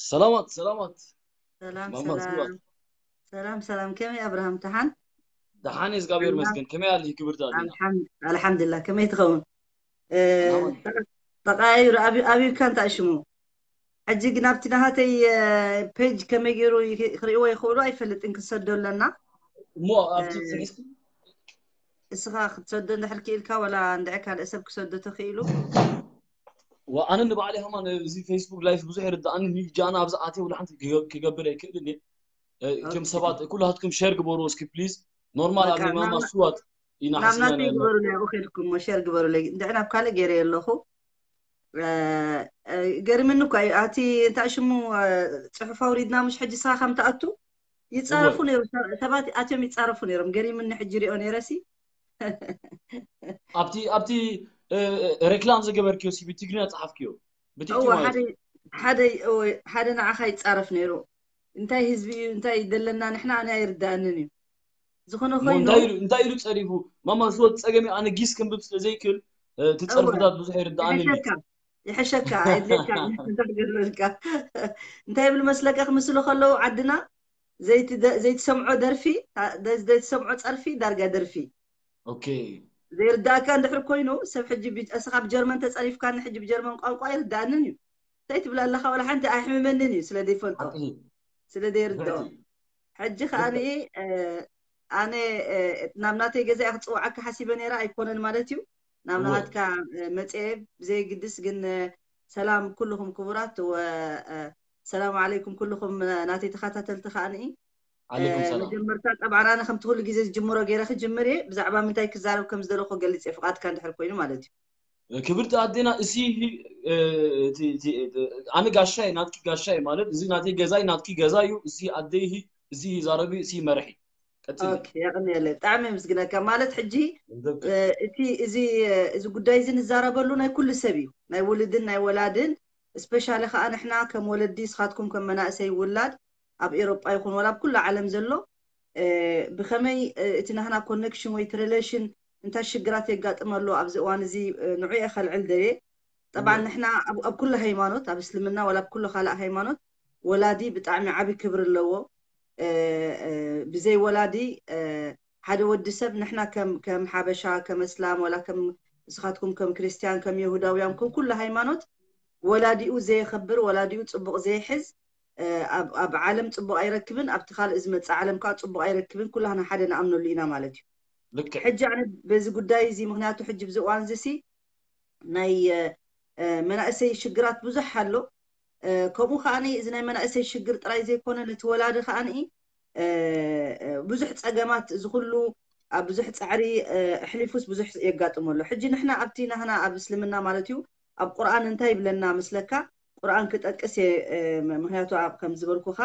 ሰላማት ሰላማት ሰላም ማማ ሰላም ሰላም ሰላም። ከመይ ኣብርሃም ተሓን? ደሓን እየ እግዚኣብሔር ይመስገን። ከመይ ኣለኪ ክብርቲ ኣዴና? ኣልሓምዱሊላ። ከመይ ትኸውን? እ፣ ኣማን። ተቐያይሩ ኣቢ- ኣቢብካ እንታይ ሽሙ? ሕጂ ግን ኣብቲ ናሃተይ ፔጅ ከመይ ገይሩ ይክ- ክርእይዎ ይኽእሉ ኣይፈልጥን። ክሰዶ ኣለና እሞ ኣብቲ እ፣ ጽሒፍኪ እስኻ ክትሰዶ እንድሕር ክኢልካ ወላ እንድዒ ካልእ ሰብ ክሰዶ ተኽኢሉ? ዋ፣ ኣነ ንባዕለይ ከማን እዚ ፌስቡክ ላይፍ ብዙሕ ይርድኣኒ። ኒጃ ኣነ ኣብዚ ኣትየ ወላ ሓንቲ ክገ- ክገብር ኣይክእልን እየ። እ፣ እቶም ኦኬ። ሰባት ኩላትኩም ሸር ግበሩ እስኪ ፕሊዝ። ኖርማል ኣብ በቃ ናይ ማማ ናብ ስዋት ኢና ናብ ሓሲብና ናተይ ነርና። ግበሩለይ፣ ኣብኡ ከድኩም ሞ ሸር ግበሩለይ። እንድዒ ናብ ካልእ ገይረ ኣለኹ። እ፣ እ፣ ገሪምኒ እኳ እዩ። ኣቲ እንታይ ሽሙ፣ እ፣ ጽሑፍ ኣውሪድና ምሽ ሕጂ ስኻ ከም ትኣቱ ይጻረፉ እወ። ነይሩ። ሰ- ሰባት ኣትዮም ይጻረፉ ነይሮም። ገሪምኒ ሕጂ ሪኦ ነይረሲ። ኣብቲ ኣብቲ እ፣ እ፣ ሬክላም ዝገበርክዮ ሲ ብትግርኛ ጸሓፍክዮ ብቲክቲ እወ ማለት ሓደ እዩ። ሓደ እወ፣ ሓደ ንዓኻ ይጻረፍ ነይሩ። እንታይ ህዝቢ እዩ እንታይ ይደለና ንሕና ኣነ ኣይርዳእንን እዩ። ዝኾነ እሞ ኮይኑ እንታይ ኢሉ እንታይ ኢሉ ጸሪፉ? ማማ ስወት ጸገም እዩ። ኣነ ጊስ ክንብብ ስለ ዘይክእል እ፣ እቲ እወ ጸርፍታት ብዙሕ ይርድኣንን እዩ። ይሕሸካ ይሕሸካ ኣይድልየካ እንዳገለልካ እንታይ ይብል መስለካ ክምስሉ ከለዉ ዓድና ዘይትደ- ዘይትሰምዖ ደርፊ ታ- ዘይትሰምዖ ጸርፊ ዳርጋ ደርፊ ኦኬ ዘይርዳእካ እንድሕር ኮይኑ ሰብ ሕጂ ብ- እስኻ ብጀርመን ተጸሪፍካኒ ሕጂ ብጀርመን ቋንቋ ኣይርዳእንን እዩ። እንታይ ትብል ኣለኻ ወላ ሓንቲ ኣይሕምመንን እዩ ስለ ዘይፈልጦ ሓቂ እዩ። ስለ ዘይርድኦ ብሕቲ እዩ። ሕጂ ከኣኒ ልክዕ። እ፣ ኣነ እ፣ ናብ ናተይ ገዛ እየ ክፅውዓካ ሓሲበ ነይረ ኣይኮነን ማለት እዩ ናብ እወ። ናሃትካ እ፣ መፅየ ብዘይግድስ ግን እ፣ ሰላም ኩልኹም ክቡራት ወ እ፣ ሰላም ዓለይኩም ኩልኹም እ፣ ናተይ ተኸታተልቲ ከኣኒ ዓለይኩም ሰላም። መጀመርታ ጠብዓን ኣነ ከምቲ ኩሉ ግዜ ዝጅምሮ ገይረ ክጅምር እየ ብዛዕባ ምንታይ ክዛረብ ከም ዝደለኹ ገልፅ እየ ፍቓድካ እንድሕር ኮይኑ ማለት እዩ ክብርቲ ኣዴና እሲ እ፣ እቲ- እቲ- እቲ- ኣነ ጋሻይ ናትኪ ጋሻይ ማለት እዚ ናተይ ገዛይ ናትኪ ገዛ እዩ። እዚ ኣደይ እዚ ዛረቢ እዚ መርሒ ቀጽሊ። ኦኬ የቕንየለይ ብጣዕሚ ምስግነካ ማለት ሕጂ ንዘብቅዕ። እ፣ እቲ እዚ እ፣ እዚ ጉዳይ እዚ ንዛረበሉ ናይ ኩሉ ሰብ እዩ ናይ ውልድን ናይ ወላድን ስፔሻሊ ከዓ ንሕና ከም ወለዲ ስኻትኩም ከም መናእሰይ ውላድ ኣብ ኤሮጳ ይኹን ወላ ኣብ ኩሉ ዓለም ዘሎ እ፣ ብኸመይ እ፣ እቲ ናህና ኮኔክሽን ወይ እቲ ሪሌሽን እንታይ ሽግራት የጋጥመሉ ኣብዚ እዋን እዚ እ፣ ንዑ እየ ከልዕል ደየ ጠብዓ እወ። ንሕና ኣብ ኣብ ኩሉ ሃይማኖት ኣብ እስልምና ወላ ኣብ ኩሉ ካልእ ሃይማኖት ወላዲ ብጣዕሚ ዓቢ ክብሪ ኣለዎ እ፣ እ፣ ብዘይ ወላዲ እ፣ ሓደ ወዲ ሰብ ንሕና ከም ከም ሓበሻ ከም እስላም ወላ ከም ንስኻትኩም ከም ክርስትያን ከም የሁዳውያን ከም ኩሉ ሃይማኖት ወላዲኡ ዘየኸብር ወላዲኡ ፅቡቕ ዘይሕዝ እ፣ ኣብ ኣብ ዓለም ፅቡቕ ኣይረክብን ኣብቲ ካልእ ዝመፅእ ዓለም ከዓ ፅቡቕ ኣይረክብን ኩላህና ሓደ ንኣምነሉ ኢና ማለት እዩ ልክዕ ሕጂ ኣነ በዚ ጉዳይ እዚ ምክንያቱ ሕጂ ብዚ እዋን እዚ ሲ ናይ እ፣ እ፣ መናእሰይ ሽግራት ብዙሕ ኣሎ እ፣ ከምኡ ከዓኒ እዚ ናይ መናእሰይ ሽግር ጥራይ ዘይኮነ ነቲ ወላዲ ከዓኒ እ፣ እ፣ ብዙሕ ፀገማት እዚ ኩሉ ኣብ ብዙሕ ፃዕሪ እ፣ ኣሕሊፉስ ብዙሕ የጋጥሞ ኣሎ ሕጂ ንሕና ኣብቲ ናህና ኣብ እስልምና ማለት እዩ ኣብ ቁርኣን እንታይ ይብለና መስለካ ቁርኣን ክጠቅስ እየ እ፣ ምክንያቱ ኣብ ከም ዝበልኩኻ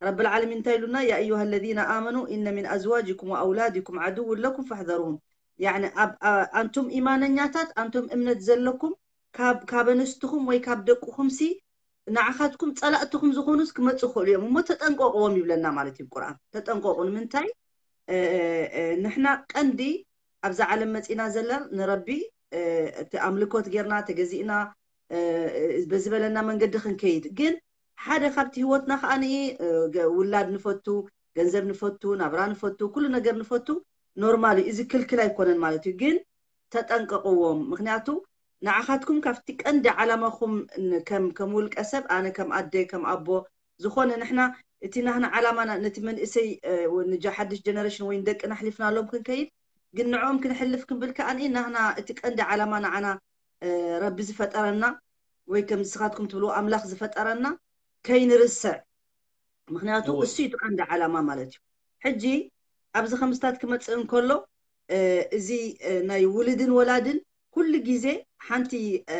ረብ ልዓለሚን እንታይ ኢሉና ያ ኣዩሃ ለዚነ ኣመኑ ኢነ ሚን ኣዝዋጅኩም ወኣውላድኩም ዓድውን ለኩም ፈሕዘሩሁም ያዕኒ ኣብ ኣ- ኣንቱም ኢማነኛታት ኣንቱም እምነት ዘለኩም ካብ ካብ ኣንስትኹም ወይ ካብ ደቅኹም ሲ ንዓኻትኩም ጸላእትኹም ዝኾኑስ ክመፁ ይኽእሉ እዮም እሞ ተጠንቀቅዎም ይብለና ማለት እዩ ቁርኣን ተጠንቀቁ ንምንታይ እ፣ እ፣ ንሕና ቀንዲ ኣብዛ ዓለም መፂና ዘለና ንረቢ እ፣ እቲ ኣምልኮት ጌርና ተገዚእና እ፣ እ፣ በዝበለና መንገዲ ክንከይድ ግን ሓደ ካብቲ ህይወትና ከዓ ንኢ እ፣ ገ- ውላድ ንፈቱ ገንዘብ ንፈቱ ናብራ ንፈቱ ኩሉ ነገር ንፈቱ ኖርማል እዩ እዚ ክልክል ኣይኮነን ማለት እዩ ግን ተጠንቀቅዎም ምክንያቱ ንዓኻትኩም ካብቲ ቀንዲ ዓላማኹም ን- ከም ከም ውልቀ ሰብ ኣነ ከም ኣደ ከም ኣቦ ዝኾነ ንሕና እቲ ናህና ዓላማና ነቲ መንእሰይ እ፣ ው- ንጃ ሓድሽ ጀነሬሽን ወይ ንደቅና ኣሕሊፍናሎም ክንከይድ ግን ንዕኦም ክንሕልፍ ክንብል ከኣኒ ናህና እቲ ቀንዲ ዓላማ ንዓና እ፣ ረቢ ዝፈጠረና ወይ ከም ንስኻትኩም ትብልዎ ኣምላኽ ዝፈጠረና ከይንርስዕ ምክንያቱ እወ። እሱ እዩ እቲ ቀንዲ ዓላማ ማለት እዩ ሕጂ ኣብዚ ከምስታት ክመፅእ እንከሎ እ፣ እዚ እ፣ ናይ ውልድን ወላድን ኩሉ ግዜ ሓንቲ እ፣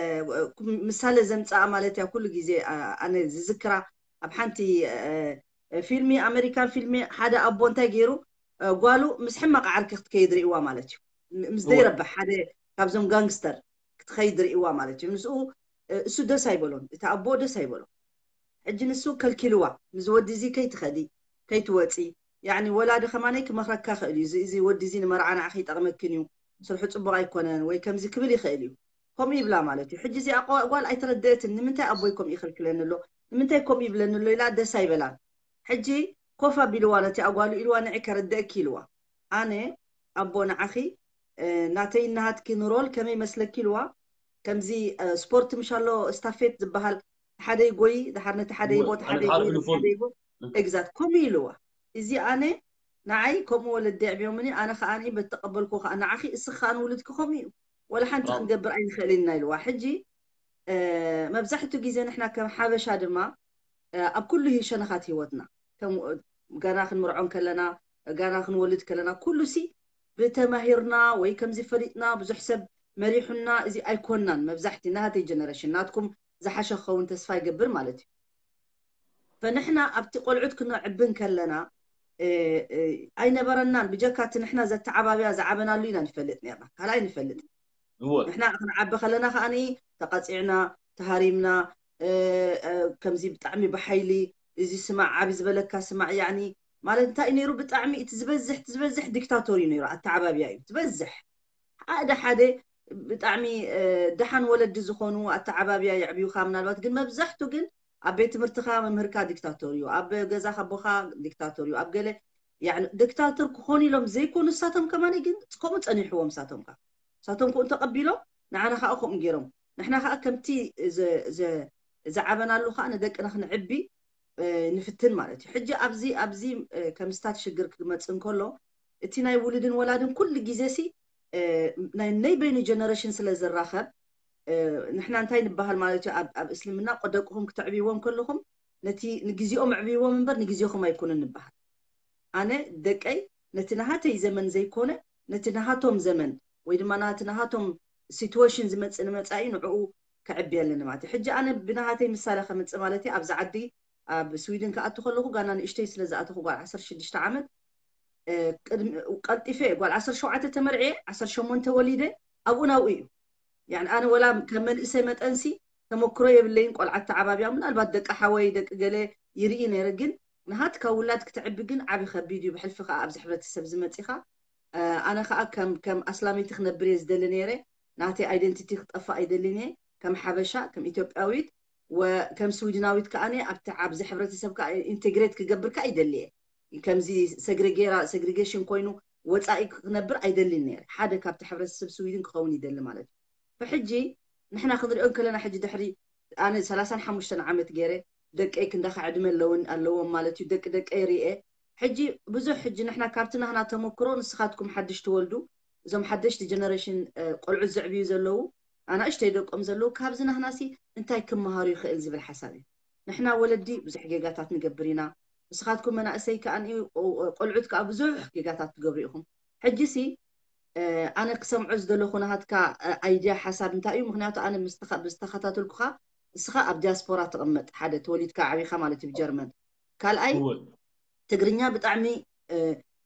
ምሳሌ ዘምፅኣ ማለት እያ ኩሉ ግዜ እ፣ ኣነ ዝዝክራ ኣብ ሓንቲ እ፣ እ፣ ፊልሚ ኣሜሪካን ፊልሚ ሓደ ኣቦ እንታይ ገይሩ እ፣ ጓሉ ምስ ሕማቕ ዓርኪ ክትከይድ ርእዋ ማለት እዩ ም- ምስ እወ። ዘይረብሕ ሓደ ካብዞም ጋንግስተር ክትኸይድ ርእዋ ማለት እዩ ምስኡ እ፣ እሱ ደስ ኣይበሎን እቲ ኣቦ ደስ ኣይበሎ ሕጂ ንሱ ከልኪልዋ ምስ ወዲ እዚ ከይትኸዲ ከይትወፂ ያዕኒ ወላዲ ከማነይ ክመኽረካ ክእል እዩ እዚ- እዚ ወዲ እዚ ንመርዓ ንዓኺ ይጠቕመክን እዩ ስርሑ ፅቡቕ ኣይኮነን ወይ ከምዚ ክብል ይኽእል እዩ ከምኡ ይብላ ማለት እዩ ሕጂ እዚኣ ቆ- ጓል ኣይተረደእትን ንምንታይ ኣቦይ ከምኡ ይኸልክለኒ ኣሎ ንምንታይ ከምኡ ይብለኒ ኣሎ ኢላ ደስ ኣይበላን። ሕጂ ኮፍ ኣቢልዋ ነቲ ኣጓሉ ኢልዋ፣ ንዒ ከረድእኪ ኢልዋ። ኣነ ኣቦ ንዓኺ ናተይ ናሃትኪ ንሮል ከመይ መስለኪ ኢልዋ። ከምዚ ስፖርት ምሻሎ ስታፌት ዝበሃል፣ ሓደ ይጎይ ድሓር ነቲ ሓደ ይቦ ሓደ ይጎይ ሓደ ይጎ። ኤግዛክት ከምኡ ኢልዋ። እዚ ኣነ ንዓይ ከምኡ ወለዲ ኣዕብዮምኒ፣ ኣነ ከዓ በተቀበልኩ ከዓ ንዓኺ እስኻ ንውልድኪ ከምኡ እዩ። ወላ ሓንቲ ክንገብር ኣይንኽእል ኢና ኢልዋ። ሕጂ መብዛሕትኡ ግዜ ንሕና ከም ሓበሻ ድማ ኣብ ኩሉ ሸነኻት ህይወትና፣ ከም ጋና ክንምርዖን ከለና፣ ጋና ክንወልድ ከለና፣ ኩሉ ሲ ብተማሂርና ወይ ከምዚ ፈሊጥና ብዙሕ ሰብ መሪሑና እዚ ኣይኮናን። መብዛሕቲ ናተይ ጀነሬሽን፣ ናትኩም ዝሓሸ ክኸውን ተስፋ ይገብር ማለት እዩ። ፈንሕና ኣብቲ ቆልዑት ክነዕብን ከለና ኣይነበረናን። ብጀካ እቲ ንሕና ዘተዓባብያ ዝዓበናሉ ኢና ንፈልጥ ነርና፣ ካልኣይ ንፈልጥ። ንሕና ክንዓቢ ከለና ከዓኒ ተቐፂዕና፣ ተሃሪምና፣ ከምዚ ብጣዕሚ ብሓይሊ እዚ ስማዕ ዓቢ ዝበለካ ስማዕ ያኒ ማለት እንታይ እዩ ነይሩ? ብጣዕሚ እቲ ዝበዝሕ እቲ ዝበዝሕ ዲክታቶር እዩ ነይሩ፣ ኣተዓባብያ እዩ ዝበዝሕ። ሓደ ሓደ ብጣዕሚ ደሓን ወለዲ ዝኾኑ ኣተዓባብያ የዕብዩካ። ምናልባት ግን መብዛሕቱ ግን ኣብ ቤት ትምህርትኻ መምህርካ ዲክታቶር እዩ፣ ኣብ ገዛኻ ኣቦኻ ዲክታቶር እዩ፣ ኣብ ገለ ዲክታቶር ክኾኑ ኢሎም ዘይኮኑ ንሳቶም ከማን ግን ከምኡ ጸኒሕዎም ንሳቶም ከ ንሳቶም ክኡ እንተቐቢሎም ንዓና ከዓ ከምኡ ገይሮም ንሕና ከዓ ከምቲ ዝዓበናሉ ከዓ ንደቅና ክንዕቢ ንፍትን ማለት እዩ። ሕጂ ኣብዚ ኣብዚ ከም ስታት ሽግር ክመፅእ እንከሎ እቲ ናይ ውሉድን ወላድን ኩሉ ግዜ ሲ ናይ ነይ በይኑ ጀነሬሽን ስለ ዝራኸብ ንሕና እንታይ ንበሃል ማለት እዩ? ኣብ እስልምና ደቅኹም ክተዕብይዎም ከለኹም ነቲ ንግዜኦም ኣዕብይዎም እምበር ንግዜኹም ኣይኮኑን ንበሃል። ኣነ ደቀይ ነቲ ናሃተይ ዘመን ዘይኮነ ነቲ ናሃቶም ዘመን ወይ ድማ ናቲ ናሃቶም ሲትዌሽን ዝመፅእ ንመፃኢ ንዕኡ ከዕቢ ኣለኒ ማለት እዩ። ሕጂ ኣነ ብናሃተይ ምሳሌ ከምፅእ ማለት እዩ። ኣብዚ ዓዲ ኣብ ስዊድን ክኣቱ ከለኹ ጋና ንእሽተይ ስለ ዝኣተኹ ጓል ዓሰርተ ሽዱሽተ ዓመት ቀልጢፈ ጓል ዓሰርተ ሸውዓተ ተመርዕየ ዓሰርተ ሸሞንተ ወሊደ ኣብኡ ናብኡ እዩ። ያኒ ኣነ ወላ ከም መንእሰይ መጠንሲ ተመክሮ የብለይን ቆልዓ ተዓባብያ ምናልባት ደቂ ሓወይ ደቂ ገለ ይርኢ ነይረ ግን ናሃትካ ውላድ ክትዕቢ ግን ዓቢ ከቢድ እዩ። ብሕልፊ ከዓ ኣብዚ ሕብረተሰብ ዝመፂኻ ኣነ ከዓ ከም ከም ኣስላመይቲ ክነብር እየ ዝደሊ ነይረ። ናተይ ኣይደንቲቲ ክጠፍእ ኣይደልን እየ ከም ሓበሻ ከም ኢትዮጵያዊት ወ ከም ስዊድናዊት ከዓ ኣብቲ ኣብዚ ሕብረተሰብ ከዓ ኢንቴግሬት ክገብር ከዓ ይደሊ እየ። ከምዚ ሰግሬጌራ ሰግሪጌሽን ኮይኑ ወፃኢ ክነብር ኣይደልን ነይረ። ሓደ ካብቲ ሕብረተሰብ ስዊድን ክኸውን ይደሊ ማለት እዩ። ብሕጂ ንሕና ክንሪኦ ከለና ሕጂ ድሕሪ ኣነ ሰላሳን ሓሙሽተን ዓመት ገይረ ደቀይ ክንዳኻ ዕድመ ኣለውን ኣለዎም ማለት እዩ። ደቂ ደቀይ ርኤ ሕጂ ብዙሕ ሕጂ ንሕና ካብቲ ናህና ተመክሮ ንስኻትኩም ሓድሽ ትወልዱ እዞም ሓደሽቲ ጀነሬሽን ቆልዑት ዘዕብዩ ዘለዉ ኣናእሽተይ ደቆም ዘለዉ ካብዚ ናህናሲ እንታይ ክመሃሩ ይኽእል ዝብል ሓሳብ እዩ። ንሕና ወለዲ ብዙሕ ጌጋታት ንገብር ኢና። ንስኻትኩም መናእሰይ ከዓ ቆልዑት ከዓ ብዙሕ ጌጋታት ትገብሩ ኢኹም። ሕጂሲ ኣነ ክሰምዖ ዝደለኹ ናሃትካ ኣይድያ ሓሳብ እንታይ እዩ? ምክንያቱ ኣነ ብዝተኸታተልኩኻ እስኻ ኣብ ዲያስፖራ ትቕመጥ ሓደ ተወሊድካ ዓቢኻ ማለት እዩ ብጀርመን ካልኣይ ትግርኛ ብጣዕሚ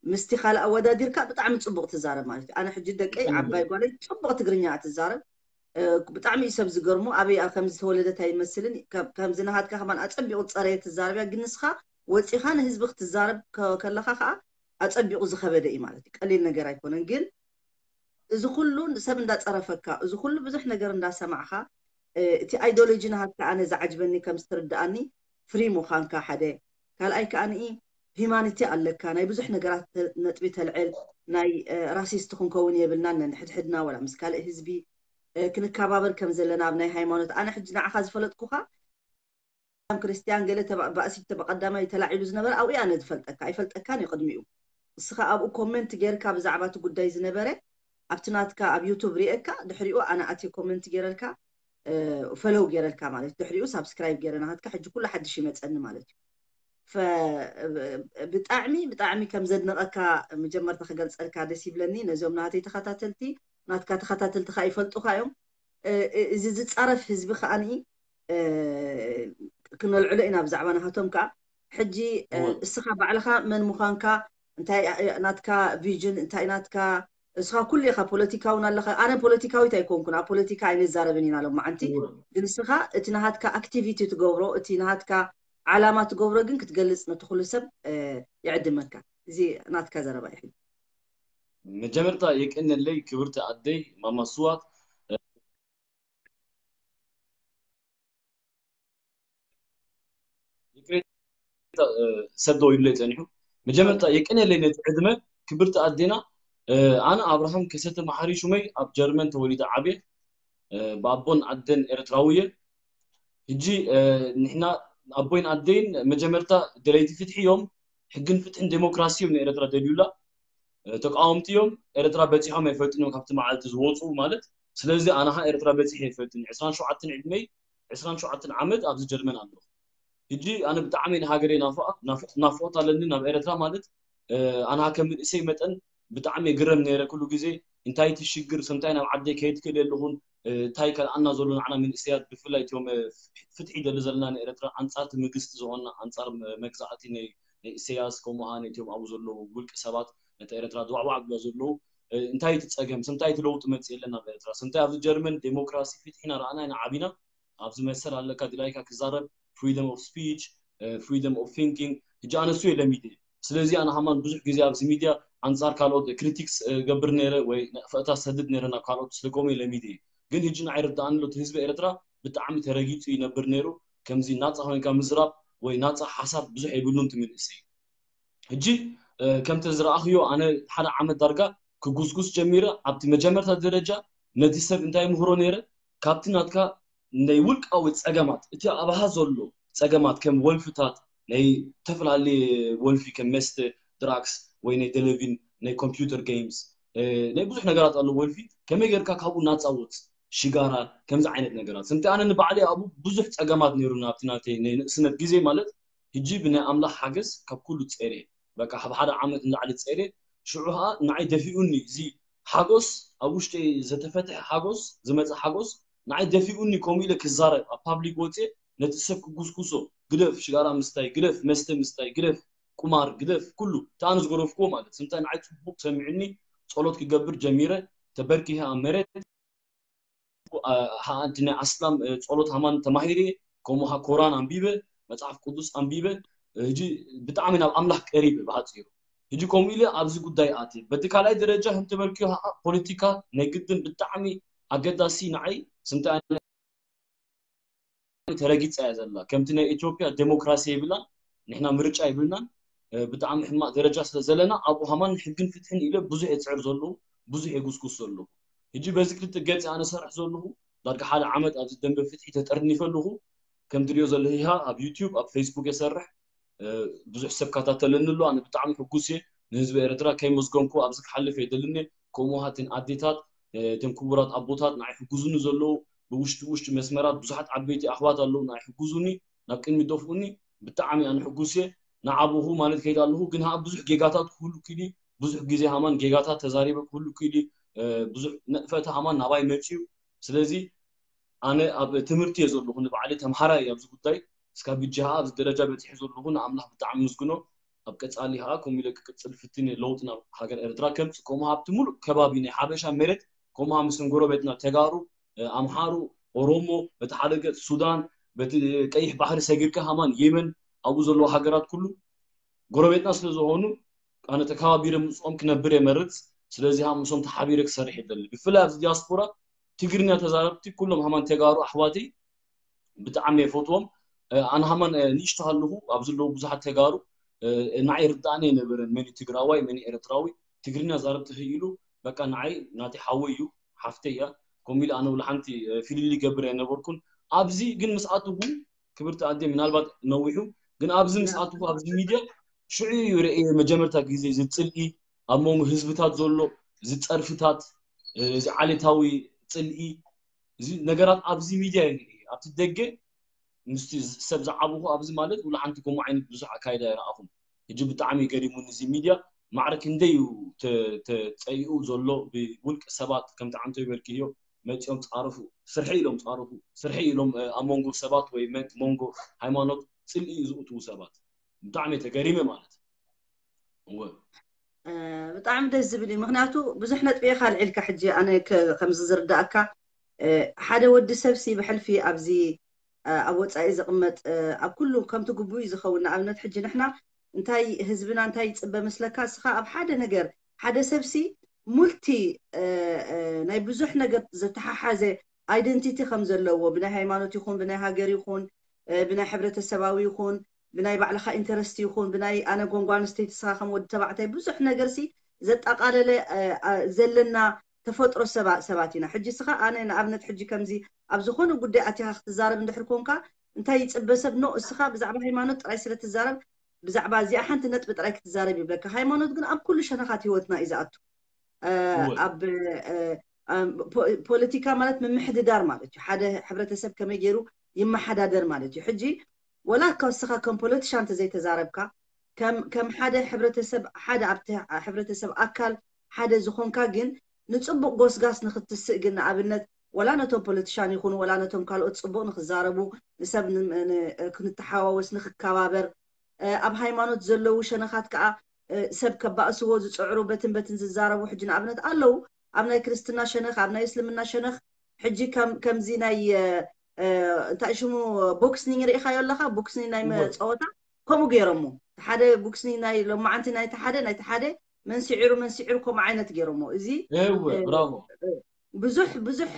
ምስቲ ካልእ ኣወዳዲርካ ብጣዕሚ ፅቡቕ ትዛረብ ማለት እዩ። ኣነ ሕጂ ደቀይ ዓባይ ጓለይ ፅቡቕ ትግርኛ እያ ትዛረብ። ብጣዕሚ እዩ ሰብ ዝገርሙ ኣበይ ከም ዝተወለደት ኣይመስልን። ከምዚ ናሃትካ ከማን ኣፀቢቑ ዝፀረየ ትዛረብ እያ። ግን ንስኻ ወፂኻ ንህዝቢ ክትዛረብ ከለኻ ከዓ ኣፀቢቑ ዝኸበደ እዩ ማለት እዩ። ቀሊል ነገር ኣይኮነን። ግን እዚ ኩሉ ሰብ እንዳፀረፈካ እዚ ኩሉ ብዙሕ ነገር እንዳሰማዕካ እቲ ኣይዶሎጂ ናሃትካ ኣነ ዝዓጅበኒ ከም ዝትርድኣኒ ፍሪ ምዃንካ ሓደ ካልኣይ ከዓ ሂማኒቲ ኣለካ ናይ ብዙሕ ነገራት ነጥቢ ተልዕል ናይ ራሲስት ክንከውን የብልናን ነንሕድሕድና ወላ ምስ ካልእ ህዝቢ ክንከባበር ከም ዘለና ኣብ ናይ ሃይማኖት ኣነ ሕጂ ንዓኻ ዝፈለጥኩኻ ክርስቲያን ገለ ባእሲ ብቀዳማይ ተላዒሉ ዝነበረ ኣብኡ ኣነ ዝፈልጠካ ኣይፈልጠካን እዩ ቅድሚኡ እስኻ ኣብኡ ኮመንት ጌርካ ብዛዕባ እቲ ጉዳይ ዝነበረ ኣብቲ ናትካ ኣብ ዩቱብ ሪኤካ ድሕሪኡ ኣነ ኣትየ ኮመንት ጌረልካ ፈለው ጌረልካ ማለት ድሕሪኡ ሳብስክራይብ ጌረ ናትካ ሕጂ ኩሉ ሓድሽ ይመፀኒ ማለት እዩ። ብጣዕሚ ብጣዕሚ ከም ዘድንቐካ መጀመርታ ክገልፀልካ ደስ ይብለኒ። ነዚኦም ናተይ ተኸታተልቲ ናትካ ተኸታተልቲ ከዓ ይፈልጡካ እዮም። እዚ ዝፃረፍ ህዝቢ ከዓኒ ክነልዕሎ ኢና ብዛዕባ ናሃቶም ከዓ ሕጂ እስኻ ባዕልኻ መን ምዃንካ እንታይ ናትካ ቪዥን እንታይ ናትካ እስኻ ኩሉ ኢኻ ፖለቲካ እውን ኣለኻ ኣነ ፖለቲካዊት ኣይኮንኩን ኣብ ፖለቲካ ኣይንዛረብን ኢና ሎማዓንቲ ግን እስኻ እቲ ናሃትካ ኣክቲቪቲ ትገብሮ እቲ ናሃትካ ዓላማ ትገብሮ ግን ክትገልፅ ነቲ ኩሉ ሰብ ይዕድመካ እዚ ናትካ ዘረባ እዩ መጀመርታ የቀነለይ ክብርቲ ኣደይ ማማ ስዋት። ሰብ ደው ይብለይ ጸኒሑ። መጀመርታ የቀንየለይ ነቲ ዕድመ። ክብርቲ ኣዴና፣ ኣነ ኣብርሃም ከሰተ መሓሪ ሹመይ፣ ኣብ ጀርመን ተወሊደ ዓብየ። ብኣቦን ኣደን ኤርትራዊ እየ። ሕጂ ንሕና ኣቦይን ኣደይን መጀመርታ ደለይቲ ፍትሒ እዮም። ሕግን ፍትሕን ዴሞክራሲ እዮም ንኤርትራ ደልዩላ። ተቃወምቲ እዮም። ኤርትራ በጺሖም ኣይፈልጡን እዮም ካብቲ መዓልቲ ዝወፁ ማለት። ስለዚ ኣነ ኸዓ ኤርትራ በጺሐ ኣይፈልጥን። ዕስራን ሸውዓተን ዕድመይ፣ ዕስራን ሸውዓተን ዓመት ኣብዚ ጀርመን ኣለኹ። ሕጂ ኣነ ብጣዕሚ ንሃገረይ ናፍቆት ኣለኒ ናብ ኤርትራ ማለት። ኣነ ከም መንእሰይ መጠን ብጣዕሚ ይግረም ነይረ ኩሉ ግዜ። እንታይ እቲ ሽግር፣ ስምታይ ናብ ዓደይ ከይድ ክእል የለኹን፣ እንታይ ከልኣና ዘሎ ንዓና መንእሰያት፣ ብፍላይ እቲኦም ፍትሒ ደሊ ዘለና ንኤርትራ፣ ኣንጻር እቲ መንግስቲ ዝኾንና፣ ኣንጻር መግዛእቲ ናይ ኢሰያስ፣ ከምኡ ነቲኦም ኣብኡ ዘለዉ ውልቂ ሰባት፣ ነቲ ኤርትራ ድዋዕዋዕ ኣብላ ዘለዉ፣ እንታይ እቲ ጸገም፣ ስምታይ እቲ ለውጢ መጽእ የለን ናብ ኤርትራ፣ ስምታይ ኣብዚ ጀርመን ዴሞክራሲ ፍትሒ ኢና ረኣና ኢና ዓቢና። ኣብዚ መሰል ኣለካ ድላይካ ክዛረብ፣ freedom of speech፣ freedom of thinking። ሕጂ ኣነ እሱ የለ ሚድያ። ስለዚ ኣነ ሃማን ብዙሕ ግዜ ኣብዚ ሚድያ ኣንጻር ካልኦት ክሪቲክስ ገብር ነይረ ወይ ነቕፈታ ሰድድ ነይረ ናብ ካልኦት ስለኮም የለ ሚድያ። ግን ሕጂ ንዓይ ርዳኣኒ ኣሎ እቲ ህዝቢ ኤርትራ ብጣዕሚ ተረጊጹ ይነብር ነይሩ። ከምዚ ናጻ ኮይንካ ምዝራብ ወይ ናጻ ሓሳብ ብዙሕ የብሉን ትምልእሲ። ሕጂ ከምቲ ዝረኣኽዮ ኣነ ሓደ ዓመት ዳርጋ ክጉስጉስ ጀሚረ። ኣብቲ መጀመርታ ደረጃ ነቲ ሰብ እንታይ ምህሮ ነይረ፣ ካብቲ ናትካ ናይ ውልቃዊ ጸገማት፣ እቲ ኣብሃ ዘሎ ጸገማት ከም ወልፍታት፣ ናይ ዝተፈላለየ ወልፊ ከም መስተ፣ ድራክስ ወይ ናይ ቴሌቪን፣ ናይ ኮምፒውተር ጌምስ፣ ናይ ብዙሕ ነገራት ኣሎ ወልፊ፣ ከመይ ጌርካ ካብኡ ናጻ ወጽእ፣ ሽጋራ፣ ከምዚ ዓይነት ነገራት። ስምቲ ኣነ ንባዕለይ ኣብኡ ብዙሕ ጸገማት ነይሩና ኣብቲ ናተይ ናይ ንእስነት ግዜ ማለት። ሕጂ ብናይ ኣምላኽ ሓገዝ ካብ ኩሉ ጸይረ። በቃ ካብ ሓደ ዓመት ንላዕሊ ጸይረ። ሽዑ ኸኣ ንዓይ ደፊኡኒ፣ እዚ ሓጎስ፣ ኣብ ውሽጢ ዝተፈትሐ ሓጎስ፣ ዝመጸ ሓጎስ፣ ንዓይ ደፊኡኒ ከምኡ ኢለ ክዛረብ፣ ኣብ ፓብሊክ ወጽየ ነቲ ሰብ ክጉስጉሶ፣ ግደፍ ሽጋራ ምስታይ፣ ግደፍ መስተ ምስታይ፣ ግደፍ ቁማር፣ ግደፍ ኩሉ። እቲ ኣነ ዝገደፍክዎ ማለት። ስምታይ ንዓይ ጽቡቕ ሰሚዑኒ፣ ጸሎት ክገብር ጀሚረ፣ ተበርኪኸ ኣብ መሬት። ሓንቲ ናይ ኣስላም ጸሎት ሃማን ተማሂረ፣ ከምኡ ኸዓ ኮራን ኣንቢበ፣ መጽሓፍ ቅዱስ ኣንቢበ። ሕጂ ብጣዕሚ ናብ ኣምላኽ ቀሪበ ብሓጺሩ። ሕጂ ከምኡ ኢለ ኣብዚ ጉዳይ ኣትየ። በቲ ካልኣይ ደረጃ ከም ተበልክዮ ኸዓ ፖለቲካ ናይ ግድን ብጣዕሚ ኣገዳሲ ንዓይ ስምቲ ተረጊጻ እያ ዘላ። ከምቲ ናይ ኢትዮጵያ ዴሞክራሲ የብላን፣ ንሕና ምርጫ የብልናን። ብጣዕሚ ሕማቕ ደረጃ ስለ ዘለና ኣብኡ ሃማን ሕግን ፍትሕን ኢለ ብዙሕ የጽዕር ዘለኹ፣ ብዙሕ የጉስጉስ ዘለኹ። ሕጂ በዚ ክልተ ገጽ ኣነ ሰርሕ ዘለኹ ዳርጋ ሓደ ዓመት ኣብዚ ደንበ ፍትሒ ተጠርኒፈ ኣለኹ። ከም ትሪኦ ዘለኺ ኣብ ዩቲዩብ ኣብ ፌስቡክ የሰርሕ። ብዙሕ ሰብ ከታተለኒ ኣሎ። ኣነ ብጣዕሚ ሕጉስ እየ። ንህዝቢ ኤርትራ ከይመስገንኩ ኣብዚ ክሓልፍ የደልን እየ። ከምኡ ሃትን ኣዴታት፣ እቶም ክቡራት ኣቦታት ንዓይ ሕጉዙኒ ዘለዉ ብውሽጢ ውሽጢ መስመራት ብዙሓት ዓበይቲ ኣሕዋት ኣለዉ ንዓይ ሕጉዙኒ፣ ናብ ቅድሚ ደፍኡኒ። ብጣዕሚ ኣነ ሕጉስ እየ። ንዓብኹ ማለት ከይድ ኣለኹ ግን ሃ ብዙሕ ጌጋታት ክህሉ ክኢሉ ብዙሕ ግዜ ሃማን ጌጋታት ተዛሪበ ክህሉ ክኢሉ ብዙሕ ነጥፈቲ ሃማን ናባይ መፅዩ። ስለዚ ኣነ ኣብ ትምህርቲ እየ ዘለኹ ንባዕለይ ተምሃራይ እየ ኣብዚ ጉዳይ እስካብ ሕጂ ኸዓ ኣብዚ ደረጃ በፂሐ ዘለኹ ንኣምላኽ ብጣዕሚ ምስግኖ። ኣብ ቀፃሊ ኸዓ ከምኡ ኢለ ክቅፅል ፍትን እየ ለውጢ ናብ ሃገር ኤርትራ ከምፅእ ከምኡ ሃብቲ ሙሉእ ከባቢ ናይ ሓበሻ መሬት ከምኡ ምስ ጎረቤትና ተጋሩ ኣምሓሩ ኦሮሞ በቲ ሓደ ገፅ ሱዳን በቲ ቀይሕ ባሕሪ ሰጊርካ ሃማን የመን ኣብኡ ዘለዉ ሃገራት ኩሉ ጎረቤትና ስለ ዝኾኑ ኣነ ተከባቢረ ምስኦም ክነብር የመርፅ። ስለዚ ኸዓ ምስኦም ተሓቢረ ክሰርሕ ይደሊ ብፍላይ ኣብዚ ዲያስፖራ ትግርኛ ተዛረብቲ ኩሎም ሃማን ተጋሩ ኣሕዋተይ ብጣዕሚ የፈትዎም። ኣነ ሃማን ንእሽቶ ሃለኹ ኣብ ዘለዉ ብዙሓት ተጋሩ ንዓይ ርዳእኒ የነበረን መን ትግራዋይ መን ኤርትራዊ ትግርኛ ዛረብ ተኽኢሉ በቃ ንዓይ ናተይ ሓወይ እዩ ሓፍተይ እያ። ከምኡ ኢለ ኣነ ውላ ሓንቲ ፍልልይ ገብር ኣይነበርኩን። ኣብዚ ግን ምስ ኣትኹ ክብርቲ ኣደ ምናልባት ነዊሑ ግን ኣብዚ ምስ ኣትኹ ኣብዚ ሚድያ ሽዑ እዩ ርእየ መጀመርታ ግዜ እዚ ፅልኢ ኣብ መንጎ ህዝብታት ዘሎ እዚ ፀርፍታት እዚ ዓሌታዊ ፅልኢ እዚ ነገራት ኣብዚ ሚድያ እዩ ርእየ ኣብቲ ደገ ምስቲ ሰብ ዝዓብኹ ኣብዚ ማለት ውላ ሓንቲ ከምኡ ዓይነት ብዙሕ ኣካይዳ ይረኣኹም። ሕጂ ብጣዕሚ ገሪሙኒ እዚ ሚድያ ማዕረ ክንደይ እዩ ተፀይኡ ዘሎ ብውልቂ ሰባት ከምቲ ዓንቶ ይበልክዮ መፂኦም ፃረፉ ስርሒ ኢሎም ፃረፉ ስርሒ ኢሎም ኣብ መንጎ ሰባት ወይ መንጎ ሃይማኖት ፅልኢ እዩ ዝእትዉ ሰባት ብጣዕሚ ተገሪመ ማለት እወ ብጣዕሚ ደስ ዝብል እዩ ምክንያቱ ብዙሕ ነጥቢ ኢካ ኣልዒልካ ሕጂ ኣነ ከምዚ ዝርዳእካ ሓደ ወዲ ሰብሲ ብሕልፊ ኣብዚ ኣብ ወፃኢ ዝቕመጥ ኣብ ኩሉ ከምቲ ግቡእ እዩ ዝኸውን ንኣብነት ሕጂ ንሕና እንታይ ህዝብና እንታይ ይፅበ መስለካ እስኻ ኣብ ሓደ ነገር ሓደ ሰብሲ ሙልቲ ናይ ብዙሕ ነገር ዝተሓሓዘ ኣይደንቲቲ ከም ዘለዎ ብናይ ሃይማኖት ይኹን ብናይ ሃገር ይኹን ብናይ ሕብረተሰባዊ ይኹን ብናይ ባዕልኻ ኢንተረስት ይኹን ብናይ ኣነ ጎንጓ ኣንስተይቲ ስኻ ከም ወዲ ተባዕታይ ብዙሕ ነገር ሲ ዘጠቓለለ ዘለና ተፈጥሮ ሰባት ኢና። ሕጂ ስኻ ኣነ ንኣብነት ሕጂ ከምዚ ኣብ ዝኾነ ጉዳይ ኣቲኻ ክትዛረብ እንድሕር ኮንካ እንታይ ይፅበ ሰብ ኖ እስኻ ብዛዕባ ሃይማኖት ጥራይ ስለ ትዛረብ ብዛዕባ እዚኣ ሓንቲ ነጥቢ ጥራይ ክትዛረብ ይብለካ። ሃይማኖት ግን ኣብ ኩሉ ሸነኻት ህይወትና እዩ ዝኣቱ። ኣብ ፖለቲካ ማለት ምምሕድዳር ማለት እዩ። ሓደ ሕብረተሰብ ከመይ ገይሩ ይመሓዳደር ማለት እዩ። ሕጂ ወላ እስኻ ከም ፖለቲሻን ተዘይተዛረብካ ከም ሓደ ሕብረተሰብ ሓደ ኣብቲ ሕብረተሰብ ኣካል ሓደ ዝኾንካ ግን ንፅቡቅ ጎስጋስ ንክትስእ ግን ንኣብነት ወላ ነቶም ፖለቲሻን ይኹኑ ወላ ነቶም ካልኦት ፅቡቅ ንክዛረቡ ንሰብ ክንተሓዋወስ ንክከባበር ኣብ ሃይማኖት ዘለዉ ሸነኻት ከዓ ሰብ ከባእስዎ ዝፅዕሩ በትን በትን ዝዛረቡ ሕጂ ንኣብነት ኣለዉ። ኣብ ናይ ክርስትና ሸነኽ ኣብ ናይ እስልምና ሸነኽ ሕጂ ከምዚ ናይ እንታይ ሽሙ ቦክስኒንግ ርኢኻዮ ኣለኻ? ቦክስኒንግ ናይ ፀወታ ከምኡ ገይሮሞ ሓደ ቦክስኒንግ ናይ ሎማዓንቲ ናይቲ ሓደ ናይቲ ሓደ መንስዒሩ መንስዒሩ ከምኡ ዓይነት ገይሮሞ እዚ ብራቮ ብዙሕ ብዙሕ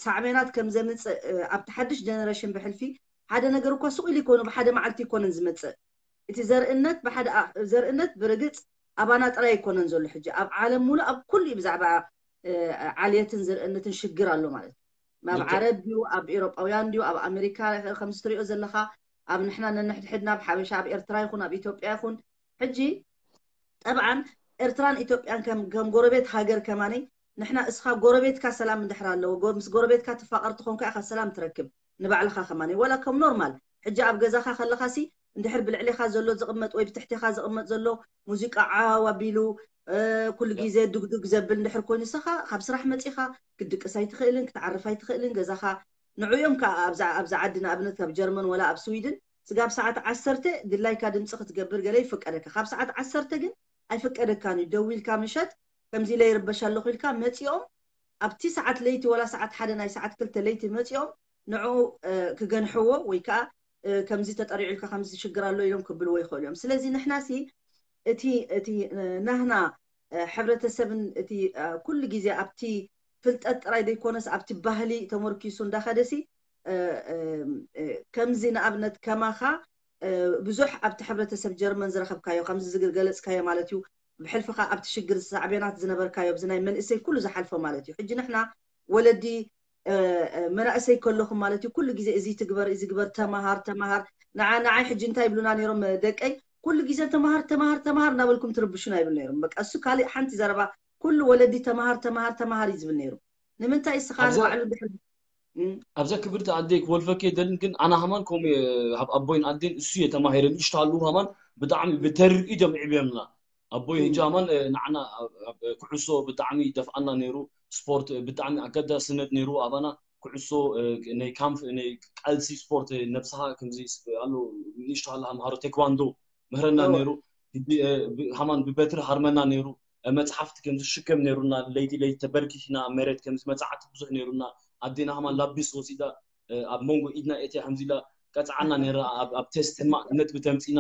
ሳዕቤናት ከም ዘምፅእ ኣብቲ ሓድሽ ጀነሬሽን ብሕልፊ ሓደ ነገር እኳ ስቕ ኢሉ ይኮኑ ብሓደ መዓልቲ ይኮነን ዝመፅእ። እቲ ዘርእነት ብሓደ ዘርእነት ብርግፅ ኣባና ጥራይ ኣይኮነን ዘሎ ሕጂ ኣብ ዓለም ሙሉ ኣብ ኩሉ እዩ ብዛዕባ ዓልየትን ዘርእነትን ሽግር ኣሎ ማለት እዩ። ኣብ ዓረብ ድዩ ኣብ ኤሮጳውያን ድዩ ኣብ ኣሜሪካ ከምዚ ትሪኦ ዘለኻ ኣብ ንሕና ነንሕድሕድና ኣብ ሓበሻ ኣብ ኤርትራ ይኹን ኣብ ኢትዮጵያ ይኹን ሕጂ ጠብዓን ኤርትራን ኢትዮጵያን ከም ጎረቤት ሃገር ከማኒ ንሕና እስኻ ጎረቤትካ ሰላም እንድሕር ኣለዎ ምስ ጎረቤትካ ትፋቐር ትኾንካ ኢኻ ሰላም ትረክብ ንባዕልኻ ከማኒ ወላ ከም ኖርማል ሕጂ ኣብ ገዛኻ ከለኻሲ እንድሕር ብልዕሌኻ ዘሎ ዝቕመጥ ወይ ብትሕቴኻ ዝቕመጥ ዘሎ ሙዚቃ ዓው ኣቢሉ ኩሉ ግዜ ድግዱግ ዘብል እንድሕር ኮይኑ ንስኻ ካብ ስራሕ መፂኻ ክትድቅስ ኣይትኽእልን ክትዓርፍ ኣይትኽእልን ገዛኻ ንዑ እዮም ከዓ ኣብዛ ዓዲ ንኣብነት ኣብ ጀርመን ወላ ኣብ ስዊድን ስጋብ ሰዓት ዓሰርተ ድላይካ ድምፂ ክትገብር ገለ ይፍቀደካ ካብ ሰዓት ዓሰርተ ግን ኣይፍቀደካን እዩ ደዊልካ ምሸት ከምዚ ኢለ ይርበሽ ኣለኹ ኢልካ መፂኦም ኣብቲ ሰዓት ለይቲ ወላ ሰዓት ሓደ ናይ ሰዓት ክልተ ለይቲ መፂኦም ንዑ ክገንሕዎ ወይ ከዓ ከምዚ ተጠሪዑ ኢልካ ከምዚ ሽግር ኣሎ ኢሎም ክብልዎ ይኽእሉ እዮም ስለዚ ንሕና ሲ እቲ እቲ ናህና ሕብረተሰብን እቲ ኩሉ ግዜ ኣብቲ ፍልጠት ጥራይ ዘይኮነስ ኣብቲ ባህሊ ተመርኪሱ እንዳኸደሲ ከምዚ ንኣብነት ከማኻ ብዙሕ ኣብቲ ሕብረተሰብ ጀርመን ዝረኸብካዮ ከምዚ ዝገለፅካዮ ማለት እዩ ብሕልፍኻ ኣብቲ ሽግር ሳዕቤናት ዝነበርካዮ ብዚ ናይ መንእሰይ ኩሉ ዝሓልፎ ማለት እዩ ሕጂ ንሕና ወለዲ መናእሰይ ከለኹም ማለት እዩ ኩሉ ግዜ እዚ ትግበር እዚ ግበር ተማሃር ተማሃር ንዓ ንዓይ ሕጂ እንታይ ይብሉና ነይሮም ደቀይ ኩሉ ግዜ ተማሃር ተማሃር ተማሃር እናበልኩም ትርብሹና ይብል ነይሮም በቃ እሱ ካልእ ሓንቲ ዘረባ ኩሉ ወለዲ ተማሃር ተማሃር ተማሃር እዩ ዝብል ነይሩ ንምንታይ እስኻ ንባዕሉ ድሕር ኣብዛ ክብርቲ ኣደይ ክወልፈኪ የደልን ግን ኣነ ሃማን ከምኡ ኣብ ኣቦይን ኣዴን እሱ እየ ተማሂረ ንእሽቶ ኣለዉ ሃማን ብጣዕሚ ብተርኢት እዮም ዕብዮምና ኣቦይ ህጂ ሃማን ንዓና ኩዕሶ ብጣዕሚ ይደፍኣና ነይሩ ስፖርት ብጣዕሚ ኣገዳስነት ነይሩ ኣባና ኩዕሶ ናይ ካምፕ ናይ ቃልሲ ስፖርት ነብስኻ ከምዚ ኣሎ ንእሽቶ ሃለኻ ምሃሮ ቴኳንዶ ምህረና ነይሩ ሃማን ብበትሪ ሃርመና ነይሩ መፅሓፍቲ ከምዚ ሽከም ነይሩና ለይቲ ለይቲ ተበርኪኪና ኣብ መሬት ከምዚ መፅዓቲ ብዙሕ ነይሩና ኣዴና ሃማን ላቢስ ወሲዳ ኣብ መንጎ ኢድና ኤትያ ከምዚ ኢላ ቀፅዓና ነይራ ኣብ ቴስት ሕማቅ ነጥቢ ተምፂና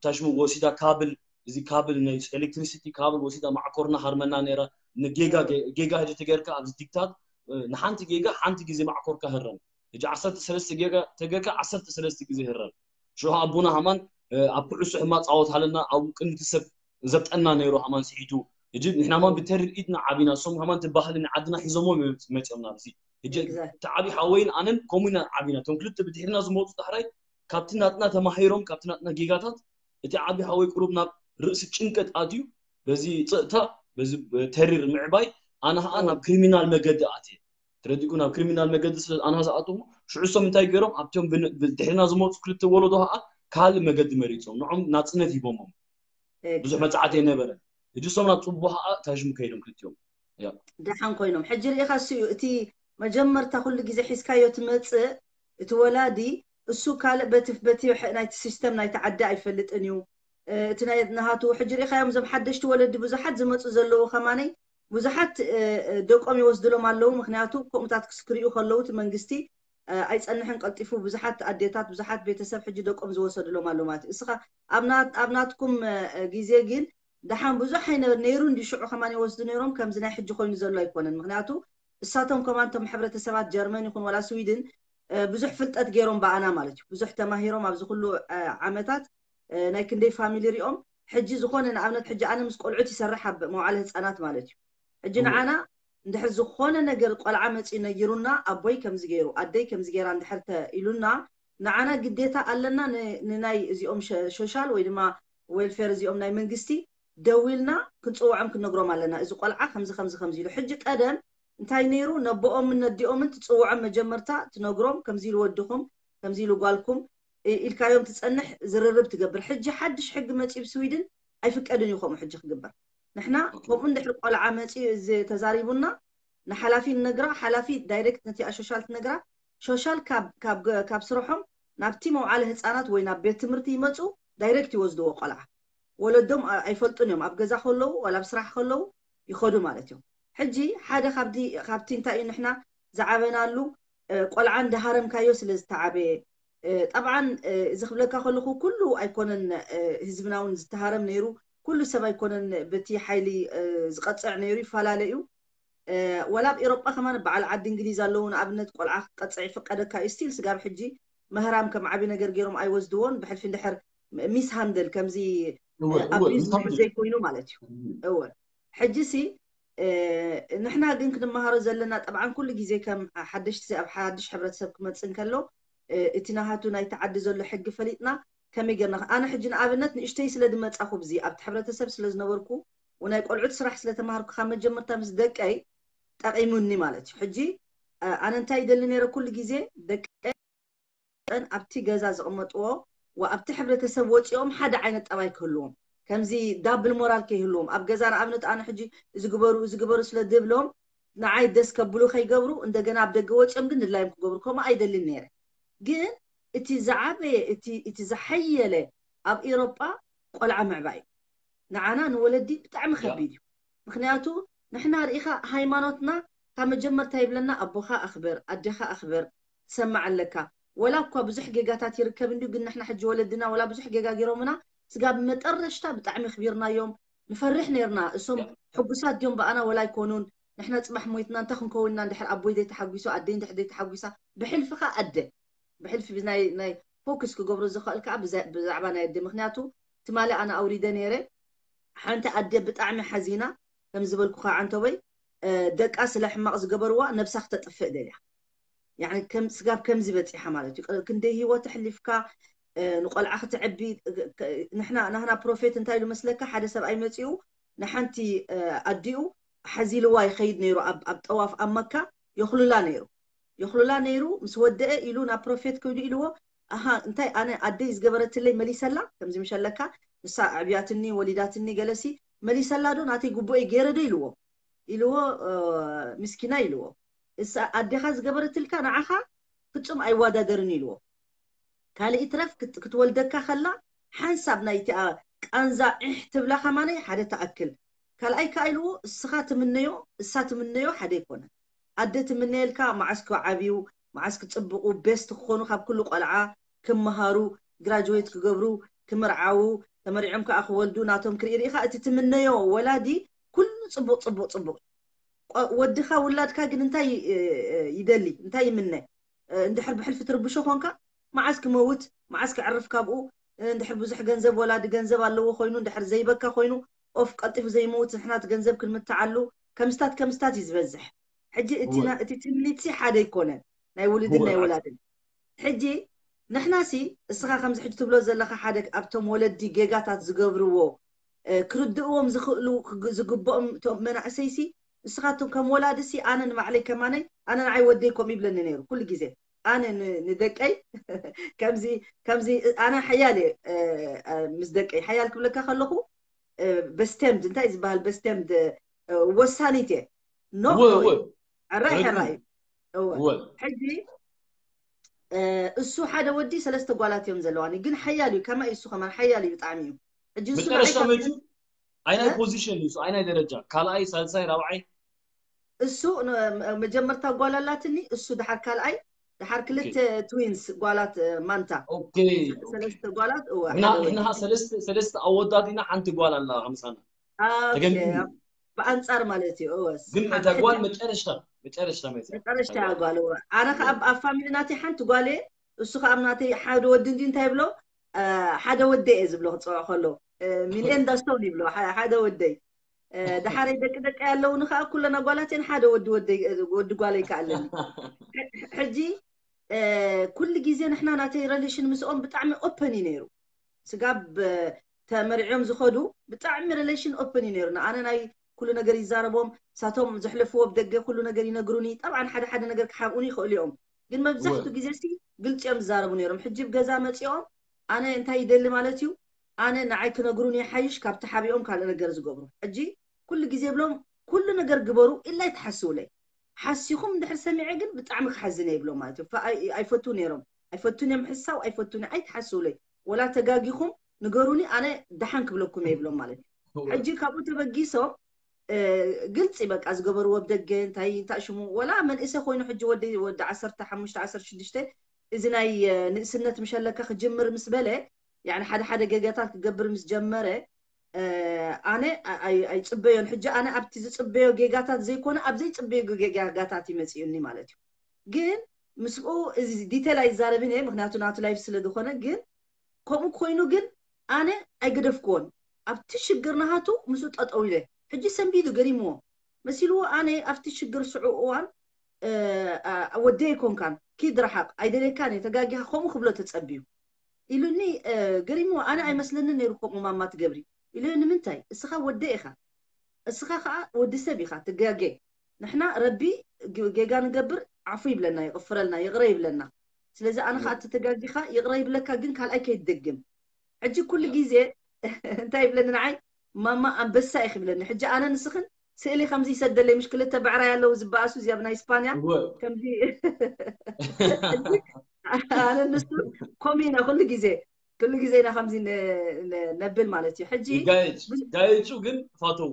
ታሽሙ ወሲዳ ካብል እዚ ካብል ናይ ኤሌክትሪሲቲ ካብል ወሲዳ ማዕኮርና ሃርመና ነይራ ንጌጋ ጌጋ ህጂ ተገርካ ኣብዚ ቲክታክ ንሓንቲ ጌጋ ሓንቲ ግዜ ማዕኮርካ ህረም ህጂ ዓሰርተ ሰለስተ ጌጋ ተገርካ ዓሰርተ ሰለስተ ግዜ ህረም ሽዑ ኣቦና ሃማን ኣብ ኩዕሶ ሕማቅ ፃወት ሃለና ኣብኡ ቅድሚ እቲ ሰብ ዘብጠና ነይሩ ሃማን ስሒቱ ሕጂ ንሕና ሃማን ብተሪር ኢድና ዓቢና እሶም ሃማን ትባህሊ ንዓድና ሒዞሞ መፅኦም ናብዚ ሕጂ እቲ ዓብዪ ሓወይን ኣነን ከምኡ ኢና ዓቢና እቶም ክልተ ብድሕርና ዝመፁ ዳሕራይ ካብቲ ናትና ተማሂሮም ካብቲ ናትና ጌጋታት እቲ ዓብዪ ሓወይ ቁሩብ ናብ ርእሲ ጭንቀት ኣትዩ በዚ ፅእታ በዚ ተሪር ምዕባይ ኣነ ከዓ ናብ ክሪሚናል መገዲ ኣትየ ተረዲእኩ ናብ ክሪሚናል መገዲ ስለ ኣና ዝኣተዉ ሽዑ እሶም እንታይ ገይሮም ኣብቶም ድሕሪና ዝመፁ ክልተ ወለዶ ከዓ ካልእ መገዲ መሪፆም ንዖም ናፅነት ሂቦሞም ብዙሕ መፅዓት ኣይነበረን ሕጂ እሶም ናብ ፅቡቅ ከዓ ታሽሙ ከይዶም ክልቲኦም ደሓን ኮይኖም ሕጂ ርኢኻ እሱ እዩ እቲ መጀመርታ ኩሉ ግዜ ሒዝካዮ ትመፅእ እቲ ወላዲ እሱ ካልእ በቲ በቲ ናይቲ ሲስተም ናይቲ ዓዲ ኣይፈልጥን እዩ እቲ ናይ ናሃቱ ሕጂ ርኢኻዮም እዞም ሓደሽቲ ወለዲ ብዙሓት ዝመፁ ዘለዉ ከማነይ ብዙሓት ደቆም ይወስድሎም ኣለዉ ምክንያቱ ከምኡታት ክስክሪኡ ከለዉ እቲ መንግስቲ ኣይፀንሕን ቀልጢፉ ብዙሓት ኣዴታት ብዙሓት ቤተሰብ ሕጂ ደቆም ዝወሰድሎም ኣለዉ ማለት እዩ እስኻ ኣብ ናትኩም ግዜ ግን ደሓን ብዙሕ ኣይነበር ነይሩ እንዲ ሽዑ ከማን ይወስዱ ነይሮም ከምዚ ናይ ሕጂ ኮይኑ ዘሎ ኣይኮነን ምክንያቱ እሳቶም ከማን ቶም ሕብረተሰባት ጀርመን ይኹን ዋላ ስዊድን ብዙሕ ፍልጠት ገይሮም ብኣና ማለት እዩ። ብዙሕ ተማሂሮም ኣብዚ ኩሉ ዓመታት ናይ ክንደይ ፋሚሊ ሪኦም። ሕጂ ዝኾነ ንኣብነት ሕጂ ኣነ ምስ ቆልዑት ይሰርሕ ኣብ መዋዕለ ህፃናት ማለት እዩ። ሕጂ ንዓና እንድሕር ዝኾነ ነገር ቆልዓ መፂኡ ነጊሩና ኣቦይ ከምዚ ገይሩ ኣደይ ከምዚ ገይራ እንድሕር ኢሉና ንዓና ግዴታ ኣለና ንናይ እዚኦም ሶሻል ወይ ድማ ዌልፌር እዚኦም ናይ መንግስቲ ደዊልና ክንፅውዖም ክንነግሮም ኣለና። እዚ ቆልዓ ከምዚ ከምዚ ከምዚ ኢሉ። ሕጂ ቀደም እንታይ ነይሩ? ነቦኦምን ነዲኦምን ትፅውዖም መጀመርታ ትነግሮም ከምዚ ኢሉ ወድኹም ከምዚ ኢሉ ጓልኩም ኢልካዮም ትፀንሕ ዝርርብ ትገብር። ሕጂ ሓድሽ ሕጊ መፂኡ ብስዊድን ኣይፍቀድን እዩ ከምኡ ሕጂ ክግበር። ንሕና ከምኡ እንድሕር ቆልዓ መፂኡ እዚ ተዛሪቡና ንሓላፊ ንነግራ። ሓላፊ ዳይሬክት ነቲኣ ሶሻል ትነግራ። ሶሻል ካብ ስርሖም ናብቲ መውዓለ ህፃናት ወይ ናብ ቤት ትምህርቲ ይመፁ። ዳይሬክት ይወስድዎ ቆልዓ። ወለዶም ኣይፈልጡን እዮም። ኣብ ገዛ ከለዉ ዋላ ኣብ ስራሕ ከለዉ ይኸዱ ማለት እዮም። ሕጂ ሓደ ካብቲ እንታይ እዩ ንሕና ዝዓበናሉ ቆልዓ እንዳሃረምካዮ ስለ ዝተዓበየ። ጠብዓን እዚ ክብለካ ከለኹ ኩሉ ኣይኮነን ህዝብና እውን ዝተሃረም ነይሩ። ኩሉ ሰብ ኣይኮነን በቲ ሓይሊ ዝቐፅዕ ነይሩ፣ ይፈላለ እዩ። ወላ ኣብ ኤሮጳ ከማን በዓል ዓዲ እንግሊዝ ኣለዉ። ንኣብነት ቆልዓ ክቀፅዕ ይፍቀደካ እዩ። ስቲል ስጋብ ሕጂ መህራም ከም ዓብዪ ነገር ገይሮም ኣይወስድዎን። ብሕልፊ እንድሕር ሚስ ሃንደል ከምዚ ኣብዩዝ ዘይኮይኑ ማለት እዩ። እወ ሕጂ ሲ ንሕና ግን ክንመሃሮ ዘለና ጠብዓን ኩሉ ግዜ ከም ሓደሽቲ ኣብ ሓድሽ ሕብረተሰብ ክመፅእ እንከሎ እቲ ናሃቱ ናይቲ ዓዲ ዘሎ ሕጊ ፈሊጥና ከመይ ጌርና ኣነ ሕጂ ንኣብነት ንእሽተይ ስለ ዝመፃኹ ብዚ ኣብቲ ሕብረተሰብ ስለ ዝነበርኩ ናይ ቆልዑት ስራሕ ስለተማሃርኩ ካብ መጀመርታ ምስ ደቀይ ጠቒሙኒ ማለት እዩ። ሕጂ ኣነ እንታይ ይደሊ ነይረ ኩሉ ግዜ ደቀን ኣብቲ ገዛ ዝቕመጥዎ ወኣብቲ ሕብረተሰብ ወፂኦም ሓደ ዓይነት ጠባይ ክህልዎም ከምዚ ዳብል ሞራል ከይህልዎም ኣብ ገዛ ንኣብነት ኣነ ሕጂ እዚ ግበሩ እዚ ግበሩ ስለ ዝብሎም ንዓይ ደስ ከብሉ ከይገብሩ እንደገና ኣብ ደገ ወፂኦም ግን ድላዮም ክገብሩ ከምኡ ኣይደልን ነይረ። ግን እቲ ዝዓበየ እቲ ዝሓየለ ኣብ ኤሮጳ ቆልዓ ምዕባይ እዩ። ንዓና ንወለዲ ብጣዕሚ ከቢድ እዩ። ምክንያቱ ንሕና ርኢኻ ሃይማኖትና ካብ መጀመርታ ይብለና ኣቦኻ ኣኽብር ኣዴኻ ኣኽብር ትሰማዕ ኣለካ። ወላ እኳ ብዙሕ ጌጋታት ይርከብ እንድዩ ግን ንሕና ሕጂ ወለድና ወላ ብዙሕ ጌጋ ገይሮምና ስጋብ መጠረሽታ ብጣዕሚ ኣኽቢርናዮም። ንፈርሕ ነይርና እሶም ሕጉሳት ድዮም ብኣና ወላ ኣይኮኑን። ንሕና ፅባሕ ሞይትና እንታይ ክንከውን ኢና እንድሕር ኣቦይ ዘይተሓጒሱ ኣደይ እንድሕር ዘይተሓጒሳ ብሕልፊ ከዓ ኣደ ብሕልፊ ናይ ፎክስ ክገብሮ ዝኽእል ከዓ ብዛዕባ ናይ ኣደ ምክንያቱ ትማሊ ኣነ ኣውሪደ ነይረ ሓንቲ ኣደ ብጣዕሚ ሓዚና ከም ዝበልኩኻ ዓንተበይ ደቃ ስለ ሕማቕ ዝገበርዋ ነብሳ ክተጥፍእ ደልያ ስጋብ ከምዚ በፂሓ ማለት እዩ። ክንደይ ህይወት ኣሕሊፍካ ንቆልዓ ክትዕቢ ንሕና ናህና ፕሮፌት እንታይ ኢሉ መስለካ ሓደ ሰብኣይ መፂኡ ንሓንቲ ኣዲኡ ሓዚልዋ ይኸይድ ነይሩ ኣብ ጠዋፍ ኣብ መካ የኽሉላ ነይሩ የኽሉላ ነይሩ ምስ ወደአ ኢሉ ናብ ፕሮፌት ከይዱ ኢልዎ ኣሃ እንታይ ኣነ ኣደይ ዝገበረትለይ መሊሰላ ከምዚ ምሸለካ ንሳ ኣዕብያትኒ ወሊዳትኒ ገለሲ መሊሰላ ዶ ናተይ ጉቡኤ ገይረ ዶ ኢልዎ ኢልዎ ምስኪና ኢልዎ እሳ ኣዴኻ ዝገበረትልካ ንዓኻ ፍጹም ኣይዋዳደርን ኢልዎ ካልእ ይትረፍ ክትወልደካ ከላ ሓንሳብ ናይቲኣ ቃንዛ ዒሕ ትብላ ከማነይ ሓደ ትኣክል ካልኣይ ከኣ ኢልዎ እስኻ ትምነዮ እሳ ትምነዮ ሓደ ኣይኮነን ኣደ ትምነየልካ መዓስ ክዓብዩ መዓስ ክጽብቑ ቤስት ክኾኑ ካብ ኩሉ ቆልዓ ክመሃሩ ግራጅዌት ክገብሩ ክምርዓዉ ተመሪዖም ከኣ ክወልዱ ናቶም ክርኢ ርኢኻ እቲ ትምነዮ ወላዲ ኩሉ ጽቡቕ ጽቡቕ ጽቡቕ ወድኻ ውላድካ ግን እንታይ ይደሊ እንታይ ይምነ እንድሕር ብሕልፊ ትርብሾ ኮንካ መዓስ ክመውት መዓስ ክዕርፍ ካብኡ እንድሕር ብዙሕ ገንዘብ ወላዲ ገንዘብ ኣለዎ ኮይኑ እንድሕር ዘይበካ ኮይኑ ኦፍ ቀልጢፉ ዘይመውት ንሕና እቲ ገንዘብ ክንምትዓሉ ከምስታት ከምስታት እዩ ዝበዝሕ ሕጂ እቲ ትምኒትሲ ሓደ ኣይኮነን ናይ ውሉድን ናይ ወላድን ሕጂ ንሕናሲ እስኻ ከምዚ ሕጂ ትብሎ ዘለኻ ሓደ ኣብቶም ወለዲ ጌጋታት ዝገብርዎ ክርድእዎም ዝኽእሉ ዝግብኦም እቶም መናእሰይሲ ንስኻትኩም ከም ወላድሲ ኣነ ንባዕለይ ከማነይ ኣነ ንዓይ ወደይ ከምኡ ይብለኒ ነይሩ ኩሉ ግዜ ኣነ ንደቀይ ከምዚ ከምዚ ኣነ ሓያል እየ ምስ ደቀይ ሓያል ክብለካ ከለኹ በስተምድ እንታይ ዝበሃል በስተምድ ወሳኒት እየ ኖ ሕራይ ሕራይ እዩ ሕጂ እሱ ሓደ ወዲ ሰለስተ ጓላት እዮም ዘለዋኒ ግን ሓያል እዩ ከማይ እሱ ከማን ሓያል እዩ ብጣዕሚ እዩ ሕጂ እሱ ንዓይ ካብ ኣይናይ ፖዚሽን እዩ ኣይናይ ደረጃ ካልኣይ ሳልሳይ ራብዓይ እሱ መጀመርታ ጓል ኣላትኒ እሱ ድሓር ካልኣይ ድሓር ክልተ ትዊንስ ጓላት ማንታ ሰለስተ ጓላት ሰለስተ ኣወዳት ኢና ሓንቲ ጓል ኣላ ምሳና ተገምግም ብኣንጻር ማለት እዩ። እወስ ግን እታ ጓል መጨረሻ መጨረሻ መይታ መጨረሻ ጓል እወ ኣነ ከኣ ኣብ ፋሚሊ ናተይ ሓንቲ ጓል እየ። እሱ ከኣ ኣብ ናተይ ሓደ ወዲ እንዲ እንታይ ይብሎ ሓደ ወደ እየ ዝብሎ ክፅውዖ ከሎ ሚልኤን ዳስቶን ይብሎ ሓደ ወደይ። ደሓረይ ደቂ ደቂ ያለውኒ ከኣ ኩለን ኣጓላተን ሓደ ወዲ ወደይ ወዲ ጓለይ ከኣለኒ። ሕጂ ኩሉ ግዜ ንሕና ናተይ ረሌሽን ምስኦም ብጣዕሚ ኦፐን እዩ ነይሩ። ስጋብ ተመሪዖም ዝኸዱ ብጣዕሚ ሪሌሽን ኦፕን እዩ ነይሩ። ንኣነ ናይ ኩሉ ነገር ይዛረቦም፣ ሳቶም ዘሕለፍዎ ብደገ ኩሉ ነገር ይነግሩኒ። ጠብዓን ሓደ ሓደ ነገር ክሓብኡኒ ይኽእሉ እዮም፣ ግን መብዛሕቱ ግዜ ሲ ግልፂ እዮም ዝዛረቡ ነይሮም። ሕጂ ብገዛ መፂኦም ኣነ እንታይ ይደሊ ማለት እዩ፣ ኣነ ንዓይ ክነግሩኒ ይሓይሽ ካብ ተሓቢኦም ካልእ ነገር ዝገብሩ። ሕጂ ኩሉ ግዜ ብሎም ኩሉ ነገር ግበሩ ኢላ ይትሓስውለይ። ሓሲኹም እንድሕር ሰሚዐ ግን ብጣዕሚ ክሓዝን እየ ይብሎም ማለት እዩ። ኣይፈቱ ነይሮም ኣይፈቱን እዮም ሕሳው ኣይፈቱን ኣይትሓስውለይ። ወላ ተጋጊኹም ንገሩኒ ኣነ ደሓን ክብለኩም እየ ይብሎም ማለት እዩ። ሕጂ ካብኡ ተበጊሶም ግልፂ በቃ ዝገበርዎ ብደገ እንታይ እንታይ ሽሙ ወላ መንእሰ ኮይኑ ሕጂ ወዲ ወዲ ዓሰርተ ሓሙሽተ ዓሰርተ ሽዱሽተ እዚ ናይ ንእስነት ምሸለካ ክጅምር ምስ በለ ያኒ ሓደ ሓደ ገጋታት ክገብር ምስ ጀመረ ኣነ ኣይፅበዮን። ሕጂ ኣነ ኣብቲ ዝፅበዮ ጌጋታት ዘይኮነ ኣብ ዘይፅበዮ ጌጋታት ይመፅኡኒ ማለት እዩ። ግን ምስኡ እዚ ዲቴል ኣይዛረብን እየ ምክንያቱ ናቱ ላይፍ ስለ ዝኾነ፣ ግን ከምኡ ኮይኑ ግን ኣነ ኣይገደፍክዎን። ኣብቲ ሽግር ናሃቱ ምስኡ ጠጠው ኢለ ሕጂ ሰንቢዱ ገሪምዎ መሲልዎ ኣነ ኣብቲ ሽግር ስዑ እዋን ወደይ ኣይኮንካን ኪድ ረሓቕ ኣይደልየካን እየ ተጋጊኻ ከምኡ ክብሎ ተፀብዩ ኢሉኒ። ገሪምዎ ኣነ ኣይመስለንን ነይሩ ከምኡ ማማ ትገብሪ ኢሉ። ንምንታይ እስኻ ወደ ኢኻ እስኻ ከዓ ወዲ ሰብ ኢኻ ትጋገ። ንሕና ረቢ ጌጋ ንገብር ዓፉ ይብለና ይቕፍረልና ይቕረ ይብለና። ስለዚ ኣነ ከዓ ተተጋጊኻ ይቕረ ይብለካ ግን ካልኣይ ከይትደግም። ሕጂ ኩሉ ግዜ እንታይ ይብለኒ ንዓይ ማማ ኣንበሳ ኢኺ ይብለኒ። ሕጂ ኣነ ንስኽን ስእሊ ከምዚ ይሰደለይ ምሽ ክልተ ብዕራይ ኣለዉ ዝበኣሱ እዚኣ ናይ ስፓንያ ከምዚ ኣነ ንሱ ኮሚና ኩሉ ግዜ ኩሉ ግዜ ኢና ከምዚ ነብል ማለት እዩ። ሕጂ ጋይፁ ግን ፋተው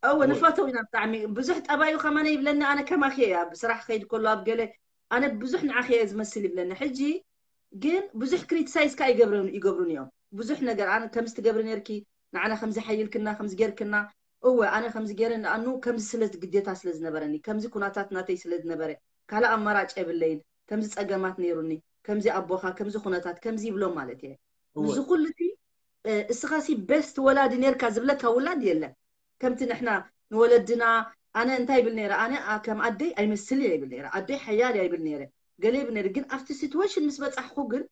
እው ንፈተው ኢና ብጣዕሚ ብዙሕ ጠባዩ ከማነ ይብለኒ። ኣነ ከማኪ እያ ብስራሕ ከይድ ከሎ ኣብ ገለ ኣነ ብዙሕ ንዓኺ እየ ዝመስል ይብለኒ። ሕጂ ግን ብዙሕ ክሪቲሳይዝ ካ ይገብሩን እዮም ብዙሕ ነገር ኣነ ከምዚ ትገብሪ ነርኪ ንዓና ከምዚ ሓይልክና ከምዚ ጌርክና እወ ኣነ ከምዚ ጌረ ንኣኑ ከምዚ ስለ ግዴታ ስለ ዝነበረኒ ከምዚ ኩናታት ናተይ ስለ ዝነበረ ካልእ ኣማራጭ የብለይን ከምዚ ጸገማት ነይሩኒ ከምዚ ኣቦኻ ከምዚ ኩነታት ከምዚ ይብሎም ማለት እየ። ንዚ ኩሉ እቲ እስኻ ሲ ቤስት ወላዲ ነርካ ዝብለካ ውላድ የለን። ከምቲ ንሕና ንወለድና ኣነ እንታይ ይብል ነይረ ኣነ ከም ኣደይ ኣይመስል እየ ይብል ነይረ ኣደይ ሓያል እያ ይብል ነይረ ገለ ይብል ነይረ ግን ኣብቲ ሲትዌሽን ምስ በጻሕኩ ግን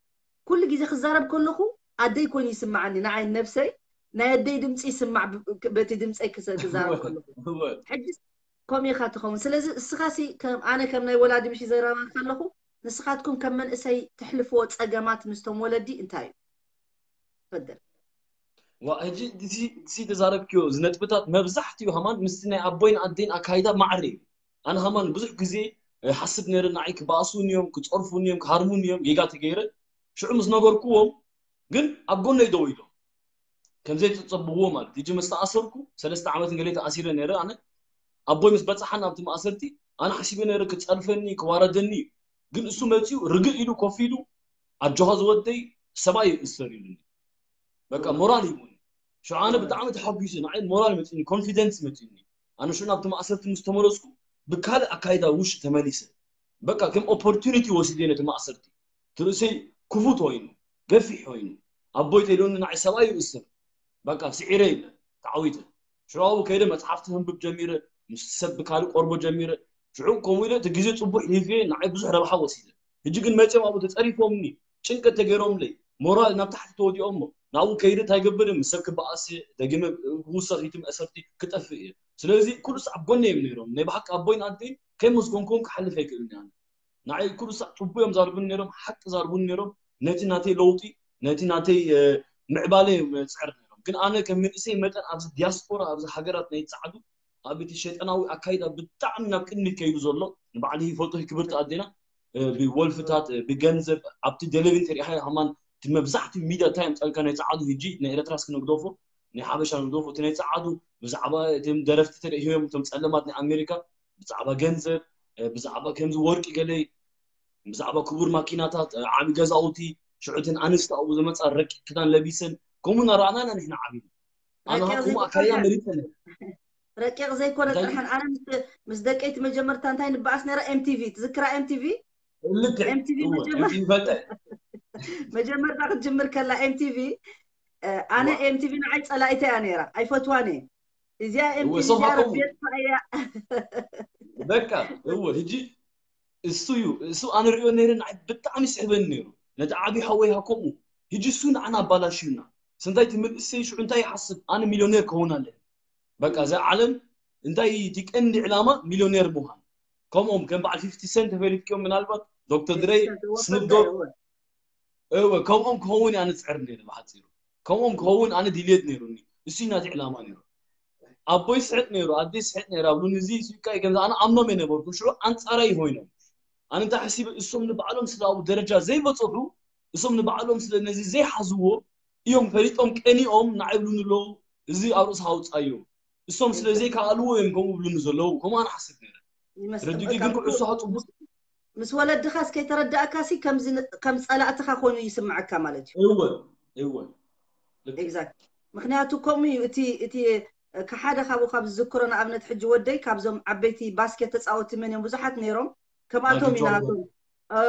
ኩሉ ግዜ ክዛረብ ከለኹ ኣደይ ኮይኑ ይስምዓኒ ንዓይ ነብሰይ ናይ ኣደይ ድምፂ ይስማዕ በቲ ድምፀይ ክዛረብ ከለኹ ሕጂ ከምኡ ኢኻ ትኸውን። ስለዚ እስኻ ሲ ኣነ ከም ናይ ወላዲ ምሽ ይዘረባ ከለኹ ንስኻትኩም ከም መንእሰይ ትሕልፍዎ ፀገማት ምስቶም ወለዲ እንታይ እዩ? ፈደል ዋ ሕጂ እዚ ተዛረብክዮ እዚ ነጥብታት መብዛሕትኡ ሃማን ምስቲ ናይ ኣቦይን ኣደይን ኣካይዳ ማዕረ እዩ። ኣነ ሃማን ብዙሕ ግዜ ሓስብ ነይረ ንዓይ ክበኣሱን እዮም ክፀርፉን እዮም ክሃርሙን እዮም ጌጋ ተገይረ ሽዑ ምስ ነገርኩዎም ግን ኣብ ጎነይ ደው ኢሎም ከምዘይተፀብዎ ማለት ሕጂ ምስ ተኣሰርኩ ሰለስተ ዓመትን ገለ ተኣሲረ ነይረ ኣነ ኣቦይ ምስ በፅሓን ኣብቲ ማእሰርቲ ኣነ ሓሲበ ነይረ ክፀርፈኒ ክዋረደኒ እዩ ግን እሱ መፂኡ ርግእ ኢሉ ኮፍ ኢሉ ኣጆኻ ዝወደይ ሰብኣይ ይእሰር ኢሉኒ በቃ ሞራል ሂቡኒ ሽዑ ኣነ ብጣዕሚ ተሓጒሰ ንዓይ ሞራል መፂኒ ኮንፊደንስ መፂኒ ኣነ ሽዑ ናብቲ ማእሰርቲ ምስ ተመለስኩ ብካልእ ኣካይዳ ውሽ ተመሊሰ በቃ ከም ኦፖርቱኒቲ ወሲደ ነቲ ማእሰርቲ ትርእሰይ ክፉት ኮይኑ ገፊሕ ኮይኑ ኣቦይ ተይሎኒ ንዓይ ሰብኣይ ይእስር በቃ ስዒረ ኢለ ተዓዊተ ሽዑ ኣብኡ ከይደ መፅሓፍቲ ከንብብ ጀሚረ ምስ ሰብ ብካልእ ቆርቦ ጀሚረ ሽዑ ከምኡ ኢለ እቲ ግዜ ፅቡሕ ሂፍየ ንዓይ ብዙሕ ረብሓ ወሲደ ሕጂ ግን መፅኦም ኣብኡ ተፀሪፎምኒ ጭንቀት ተገይሮምለይ ሞራል ናብ ታሕቲ ተወዲኦሞ ናብኡ ከይደ እንታይ ገብር ምስ ሰብ ክበኣስ እየ ደጊመ ክውሰኽ ኢቲ መእሰርቲ ክጠፍእ እየ ስለዚ ኩሉ ሰዓት ጎነ እዮም ነይሮም ናይ ብሓቂ ኣቦይን ኣደይን ከይመስገንኩም ክሓልፍ ኣይክእልን እየ ንዓይ ኩሉ ሳዕ ፅቡቅ እዮም ዛርቡኒ ነይሮም ሓቂ ዛርቡኒ ነይሮም ነቲ ናተይ ለውጢ ነቲ ናተይ ምዕባለ እዮም ፅዕር ነይሮም ግን ኣነ ከም መንእሰይ መጠን ኣብዚ ዲያስፖራ ኣብዚ ሃገራት ናይ ፃዕዱ ኣብ እቲ ሸይጣናዊ ኣካይዳ ብጣዕሚ ናብ ቅድሚት ከይዱ ዘሎ ንባዕሊ ይፈልጦ ክብርቲ ኣዴና ብወልፍታት ብገንዘብ ኣብቲ ደለቪን ተሪኢኻ ሃማን እቲ መብዛሕትኡ ሚድያ እንታይ የምፀልካ ናይ ፀዓዱ ህጂ ናይ ኤረትራስ ክንግደፎ ናይ ሓበሻ ንግደፎ እቲ ናይ ፀዓዱ ብዛዕባ እቶም ደረፍቲ ተሪእዮም እቶም ፀለማት ናይ ኣሜሪካ ብዛዕባ ገንዘብ ብዛዕባ ከምዚ ወርቂ ገለ ብዛዕባ ክቡር ማኪናታት ዓቢ ገዛውቲ ሽዑትን ኣንስቲ ኣብኡ ዝመፃ ረቂቅ ክዳን ለቢሰን ከምኡ እናረኣናና ንሕና ዓቢና ኣነ ከምኡ ኣካያ መሪፀ ረቂቕ ዘይኮነ እንታይ ጥርሓን ኣነ ምስ ምስ ደቀይቲ መጀመርታ እንታይ ንበኣስ ነራ? ኤምቲቪ ትዝክራ? ኤምቲቪ ልክዕ ኤምቲቪ እወ መጀመር እቲ ይፈልጠ መጀመርታ ክትጅምር ከላ ኤምቲቪ ኣነ ዋ ኤምቲቪ ንዓይ ጸላኢተ እያ ነራ፣ ኣይፈትዋን እየ። እዚኣ እወ ኤምቲቪ እሶም እዚኣ ሃብተሙ ረቢየት እያ። በቃ እወ ህጂ እሱ እዩ እሱ ኣነ ሪኦ ነይረ ንዓይ ብጣዕሚ ይስሕበኒ ነይሩ ነቲ ዓብዪ ሓወይ ሃከምኡ ህጂ እሱ ንዓና ኣባላሽዩና ስንታይ ትምህርት እሰይ ሽዑ እንታይ ይሓስብ ኣነ ሚሊዮኔር ክኸውን ኣለኒ በቃ እዛ ዓለም እንታይ እቲ ቀንዲ ዕላማ ሚሊዮኔር ምዃን ከምኦም ከም በዓል ፊፍቲ ሰንት ተፈሊጥክዮም ምናልባት ዶክተር ድረይ ፊፍቲ ሰንት እወ ስኑፕ ፈልጠ ዶግ እወ እወ ከምኦም ክኸውን ኣነ ዝፅዕር ነይረ ብሓፂሩ ከምኦም ክኸውን ኣነ ድልየት ነይሩኒ እሱ እዩ ናተይ ዕላማ ነይሩ ኣቦይ ስሕቅ ነይሩ ኣደይ ስሕቅ ነይራ ብሉኒ እዚ ስቃይ ከምዚ ኣነ ኣምኖም የነበርኩ ሽዑ ኣንፃራይ ኮይኖም ኣነ እንታይ ሓሲበ እሶም ንባዕሎም ስለ ኣብኡ ደረጃ ዘይበፀሑ እሶም ንባዕሎም ስለ ነዚ ዘይሓዝዎ እዮም ፈሊጦም ቀኒኦም ንዓይ ይብሉኒ ኣለዉ እዚ ኣብ ርእስኻ ኣውፃዮ እሶም ስለ ዘይከኣልዎ እዮም ከምኡ ይብሉኒ ዘለዉ ከምኡ ኣነ ሓስብ ነይረ ይመስል ተረዲእኪ በቃ ግን ምስ ኩዕሶ ሃፅቡቅ ምስ ወለድኻስ ከይተረዳእካሲ ከምዚ ን- ከም ጸላእትኻ ኮይኑ ይስምዓካ ማለት እዩ። እወ እወ ልክ ኤግዛክት ምክንያቱ ከምኡ እዩ እቲ እቲ ከሓደ ካብኡ ካብ ዝዝክሮ ንኣብነት ሕጂ ወደይ ካብዞም ዓበይቲ ባስኬት ተፃወቲ መን እዮም ብዙሓት ነይሮም ማይክል ከምኣቶም ኢና ጆርዳን ናቶም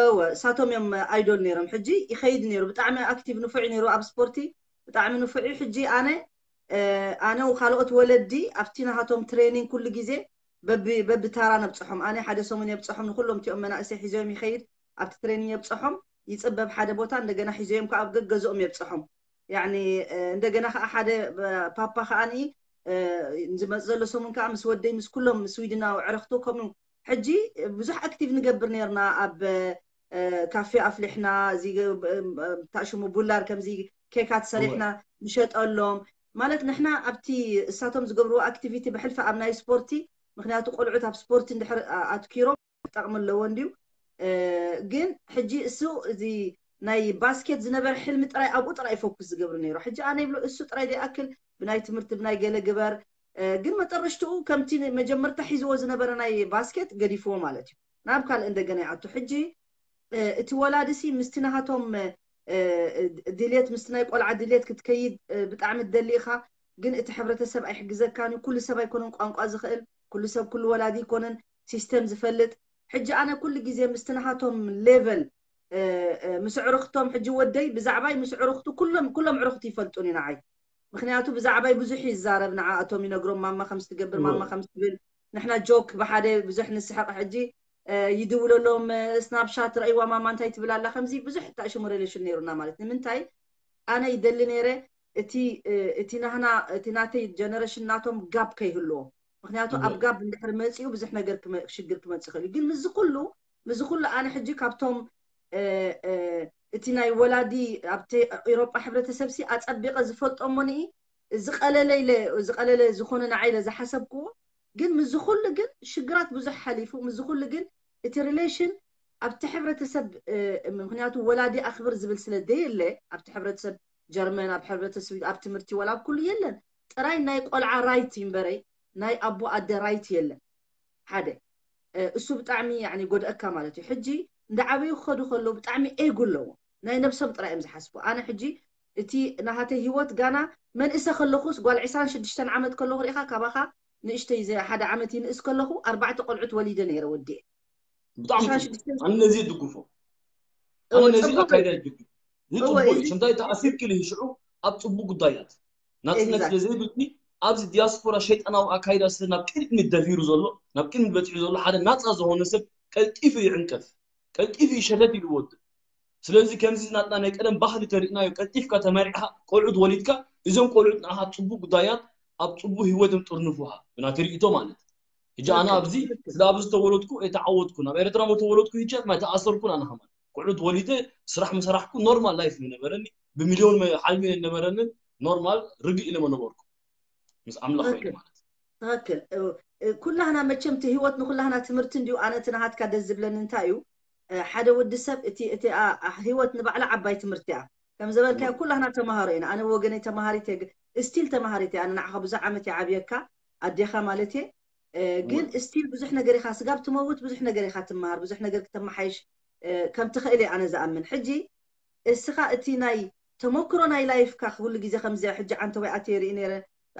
እወ እሳቶም እዮም ኣይዶል ነይሮም ሕጂ ይኸይድ ነይሩ ብጣዕሚ ኣክቲቭ ንፉዕ ነይሩ ኣብ ስፖርቲ ብጣዕሚ ንፉዕ እዩ ሕጂ ኣነ ኣነ ካልኦት ወለዲ ኣብቲ ናሃቶም ትሬኒንግ ኩሉ ግዜ በቢ በቢ ታራ ነብፅሖም ኣነ ሓደ ሰሙን የብፅሖም ንኩሎም እቲኦም መናእሰይ ሒዞም ይኸይድ ኣብቲ ትሬኒንግ የብፅሖም ይፅበብ ሓደ ቦታ እንደገና ሒዞም ከዓ ኣብ ገገዝኦም የብፅሖም ያኒ እንደገና ከዓ ሓደ ፓፓ ከዓኒ ዝመፅ ዘሎ ሰሙን ከዓ ምስ ወደይ ምስ ኩሎም ስዊድናዊ ዕረክቱ ከምኡ ሕጂ ብዙሕ ኣክቲቭ ንገብር ነርና ኣብ ካፌ ኣፍሊሕና ታሽሙ ቡላር ከምዚ ኬካት ሰሪሕና ንሸጠሎም ማለት ንሕና ኣብቲ እሳቶም ዝገብርዎ ኣክቲቪቲ ብሕልፊ ኣብ ናይ ስፖርቲ ምክንያቱ ቆልዑት ኣብ ስፖርቲ እንድሕር ኣትኪሮም ክጠቕሚ ኣለዎ እንድዩ ግን ሕጂ እሱ እዚ ናይ ባስኬት ዝነበረ ሕልሚ ጥራይ ኣብኡ ጥራይ ፎኩስ ዝገብር ነይሩ ሕጂ ኣነ ይብሎ እሱ ጥራይ ዘይኣክል ብናይ ትምህርቲ ብናይ ገለ ግበር ግን መጠረሽትኡ ከምቲ መጀመርታ ሒዝዎ ዝነበረ ናይ ባስኬት ገዲፍዎ ማለት እዩ ናብ ካልእ እንደገና ይኣቱ ሕጂ እቲ ወላድሲ ምስቲ ናሃቶም ድልየት ምስቲ ናይ ቆልዓ ድልየት ክትከይድ ብጣዕሚ ትደሊ ኢኻ ግን እቲ ሕብረተሰብ ኣይሕግዘካን እዩ ኩሉ ሰብ ኣይኮነን ቋንቋ ዝኽእል ኩሉ ሰብ ኩሉ ወላዲ ኣይኮነን ሲስተም ዝፈልጥ ሕጂ ኣነ ኩሉ ግዜ ምስቲ ናሃቶም ሌቨል ምስ ዕርኽቶም ሕጂ ወደይ ብዛዕባይ ምስ ዕርኽቱ ኩሎም ኩሎም ዕርኽቱ ይፈልጡን እዩ ንዓይ ምክንያቱ ብዛዕባይ ብዙሕ ይዛረብ ንዓኣቶም ይነግሮም ማማ ከም ትገብር ማማ ከም ትብል ንሕና ጆክ ብሓደ ብዙሕ ንስሕቕ ሕጂ ይድውለሎም ስናፕሻት ረእይዋ ማማ እንታይ ትብል ኣላ ከምዚ ብዙሕ ታሽሙ ሬሌሽን ነይሩና ማለት ንምንታይ ኣነ ይደሊ ነይረ እቲ እቲ ናህና እቲ ናተይ ጀነሬሽን ናቶም ጋፕ ከይህልዎ ምክንያቱ ኣብ ጋፕ እንድሕር መፂኡ ብዙሕ ነገር ሽግር ክመፅእ ይኽእል እዩ ግን ምዚ ኩሉ ምዚ ኩሉ ኣነ ሕጂ ካብቶም እቲ ናይ ወላዲ ኣብቲ ኤሮጳ ሕብረተሰብ ሲ ኣጸቢቐ ዝፈልጦ እሞ ንኢ ዝቐለለ ኢለ ዝቐለለ ዝኾነ ንዓይ ኢለ ዝሓሰብክዎ ግን ምዚ ኩሉ ግን ሽግራት ብዙሕ ሓሊፉ ምዚ ኩሉ ግን እቲ ሪሌሽን ኣብቲ ሕብረተሰብ ምክንያቱ ወላዲ ኣኽብር ዝብል ስለ ደየለ ኣብቲ ሕብረተሰብ ጀርመን ኣብ ሕብረተሰብ ኣብ ትምህርቲ ወላ ኣብ ኩሉ የለን ጥራይ ናይ ቆልዓ ራይት ይንበረይ ናይ ኣቦ ኣደ ራይት የለን ሓደ እሱ ብጣዕሚ ያኒ ጎድኣካ ማለት እዩ ሕጂ እንዳ ዓበዩ ክኸዱ ከለዉ ብጣዕሚ ኤጉ ኣለዎ ናይ ነብሶም ጥራይ እዮም ዝሓስቡ ኣነ ሕጂ እቲ ናሃተይ ህይወት ጋና መንእሰ ከለኹስ ጓል ዕስራን ሽዱሽተን ዓመት ከለኹ ርኢኻ ካባኻ ንእሽተይ ሓደ ዓመት ይንእስ ከለኹ ኣርባዕተ ቆልዑት ወሊደ ነይረ ወዲኤ ብጣዕሚ ኣነ ነዚ ይድግፎ ኣነ ነዚ ኣካይዳ ይድግፍ ይፅቡቅ እዩ ሽምታይ ተኣሲርኪ ልሂ ሽዑ ኣብ ፅቡቅ ጉዳያት ናፅነት ስለ ዘይብልኪ ኣብዚ ዲያስፖራ ሸይጣናዊ ኣካይዳ ስለ ናብ ቅድሚት ደፊሩ ዘሎ ናብ ቅድሚት በፂሑ ዘሎ ሓደ ናፃ ዝኾነ ሰብ ቀልጢፉ ይዕንቀፍ ቀልጢፉ ይሸለል ኢሉ ወድእ ስለዚ ከምዚ ናትና ናይ ቀደም ባህሊ ተሪእናዮ ቀልጢፍካ ተመሪዕካ ቆልዑት ወሊድካ እዞም ቆልዑት ንኣኻ ኣብ ፅቡቅ ጉዳያት ኣብ ፅቡቅ ህይወት እዮም ጥርንፉኻ ብናተይ ርኢቶ ማለት ሕጂ ኣነ ኣብዚ ስለ ኣብዚ ዝተወለድኩ ኣይተዓወትኩን ኣብ ኤርትራ ሞ ተወለድኩ ሕጂ ማይ ተኣሰርኩን ኣነ ከማን ቆልዑት ወሊደ ስራሕ ምሰራሕኩ ኖርማል ላይፍ ምነበረኒ ብሚልዮን ሓልሚ ነበረንን ኖርማል ርግእ ኢለ መነበርኩ ምስ ኣምላኽ ኮይኑ ማለት ትክክል ኩላህና መቸም እቲ ህይወት ንኩላህና ትምህርቲ እንዲዩ ኣነ እቲ ናሃትካ ደስ ዝብለኒ እንታይ እዩ ሓደ ወዲ ሰብ እቲ እቲ ህይወት ንባዕላ ዓባይ ትምህርቲ እያ ከም ዘበልካዮ ኩላህና ተማሃሮ ኢና ኣነ ወገነይ ተማሃሪት እየ ስቲል ተማሃሪት እየ ኣነ ንዓኻ ብዙሕ ዓመት ይዓብየካ ኣዴኻ ማለት እየ ግን ስቲል ብዙሕ ነገር ኢኻ ስጋብ ትመውት ብዙሕ ነገር ኢኻ ትመሃር ብዙሕ ነገር ክተመሓይሽ ከም ትኽእል እየ ኣነ ዝኣምን ሕጂ እስኻ እቲ ናይ ተመክሮ ናይ ላይፍካ ኩሉ ግዜ ከምዚኣ ሕጂ ዓንተወይ ኣትየ ርኢ ነይረ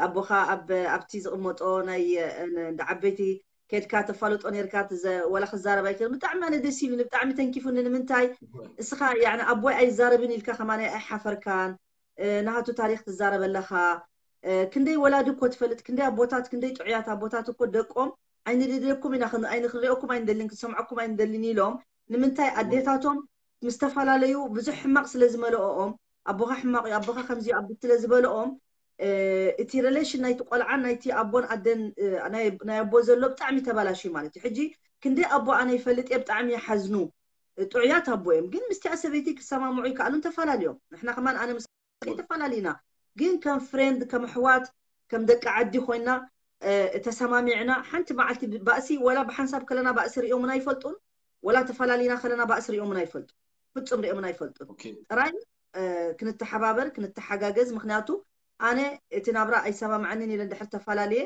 ኣቦኻ ኣብ ኣብቲ ዝቕመጦ ናይ እንደ ዓበይቲ ከድካ ተፋልጦ ነርካ፣ ወላ ክዛረብ ኣይክእል። ብጣዕሚ ኣነ ደስ ኢሉኒ፣ ብጣዕሚ ተንኪፉኒ። ንምንታይ እስኻ ያኒ ኣቦይ ኣይዛረብን ኢልካ ከማን ኣይሓፈርካን። ናሃቱ ታሪክ ትዛረብ ኣለኻ። ክንደይ ወላዲ እኮ ትፈልጥ፣ ክንደይ ኣቦታት፣ ክንደይ ጥዑያት ኣቦታት እኮ ደቆም ኣይንደልየኩም ኢና፣ ኣይንክንሪኦኩም ኣይንደልን፣ ክንሰምዐኩም ኣይንደልን ኢሎም። ንምንታይ ኣዴታቶም ምስ ተፈላለዩ ብዙሕ ሕማቕ ስለ ዝመልኦም፣ ኣቦኻ ሕማቕ እዩ፣ ኣቦኻ ከምዚ ኣቢ ስለ ዝበልኦም፣ እቲ relation ናይቲ ቆልዓን ናይቲ ኣቦን ኣደን ናይ ኣቦ ዘሎ ብጣዕሚ ተባላሽዩ ማለት እዩ። ሕጂ ክንደይ ኣቦ ኣነ ይፈልጥ እየ፣ ብጣዕሚ ይሓዝኑ፣ ጥዑያት ኣቦ እዮም፣ ግን ምስቲኣ ሰበይቲ ክሰማምዑ ይከኣሉን ተፈላለዮም። ንሕና ከማን ኣነ ምስ ከይተፈላለዩና፣ ግን ከም friend፣ ከም ኣሕዋት፣ ከም ደቂ ዓዲ ኮይና ተሰማሚዕና ሓንቲ መዓልቲ ባእሲ ወላ ብሓንሳብ ከለና ባእሲ ሪኦምና ኣይፈልጡን፣ ወላ ተፈላለዩና ከለና ባእሲ ሪኦምና ኣይፈልጡ፣ ፍጹም ሪኦምና ኣይፈልጡን። ጥራይ ክንተሓባበር፣ ክንተሓጋገዝ። ምክንያቱ ኣነ እቲ ናብራ ኣይሰማምዐንን ኢለ እንድሕር ተፈላለየ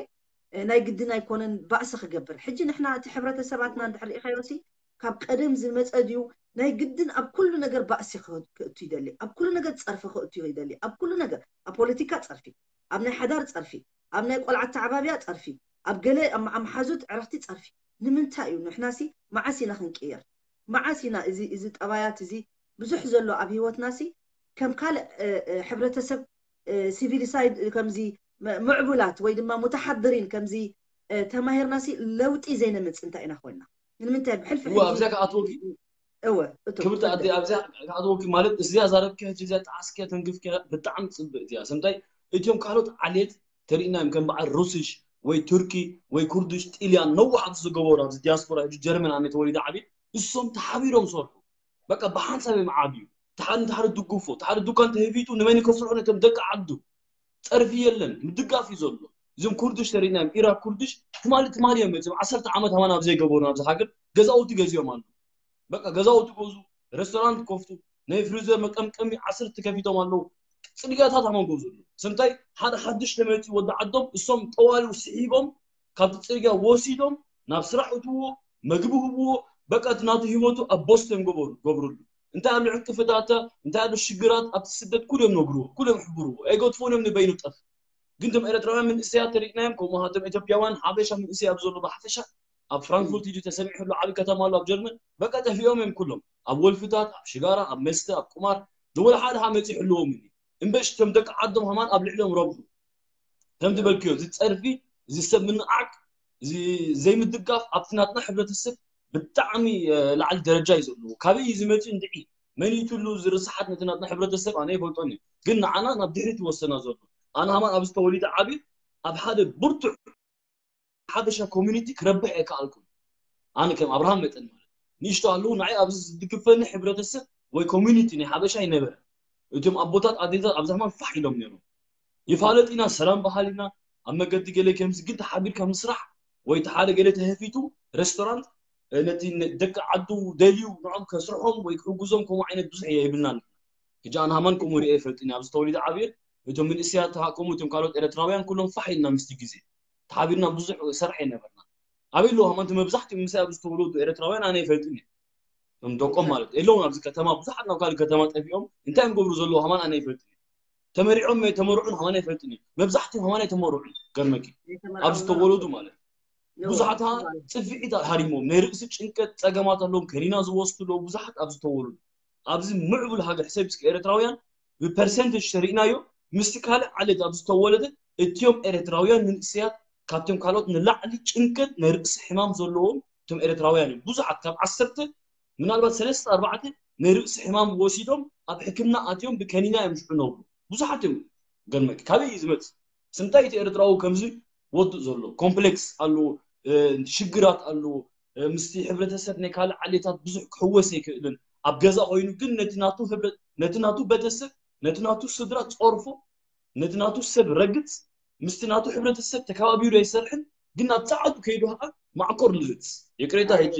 ናይ ግድን ኣይኮነን ባእሲ ክገብር። ሕጂ ንሕና እቲ ሕብረተሰባትና እንድሕር ሪኢኻዮሲ ካብ ቀደም ዝመጸ ድዩ? ናይ ግድን ኣብ ኩሉ ነገር ባእሲ ክእቱ ይደሊ፣ ኣብ ኩሉ ነገር ጸርፊ ክእቱ ይደሊ፣ ኣብ ኩሉ ነገር፣ ኣብ ፖለቲካ ጸርፊ፣ ኣብ ናይ ሓዳር ጸርፊ፣ ኣብ ናይ ቆልዓ ኣተዓባብያ ጸርፊ፣ ኣብ ገለ ኣመሓዙት ዕረኽቲ ጸርፊ። ንምንታይ እዩ ንሕናሲ መዓስ ኢና ክንቅየር? መዓስ ኢና እዚ እዚ ጠባያት እዚ ብዙሕ ዘሎ ኣብ ህይወትናሲ ከም ካልእ ሕብረተሰብ ሲቪሊሳይድ ከምዚ ምዕቡላት ወይ ድማ ሙተሓድሪን ከምዚ ተማሂርናሲ ለውጢ ዘይነምጽ እንታይ ኢና ኮይና? ንምንታይ ብሕልፊ እወ ኣብዚኣ ክኣትወኪ እወ ክብርቲ ኣደ ኣብዚኣ ክኣትወኪ ማለት እዚኣ ዛረብኪ ሕጂ እዚኣ ጣዕስኪ ተንግፍኪ ብጣዕሚ ጽብቅ እዚኣ ስምታይ እቲዮም ካልኦት ዓሌት ተሪእናዮም ከም በዓል ሩስሽ ወይ ቱርኪ ወይ ኩርድሽ ጢልያን ነዋሕ ኣብዚ ዝገበሩ ኣብዚ ዲያስፖራ ሕጂ ጀርመን ኣነ ተወሊደ ዓብየ እሶም ተሓቢሮም ሰርሑ በቃ ብሓንሳብ እዮም ዓብዩ ተሓደ ንተሓደ ድጉፎ ተሓደ ዱካን ተህቢጡ ንመን ከስርሑ ነቶም ደቂ ዓዱ ጸርፊ የለን ምድጋፍ እዩ ዘሎ እዞም ኩርድሽ ተሪእናዮም ኢራክ ኩርድሽ ትማሊ ትማሊ እዮም መፅም ዓሰርተ ዓመት ሃማን ኣብ ዘይገበሩ ኣብዚ ሃገር ገዛውቲ ገዚኦም ኣሉ በቃ ገዛውቲ ገዙ ሬስቶራንት ከፍቱ ናይ ፍሪዘር መቀምቀሚ ዓሰርተ ከፊቶም ኣለዉ ፅርግያታት ሃማን ገቡ ዘሎ ስምታይ ሓደ ሓድሽ ተመፂ ወዲ ዓዶም እሶም ጠዋሊው ስሒቦም ካብቲ ፅርግያ ወሲዶም ናብ ስራሕ እትዎ መግቢ ህብዎ በቃ እቲ ናቱ ህይወቱ ኣብ ቦስቶን ገበሩ ገብርሉ እንታይ ኣሎ ዕንቅፍታተ እንታይ ኣሎ ሽግራት ኣብቲ ስደት ኩሎም ነግርዎ ኩሎም ሕብርዎ ኣይገድፎን እዮም ንበይኑ ጠፍ ግን ቶም ኤረትራውያን መንእሰያት ተሪእናዮም ከምኡ ሃቶም ኢትዮጵያውያን ሓበሻ መንእሰይ ኣብ ዘሎ ብሓፈሻ ኣብ ፍራንክፉርት እዩ ተሰሚዑ ኣሎ ዓብዪ ከተማ ኣሎ ኣብ ጀርመን በቃ ጠፊኦም እዮም ኩሎም ኣብ ወልፍታት ኣብ ሽጋራ ኣብ መስተ ኣብ ቁማር ዝወላ ሓደ ሃ መፂ ይሕልዎም እዩ እምበሽ ቶም ደቂ ዓዶም ሃማን ኣብ ልዕሊኦም ረብሑ ከም ዝበልክዮ እዚ ፀርፊ እዚ ሰብ ምንዓቅ እዚ ዘይምድጋፍ ኣብቲ ናትና ሕብረተሰብ ብጣዕሚ ላዕሊ ደረጃ እዩ ዘለዎ ካበይ እዩ ዝመፅእ እንድዒ መን ይትሉ ዝርስሓት ነቲ ናትና ሕብረተሰብ ኣነ ይፈልጦን እዩ ግን ንዓና ናብ ድሕሪት ይወሰና ዘሎ ኣነ ሃማን ኣብዚ ተወሊደ ዓብየ ኣብ ሓደ ብርቱዕ ሓበሻ ኮሚኒቲ ክረብሕ ኣይከኣልኩን ኣነ ከም ኣብርሃም መጠን ማለት ንእሽቶ ኣለዉ ንዓይ ኣብዚ ዝድግፈኒ ሕብረተሰብ ወይ ኮሚኒቲ ናይ ሓበሻ ይነበረ እቶም ኣቦታት ኣዴታት ኣብዚ ሃማን ፋሕ ኢሎም ነይሮም ይፋለጥ ኢና ሰላም በሃሊና ኣብ መገዲ ገለ ከምዚ ግን ተሓቢርካ ምስራሕ ወይ እቲ ሓደ ገለ ተሀፊቱ ሬስቶራንት ነቲ ደቂ ዓዱ ደልዩ ንዖም ከስርሖም ወይ ክሕግዞም ከምኡ ዓይነት ብዙሕ የብልናን ሕጂ ኣነ ሃማን ከምኡ ሪአ ይፈልጥኒ ኣብዚ ተወሊደ ዓብየ እቶም ምንእስያት ከምኡ እቶም ካልኦት ኤረትራውያን ኩሎም ፋሕ ኢልና ምስቲ ግዜ ተሓቢርና ብዙሕ ሰርሐ ይነበርና ኣበይ ኣለዉ ሃማን እቲ መብዛሕትኡ ምንእስያት ኣብዚ ተወለዱ ኤረትራውያን ኣነ ይፈልጥኒ እዮም ደቆም ማለት የለውን ኣብዚ ከተማ ብዙሓት ናብ ካልእ ከተማ ጠፊኦም እንታይ እዮም ገብሩ ዘለዉ ሃማን ኣነ ይፈልጥኒ ተመሪዖም ተመርዑን ሃማን ኣይፈልጥን እዩ መብዛሕትኡ ሃማን ኣይተመርዑን ገርመኪ ኣብዚ ተወለዱ ማለት ብዙሓት ጽፍዒት ሃሪሞም ናይ ርእሲ ጭንቀት ጸገማት ኣለዎም ከኒና ዝወስዱ ኣለዉ ብዙሓት ኣብዚ ተወለዱ ኣብዚ ምዕቡል ሃገር ሕሰብ እስኪ ኤረትራውያን ብፐርሰንቴጅ ተሪእናዮ ምስቲ ካልእ ዓሌት ኣብዚ ዝተወለደ እትዮም ኤረትራውያን መንእሰያት ካብቶም ካልኦት ንላዕሊ ጭንቀት ናይ ርእሲ ሕማም ዘለዎም እቶም ኤረትራውያን እዮም ብዙሓት ካብ ዓሰርተ ምናልባት ሰለስተ ኣርባዕተ ናይ ርእሲ ሕማም ወሲዶም ኣብ ሕክምና ኣትዮም ብከኒና እዮም ሽዑ ነብሩ ብዙሓት እዮም ገርመኪ ካበይ እዩ ዝመፅእ ስምታይ እቲ ኤርትራዊ ከምዚ ወድእ ዘሎ ኮምፕሌክስ ኣለዎ ሽግራት ኣለዎ ምስቲ ሕብረተሰብ ናይ ካልእ ዓሌታት ብዙሕ ክሕወስ ኣይክእልን ኣብ ገዛ ኮይኑ ግን ነቲ ናቱ ቤተሰብ ነቲ ናቱ ስድራ ፀርፎ ነቲ ናቱ ሰብ ረግፅ ምስቲ ናቱ ሕብረተሰብ ተከባቢሩ ኣይሰርሕን ግን ናብ ፃዕዱ ከይዱ ከዓ ማዕኮር ልግፅ ይቅሬታ ሕጂ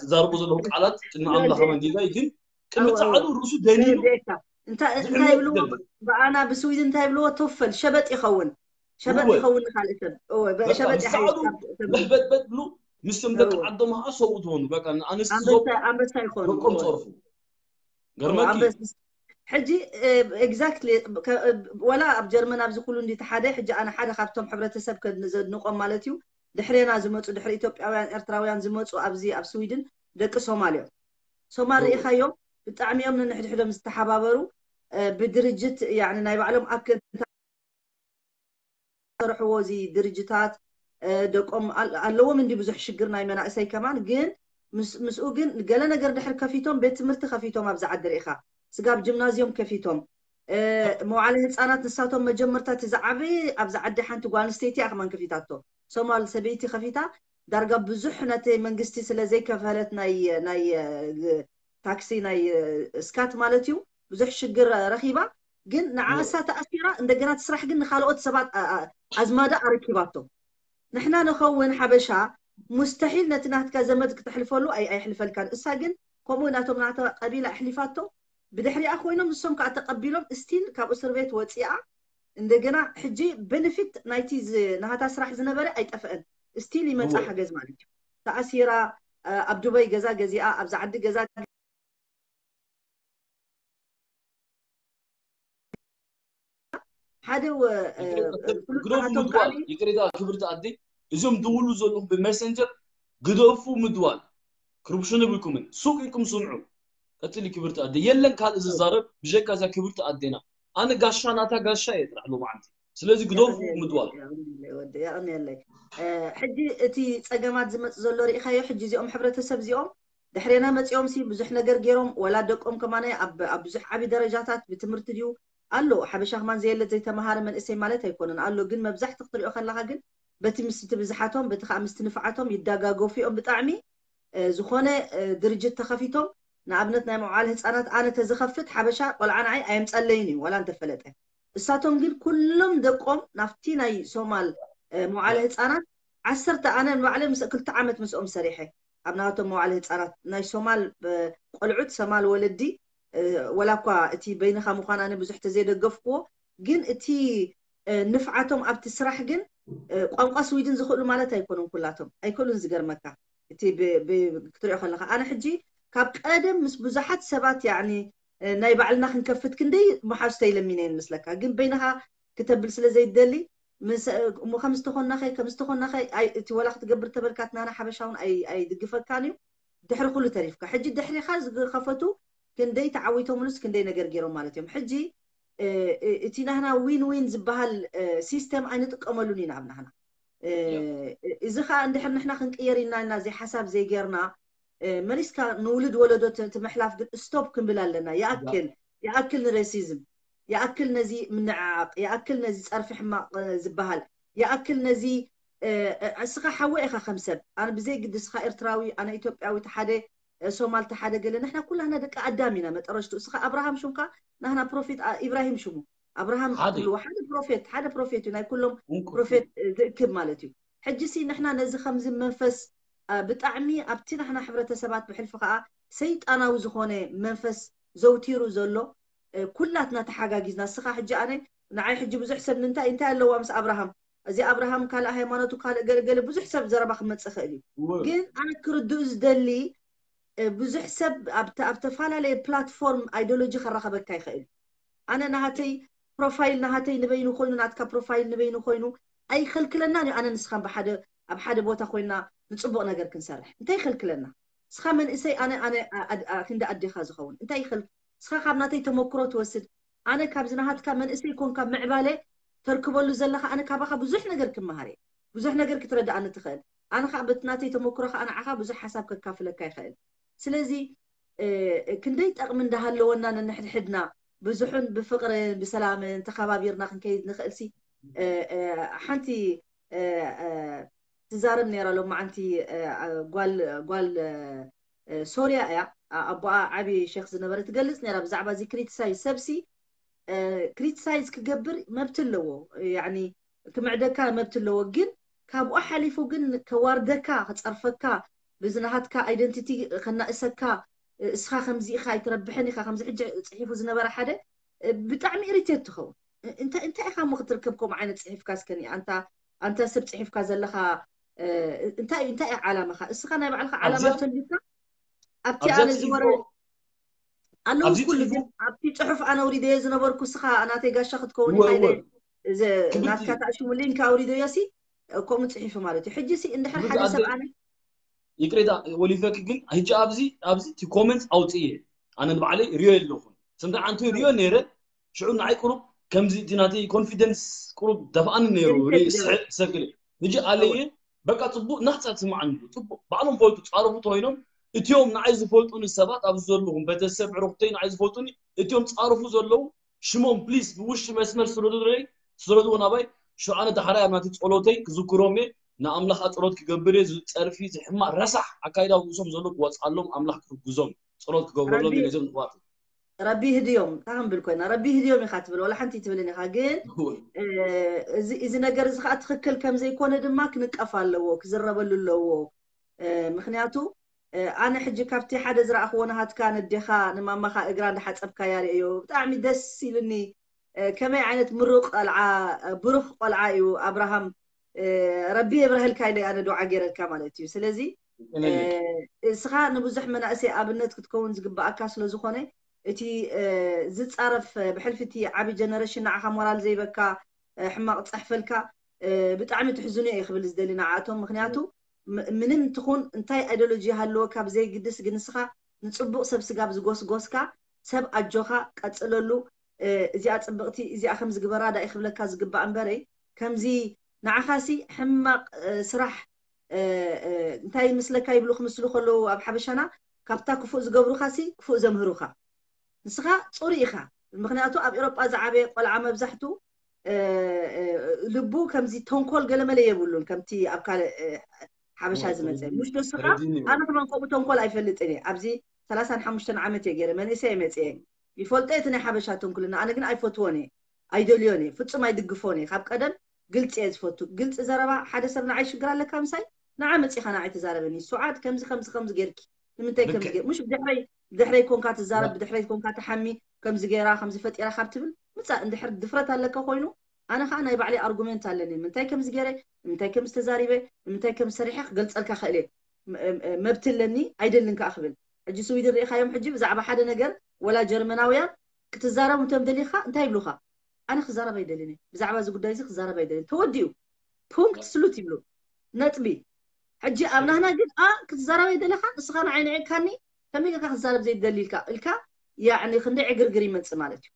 ዝዛረቦ ዘለኹ ቃላት ቅድሚ ኣምላኽ መንጌጋይ ግን ቅድሚ ፃዕዱ ርእሱ ደሊሉ እንታይ ይብልዎ ብኣና ብስዊድ እንታይ ይብልዎ ቶፈል ሸበጥ ይኸውን ሸበጥ ይኸውን ንካልእ ሰብ ሸበጥ ፃዕዱ ለሕበጥበጥ ብሉ ምስቶም ደቂ ዓዶም ከዓ ሰብኡ ትኾኑ በቃ ንኣንስቲ ኣንበሳ ይኾኑ ደቆም ፀርፉ ገርመኪ ሕጂ exactly ወላ ኣብ ጀርመን ኣብዚ ኩሉ እንዲ ተሓደ ሕጂ ኣነ ሓደ ካብቶም ሕብረተሰብ ከድንቆም ማለት እዩ ድሕሬና ዝመፁ ድሕሪ ኢትዮጵያውያን ኤርትራውያን ዝመፁ ኣብዚ ኣብ ስዊድን ደቂ ሶማል እዮም። ሶማል ርኢኻዮም ብጣዕሚ እዮም ንንሕድሕዶም ዝተሓባበሩ ብድርጅት ናይ ባዕሎም ኣክል ዝሰርሕዎ እዚ ድርጅታት ደቆም ኣለዎም እንዲ ብዙሕ ሽግር ናይ መናእሰይ ከማን ግን ምስኡ ግን ገለ ነገር ድሕር ከፊቶም ቤት ትምህርቲ ከፊቶም ኣብዚ ዓዲ ርኢኻ ስጋብ ጅምናዝዮም ከፊቶም መዋዕለ ህፃናት ንሳቶም መጀመርታ እቲ ዝዓበየ ኣብዚ ዓዲ ሓንቲ ጓል ኣንስተይቲ እያ ከማን ከፊታቶ ሶማል ሰበይቲ ከፊታ ዳርጋ ብዙሕ ነቲ መንግስቲ ስለ ዘይከፈለት ናይ ናይ ታክሲ ናይ ስካት ማለት እዩ ብዙሕ ሽግር ረኺባ ግን ንዓሳ ተኣሲራ እንደገና ትስራሕ ግን ንካልኦት ሰባት ኣዝማዳ ኣረኪባቶ ንሕና ንኸውን ሓበሻ ሙስተሒል ነቲ ናትካ ዘመድ ክተሕልፈሉ ኣይሕልፈልካን እሳ ግን ከምኡ ናቶም ናተ ቀቢላ ኣሕሊፋቶ ብድሕሪኣ ኮይኖም ንሶም ከዓ ተቀቢሎም ስቲል ካብ እስር ቤት ወፂኣ እንደገና ሕጂ ቤነፊት ናይቲ ናሃታ ስራሕ ዝነበረ ኣይጠፍአን ስቲል ይመፃ ሓገዝ ማለት እዩ ተኣሲራ ኣብ ዱባይ ገዛ ገዚኣ ኣብዚ ዓዲ ገዛ ሓደ ግደፉ ምድዋል ይቅሬታ ክብርቲ ኣደ እዞም ድውሉ ዘለኹም ብመሰንጀር ግደፉ ምድዋል ክርብሹ ንብልኩምን ሱቅ ኢልኩም ስምዑ ቀፅሊ ክብርቲ ኣደ የለን ካልእ ዝዛረብ ብጀካ እዛ ክብርቲ ኣዴና ኣነ ጋሻ ናታ ጋሻ እየ ጥራሕ ሎማዓንቲ ስለዚ ግደፉ ምድዋል የቀንየለይ ሕጂ እቲ ፀገማት ዝመፅ ዘሎ ርኢካዮ ሕጂ እዚኦም ሕብረተሰብ እዚኦም ድሕሬና መፂኦም ሲ ብዙሕ ነገር ገይሮም ወላ ደቆም ከማነ ኣብ ብዙሕ ዓብዪ ደረጃታት ብትምህርቲ ድዩ ኣሎ ሓበሻ ከማን ዘየለ ዘይተምሃረ መንእሰይ ማለት ኣይኮነን ኣሎ ግን መብዛሕቲ ክትሪኦ ከለካ ግን በቲ ምስቲ ብዝሓቶም በቲ ከዓ ምስቲ ንፍዓቶም ይዳጋገፉ እዮም ብጣዕሚ ዝኾነ ድርጅት ተኸፊቶም ንኣብነት ናይ መውዓል ህፃናት ኣነ ተዝኸፍት ሓበሻ ቆልዓ ንዓይ ኣየምፀለይን እዩ ዋላ እንተፈለጠ እሳቶም ግን ኩሎም ደቆም ናብቲ ናይ ሶማል መውዓለ ህፃናት ዓሰርተ ኣነ ንባዕለ ምስ ክልተ ዓመት ምስኦም ሰሪሐ ኣብ ናቶም መዋዕለ ህፃናት ናይ ሶማል ቆልዑት ሰማል ወለዲ ወላ እኳ እቲ በይንኻ ምዃን ኣነ ብዙሕ ተዘይደገፍክዎ ግን እቲ ንፍዓቶም ኣብቲ ስራሕ ግን ቋንቋ ስዊድን ዝኽእሉ ማለት ኣይኮኑን ኩላቶም ኣይክእሉን ዝገርመካ እቲ ክትሪኦ ከለካ ኣነ ሕጂ ካብ ቀደም ምስ ብዙሓት ሰባት ያኒ ናይ ባዕልና ክንከፍት ክንደይ መሓዝቶ ይለሚነ ይመስለካ ግን በይንኻ ክተብል ስለ ዘይደሊ እሞ ከም ዝተኾናኸ ከም ዝተኾናኸ እቲ ወላ ክትገብር ተበልካት ናና ሓበሻውን ኣይድግፈካን እዩ ድሕሪ ኩሉ ተሪፍካ ሕጂ ድሕሪኻ ዝኸፈቱ ክንደይ ተዓዊቶምሉስ ክንደይ ነገር ገይሮም ማለት እዮም ሕጂ እቲ ናህና ዊን ዊን ዝበሃል ሲስተም ኣይንጥቀመሉን ኢና ኣብ ናህና እዚ ከዓ እንድሕር ንሕና ክንቅየር ኢና ኢና እዚ ሓሳብ ዘይገርና መሊስካ ንውልድ ወለዶ ትምሕላፍ ግን ስቶፕ ክንብል ኣለና ይኣክል ይኣክል ንሬሲዝም ይኣክል ነዚ ምንዕዓቕ ይኣክል ነዚ ፀርፊ ሕማቕ ዝበሃል ይኣክል ነዚ እስኻ ሓወ ኢኻ ከም ሰብ ኣነ ብዘይ ግዲ እስኻ ኤርትራዊ ኣነ ኢትዮጵያዊ ተሓደ ሶማል ተሓደ ገለ ንሕና ኩላህና ደቂ ኣዳም ኢና መጠረሽቱ እስኻ ኣብርሃም ሹምካ ናህና ፕሮፌት ኢብራሂም ሽሙ ኣብርሃም ትብልዎ ሓደ ፕሮፌት ሓደ ፕሮፌት እዩ ናይ ኩሎም ፕሮፌት ዝእክብ ማለት እዩ ሕጂ ሲ ንሕና ነዚ ከምዚ መንፈስ ብጣዕሚ ኣብቲ ናሕና ሕብረተሰባት ብሕልፊ ከዓ ሰይጣናዊ ዝኾነ መንፈስ ዘውቲሩ ዘሎ ኩላትና ተሓጋጊዝና እስኻ ሕጂ ኣነ ንዓይ ሕጂ ብዙሕ ሰብ ንምንታይ እንታይ ኣለዋ ምስ ኣብርሃም እዚ ኣብርሃም ካልእ ሃይማኖቱ ካልእ ገለገለ ብዙሕ ሰብ ዘረባ ክመፅእ ይኽእል እዩ ግን ኣነ ክርድኡ ዝደሊ ብዙሕ ሰብ ኣብ ተፈላለየ ፕላትፎርም ኣይዲዮሎጂ ከራኸበካ ይኽእል ኣነ ናሃተይ ፕሮፋይል ናሃተይ ንበይኑ ኮይኑ ናትካ ፕሮፋይል ንበይኑ ኮይኑ ኣይኸልክለናን እዩ ኣነ ንስኻን ብሓደ ኣብ ሓደ ቦታ ኮይና ንፅቡቅ ነገር ክንሰርሕ እንታይ ይኸልክለና እስኻ መንእሰይ ኣነ ኣነ ክንዲ ኣዴኻ ዝኸውን እንታይ ይኸል እስኻ ካብ ናተይ ተመክሮ ትወስድ ኣነ ካብዚ ናሃትካ መንእሰይ ኮንካ ምዕባለ ተርክበሉ ዘለኻ ኣነ ካባኻ ብዙሕ ነገር ክመሃር እየ ብዙሕ ነገር ክትረድኣኒ ትኽእል ኣነ ከዓ በቲ ናተይ ተመክሮ ከዓ ንዓኻ ብዙሕ ሓሳብ ከካፍለካ ይኽእል ስለዚ ክንደይ ጠቕሚ እንዳሃለወና ነንሕድሕድና ብዙሕን ብፍቕርን ብሰላምን ተኸባቢርና ክንከይድ ንኽእል ሲ ሓንቲ ትዛረብ ነራ ሎማዓንቲ ጓል ሶርያ እያ ኣቦኣ ዓብዪ ሸክ ዝነበረ ትገልፅ ነራ ብዛዕባ እዚ ክሪቲሳይዝ ሰብሲ ክሪቲሳይዝ ክገብር መብት ኣለዎ ክምዕደካ መብት ኣለዎ ግን ካብኡ ሓሊፉ ግን ከዋርደካ ክፀርፈካ ብዝናሃትካ ኣይደንቲቲ ከናእሰካ እስኻ ከምዚ ኢኻ ኣይትረብሕን ኢኻ ከምዚ ሕጂ ፅሒፉ ዝነበረ ሓደ ብጣዕሚ ኢሪቴት ትኸውን እንታይ እንታይ ኢኻ ሞ ክትርከብ ከምኡ ዓይነት ፅሒፍካ እስከኒ ኣንታ ኣንታ ሰብ ፅሒፍካ ዘለኻ እንታይ እንታይ እዩ ዓላማኻ እስኻ ናይ ባዕልኻ ዓላማ ተልካ ኣብቲ ኣነ ዝወረ ኣለዉ ኩሉ ግን ኣብቲ ጽሑፍ ኣነ ኣውሪደዮ ዝነበርኩ ስኻ ናተይ ጋሻ ክትከውን ኢኻ ኢለ ናትካ ታሽሙ ሊንክ ኣውሪደዮ ሲ ከምኡ ጽሒፉ ማለት እዩ። ሕጂ ሲ እንድሕር ሓደ ሰብ ኣነ ይቅሬታ ወሊፈኪ ግን ሕጂ ኣብዚ ኣብዚ እቲ ኮመንት ኣውፅእየ ኣነ ንባዕለይ ሪዮ የለኹን ስምታ ዓንቱ ሪዮ ነይረ ሽዑ ንዓይ ቁሩብ ከምዚ እቲ ናተይ ኮንፊደንስ ቁሩብ ደፍኣኒ ነይሩ ሰክል ሕጂ ኣለየ በቃ ፅቡቅ ናሕፃ ትስማዓኒ ፅቡቅ ባዕሎም ፈልጡ ፃረፉ ተኮይኖም እቲኦም ንዓይ ዝፈልጡኒ ሰባት ኣብዚ ዘለኹም ቤተሰብ ዕሩክተይ ንዓይ ዝፈልጡኒ እቲኦም ፃረፉ ዘለዉ ሽሞም ፕሊስ ብውሽጢ መስመር ስረዱለይ ስረድዎ ናባይ ሽዑ ኣነ ዳሕራይ ኣብ ናቲ ፀሎተይ ክዝክሮም እየ ንኣምላኽ ኣፀሎት ክገብር እየ ዝፀርፊ ዝሕማቅ ረሳሕ ኣካይዳ ርእሶም ዘሎ ክወፅኣሎም ኣምላኽ ክሕግዞም ፀሎት ክገብረሎም እየ ነዞም ንዋት ረቢ ህድዮም እንታይ ክንብል ኮይና ረቢ ህድዮም ኢኻ ትብል ወላ ሓንቲ ትብልን ኢኻ ግን እዚ ነገር እዚ ከዓ ትኽክል ከም ዘይኮነ ድማ ክንቀፍ ኣለዎ ክዝረበሉ ኣለዎ ምክንያቱ ኣነ ሕጂ ካብቲ ሓደ ዝረኣኽዎ ናሃትካ ነዴኻ ንማማኻ እግራ እንዳሓፀብካያ ርእዮ ብጣዕሚ ደስ ኢሉኒ ከመይ ዓይነት ምሩቕ ቆልዓ ብሩኽ ቆልዓ እዩ ኣብርሃም ረቢ የብርሀልካ ኢለ ኣነ ዱዓ ገይረልካ ማለት እዩ ስለዚ እስኻ ንብዙሕ መናእሰይ ኣብነት ክትከውን ዝግባኣካ ስለ ዝኾነ እቲ ዝፃረፍ ብሕልፊ እቲ ዓቢ ጀነሬሽን ንዓኻ ሞራል ዘይበካ ሕማቕ ፀሕፈልካ ብጣዕሚ ትሕዝኑ እየ ክብል ዝደሊ ንዓኣቶም ምክንያቱ ምንም ትኹን እንታይ ኣይዶሎጂ ሃለወካ ብዘይግድስ ግን ንስኻ ንፅቡቕ ሰብ ስጋብ ዝጎስጎስካ ሰብ ኣጆኻ ቀፅለሉ እዚኣ ፅብቕቲ እዚኣ ከም ዝግበራ ዳኢ ክብለካ ዝግባእ እምበረይ ከምዚ ንዓኻሲ ሕማቕ ስራሕ እንታይ ምስለካ ይብሉ ክምስሉ ከለዉ ኣብ ሓበሻና ካብታ ክፉእ ዝገብሩኻሲ ክፉእ ዘምህሩኻ ንስኻ ፅሩይ ኢኻ ምክንያቱ ኣብ ኤሮጳ ዝዓበየ ቆልዓ መብዛሕቱ ልቡ ከምዚ ተንኮል ገለመለ የብሉን ከምቲ ኣብ ካልእ ሓበሻ ዝመፀ ሙሽ ደስኻ ኣነ ከማን ከምኡ ተንኮል ኣይፈልጥን እየ ኣብዚ ሰላሳን ሓሙሽተን ዓመት እየ ገይረ መንእሰይ እየ መፅየ ይፈልጦ እቲ ናይ ሓበሻ ተንኩልና ኣነ ግን ኣይፈትዎን እየ ኣይደልዮን እየ ፍፁም ኣይድግፎን እየ ካብ ቀደም ግልፂ እየ ዝፈቱ ግልፂ ዘረባ ሓደ ሰብ ንዓይ ሽግር ኣለካ ምሳይ ንዓ መፂኻ ንዓይ ትዛረበኒ ሱዓድ ከምዚ ከምዚ ከምዚ ጌርኪ ንምንታይ ከምዚ ጌር ሙሽ ብድሕረይ ብድሕረይ ኮንካ ትዛረብ ብድሕረይ ኮንካ ትሓሚ ከምዚ ጌራ ከምዚ ፈጢራ ካብ ትብል ምፃእ እንድሕር ድፍረት ኣለካ ኮይኑ ኣነ ከዓ ናይ ባዕለይ ኣርጉመንት ኣለኒ ንምንታይ ከምዚ ገይረ ንምንታይ ከም ዝተዛሪበ ንምንታይ ከም ሰሪሐ ክገልፀልካ ክእል እየ መብቲ ኣለኒ ኣይደልን ከዓ ክብል ሕጂ ስዊድን ርኢኻዮም ሕጂ ብዛዕባ ሓደ ነገር ወላ ጀርመናውያን ክትዛረቡ እንቶም ደሊኻ እንታይ ይብሉኻ ኣነ ክዛረብ ኣይደልን እየ ብዛዕባ እዚ ጉዳይ እዚ ክዛረብ ኣይደልን ተወዲኡ ፑንክት ስሉት ይብሉ ነጥቢ ሕጂ ኣብ ናህና ግን ኣ ክትዛረብ ኣይደለኻ ንስኻ ንዓይ ንዕካኒ ከመይ ጌርካ ክዛረብ ዘይደሊ ኢልካ ኢልካ ያዕኒ ክንደይ ዕግርግር ይመፅእ ማለት እዩ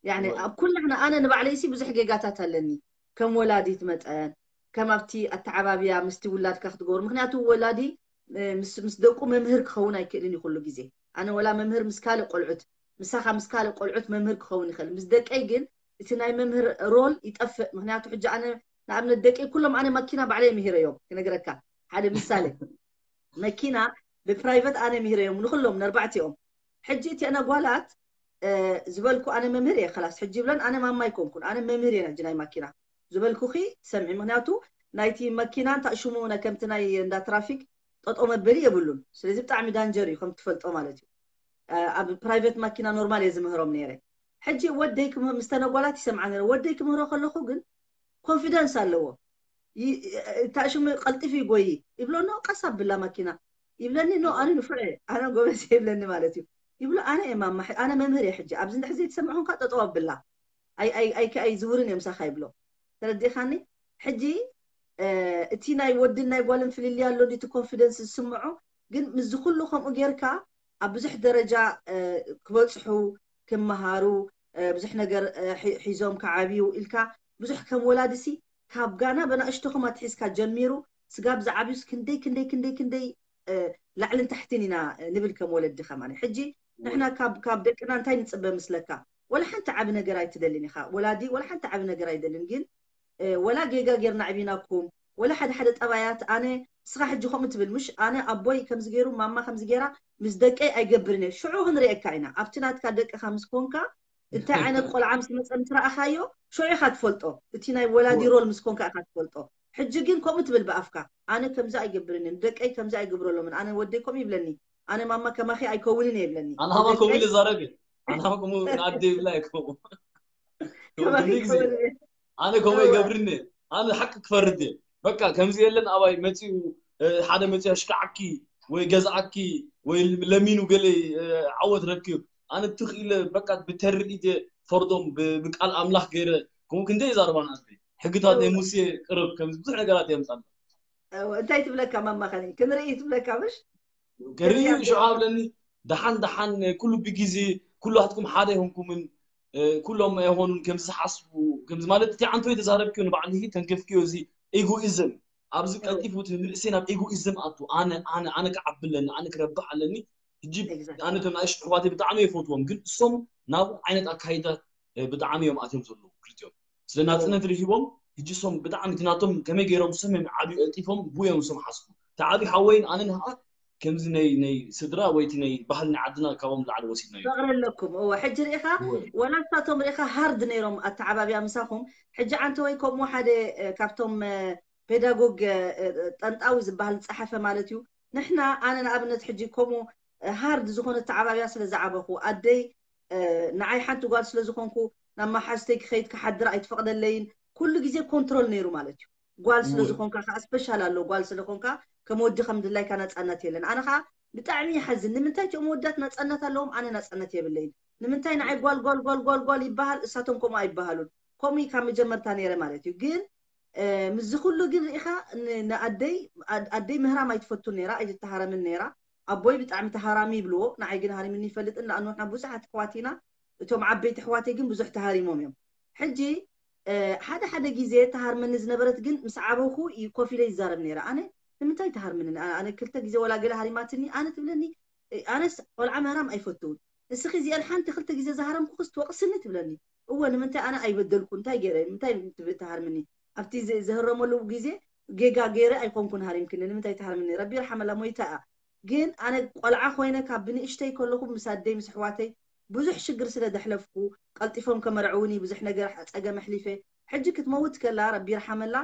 ያዕኒ ኣብ ኩላሕና ኣነ ንባዕለይሲ ብዙሕ ጌጋታት ኣለኒ ከም ወላዲት መጠን ከም ኣብቲ ኣተዓባብያ ምስቲ ውላድካ ክትገብሩ ምክንያቱ ወላዲ ምስ ደቁ መምህር ክኸውን ኣይክእልን እዩ ኩሉ ግዜ ኣነ ወላ መምህር ምስ ካልእ ቆልዑት ምሳኻ ምስ ካልእ ቆልዑት መምህር ክኸውን ይኽእል ምስ ደቀይ ግን እቲ ናይ መምህር ሮል ይጠፍእ ምክንያቱ ሕጂ ኣነ ንኣብነት ደቀይ ኩሎም ኣነ ማኪና ባዕለይ ምሂረዮም ክነግረካ ሓደ ምሳሌ መኪና ብፕራይቨት ኣነ ምሂረዮም ንኩሎም ነርባዕቲኦም ሕጂ እቲኣና ጓላት ዝበልኩ ኣነ መምህር እየ ከላስ ሕጂ ይብለን ኣነ ማማ ይኮንኩን ኣነ መምህር እየ ሕጂ ናይ ማኪና ዝበልኩኺ ሰምዒ ምክንያቱ ናይቲ መኪና እንታይ ሽሙ ናይ ከምቲ ናይ እንዳ ትራፊክ ጠጦ መበሊ የብሉን ስለዚ ብጣዕሚ ዳንጀር እዩ ከም ትፈልጦ ማለት እዩ ኣብ ፕራይቨት ማኪና ኖርማል እየ ዝምህሮም ነይረ ሕጂ ወደይ ምስ ተነጓላት ይሰምዓ ነረ ወደይ ክምህሮ ከለኹ ግን ኮንፊደንስ ኣለዎ ታሽሙ ቀልጢፉ ይጎይ ይብሎ ኖ ቀስ ኣብላ ማኪና ይብለኒ ኖ ኣነ ንፉዕ ኣነ ጎበዝ ይብለኒ ማለት እዩ ይብሎ ኣነ እየ ማማ ኣነ መምህር እየ ሕጂ ኣብዚ እንድሕር ዘይተሰምዑ ኮንካ ጠጠው ኣብላ ኣይዝውርን እዮም ሳኻ ይብሎ ተረዲኻኒ ሕጂ እቲ ናይ ወድን ናይ ጓልን ፍልልይ ኣሎ እቲ ኮንፊደንስ ዝስምዖ ግን ምስዚ ኩሉ ከምኡ ጌርካ ኣብ ብዙሕ ደረጃ ክበፅሑ ክመሃሩ ብዙሕ ነገር ሒዞም ክዓብዩ ኢልካ ብዙሕ ከም ወላድሲ ካብ ጋና በናእሽቶኹም ኣትሒዝካ ጀሚሩ ስጋብ ዝዓብዩስ ክንደይ ክንደይ ክንደይ ክንደይ ላዕልን ታሕትን ኢና ንብል ከም ወለዲ ከማን ሕጂ ንሕና ካብ ደቅና እንታይ ንፅበ ምስለካ ወላ ሓንቲ ዓቢ ነገር ኣይትደልን ኢኻ ወላዲ ወላ ሓንቲ ዓቢ ነገር ኣይደልን ግን ወላ ጌጋ ጌርና ዕቢናኩም ወላ ሓደ ሓደ ጠባያት ኣነ ንስኻ ሕጂ ከምኡ ትብል ምሽ ኣነ ኣቦይ ከምዚ ገይሩ ማማ ከምዚ ገይራ ምስ ደቀይ ኣይገብርን እየ ሽዑ ክንርእየካ ኢና ኣብቲ ናትካ ደቅኻ ምስ ኮንካ እንታይ ዓይነት ቆልዓ ምስ መፀ ምስ ረኣኻዮ ሽዑ ኢኻ ትፈልጦ እቲ ናይ ወላዲ ሮል ምስ ኮንካ ኢኻ ትፈልጦ ሕጂ ግን ከምኡ ትብል ብኣፍካ ኣነ ከምዚ ኣይገብርን እየ ደቀይ ከምዚ ኣይገብረሎምን ኣነ ወደይ ከምኡ ይብለኒ ኣነ ማማ ከማኺ ኣይከውንን እየ ይብለኒ ኣናማ ከምኡ ኢለ ዛረብ ኣናማ ከምኡ ንኣደ ይብላ ኣይከው ኣነ ከምኡ ይገብርኒ ኣነ ሓቂ ክፈርድ እየ በቃ ከምዚ የለን ኣባይ መፂኡ ሓደ መፂኡ ኣሽካዓኪ ወይ ገዝኣኪ ወይ ለሚኑ ገለ ዓወት ረኪብ ኣነ ትኽኢለ በቃ ብተርኢ ፈርዶም ብቃል ኣምላኽ ገይረ ከምኡ ክንደይ ይዛረባና ሕግታት ናይ ሙሴ ቅርብ ከም ብዙሕ ነገራት የምፃና። እንታይ ትብለካ ማማ ከኒ ክንርኢ ትብለካ ምሽ ከርኢ ሽዓ ብለኒ ደሓን ደሓን ኩሉ ብግዜ ኩላትኩም ሓደ ይሆንኩምን ኩሎም ኣይሆኑን ከምዚ ዝሓስቡ ከምዚ ማለት እቲ ዓንቶ የተዛረብክዮ ንባዕልሂ ተንከፍክዮ እዚ ኢጎኢዝም ኣብዚ ቀልጢፉ እቲ ንእሰይ ናብ ኢጎኢዝም ኣቱ ኣነ ኣነ ኣነ ክዓቢ ኣለኒ ኣነ ክረብሕ ኣለኒ ሕጂ ኣነ ቶም ንኣሽቱ ኣሕዋተይ ብጣዕሚ የፈትዎም ግን እሶም ናብኡ ዓይነት ኣካይዳ ብጣዕሚ እዮም ኣትዮም ዘለዉ ክልቲኦም ስለ ናፅነት ርሂቦም ሕጂ እሶም ብጣዕሚ እቲ ናቶም ከመይ ገይሮም እሶም እዮም ዓብዩ ቀልጢፎም ብኡ እዮም እሶም ሓስቡ እቲ ዓብዩ ሓወይን ኣነን ከዓ ከምዚ ናይ ናይ ስድራ ወይ እቲ ናይ ባህሊ ናይ ዓድና ካብኦም ላዕሊ ወሲድናዮ ፍቕሪ ኣለኩም እወ ሕጂ ርኢኻ ወላ ንሳቶም ርኢኻ ሃርድ ነይሮም ኣተዓባብያ ምሳኹም ሕጂ ዓንተ ወይ ከምኡ ሓደ ካብቶም ፔዳጎግ ጠንጣዊ ዝበሃል ዝፀሓፈ ማለት እዩ ንሕና ኣነ ንኣብነት ሕጂ ከምኡ ሃርድ ዝኾነ ኣተዓባብያ ስለ ዝዓበኹ ኣደይ ንዓይ ሓንቲ ጓል ስለ ዝኾንኩ ናብ መሓዝተይ ክኸይድ ክሓድር ኣይትፈቕደለይን ኩሉ ግዜ ኮንትሮል ነይሩ ማለት እዩ ጓል ስለ ዝኾንካ ከዓ ስፔሻል ኣሎ ጓል ስለኾንካ ከም ወዲ ከም ድላይካ ነፃነት የለን ኣነ ከዓ ብጣዕሚ ይሓዝን ንምንታይ እቲኦም ወዳት ነፃነት ኣለዎም ኣነ ነፃነት የብለይን ንምንታይ ንዓይ ጓል ጓል ጓል ጓል ጓል ይበሃል እሳቶም ከምኡ ኣይበሃሉን ከምኡ ካብ መጀመርታ ነይረ ማለት እዩ ግን ምስዚ ኩሉ ግን ርኢኻ ንኣደይ ኣደይ ምህራም ኣይትፈቱን ነይራ ኣይትተሃረምን ነይራ ኣቦይ ብጣዕሚ ተሃራሚ ይብልዎ ንዓይ ግን ሃሪምኒ ይፈልጥን ንኣኑ ንሕና ብዙሓት ኣሕዋት ኢና እቶም ዓበይቲ ኣሕዋተይ ግን ብዙሕ ተሃሪሞም እዮም ሕጂ ሓደ ሓደ ግዜ ተሃርመኒ ዝነበረት ግን ምስ ዓበኹ ኮፍ ኢለ ይዛረብ ነይረ ኣነ ንምንታይ ተሃርምኒ ኣነ ክልተ ግዜ ወላ ገለ ሃሪማትኒ ኣነ ትብለኒ ኣነስ ቆልዓ ምህራም ኣይፈትውን እስኺ እዚአን ሓንቲ ክልተ ግዜ ዝሃረምኩኽስ ትወቕስኒ ትብለኒ እወ ንምንታይ ኣነ ኣይበደልኩ እንታይ ገይረ ምንታይ ትሃርምኒ ኣብቲ ዝህረመሉ ግዜ ጌጋ ገይረ ኣይኮንኩን ሃሪምክኒ ንምንታይ ትሃርምኒ ረቢ ይርሓመላ ሞይታ እያ ግን ኣነ ቆልዓ ኮይነ ካብ ብንእሽተይ ከለኹ ምስ ኣደይ ምስ ኣሕዋተይ ብዙሕ ሽግር ስለ ዘሕለፍኩ ቀልጢፎም ከመርዕውኒ ብዙሕ ነገር ፀገም ኣሕሊፈ ሕጂ ክትመውት ከላ ረቢ ይርሓመላ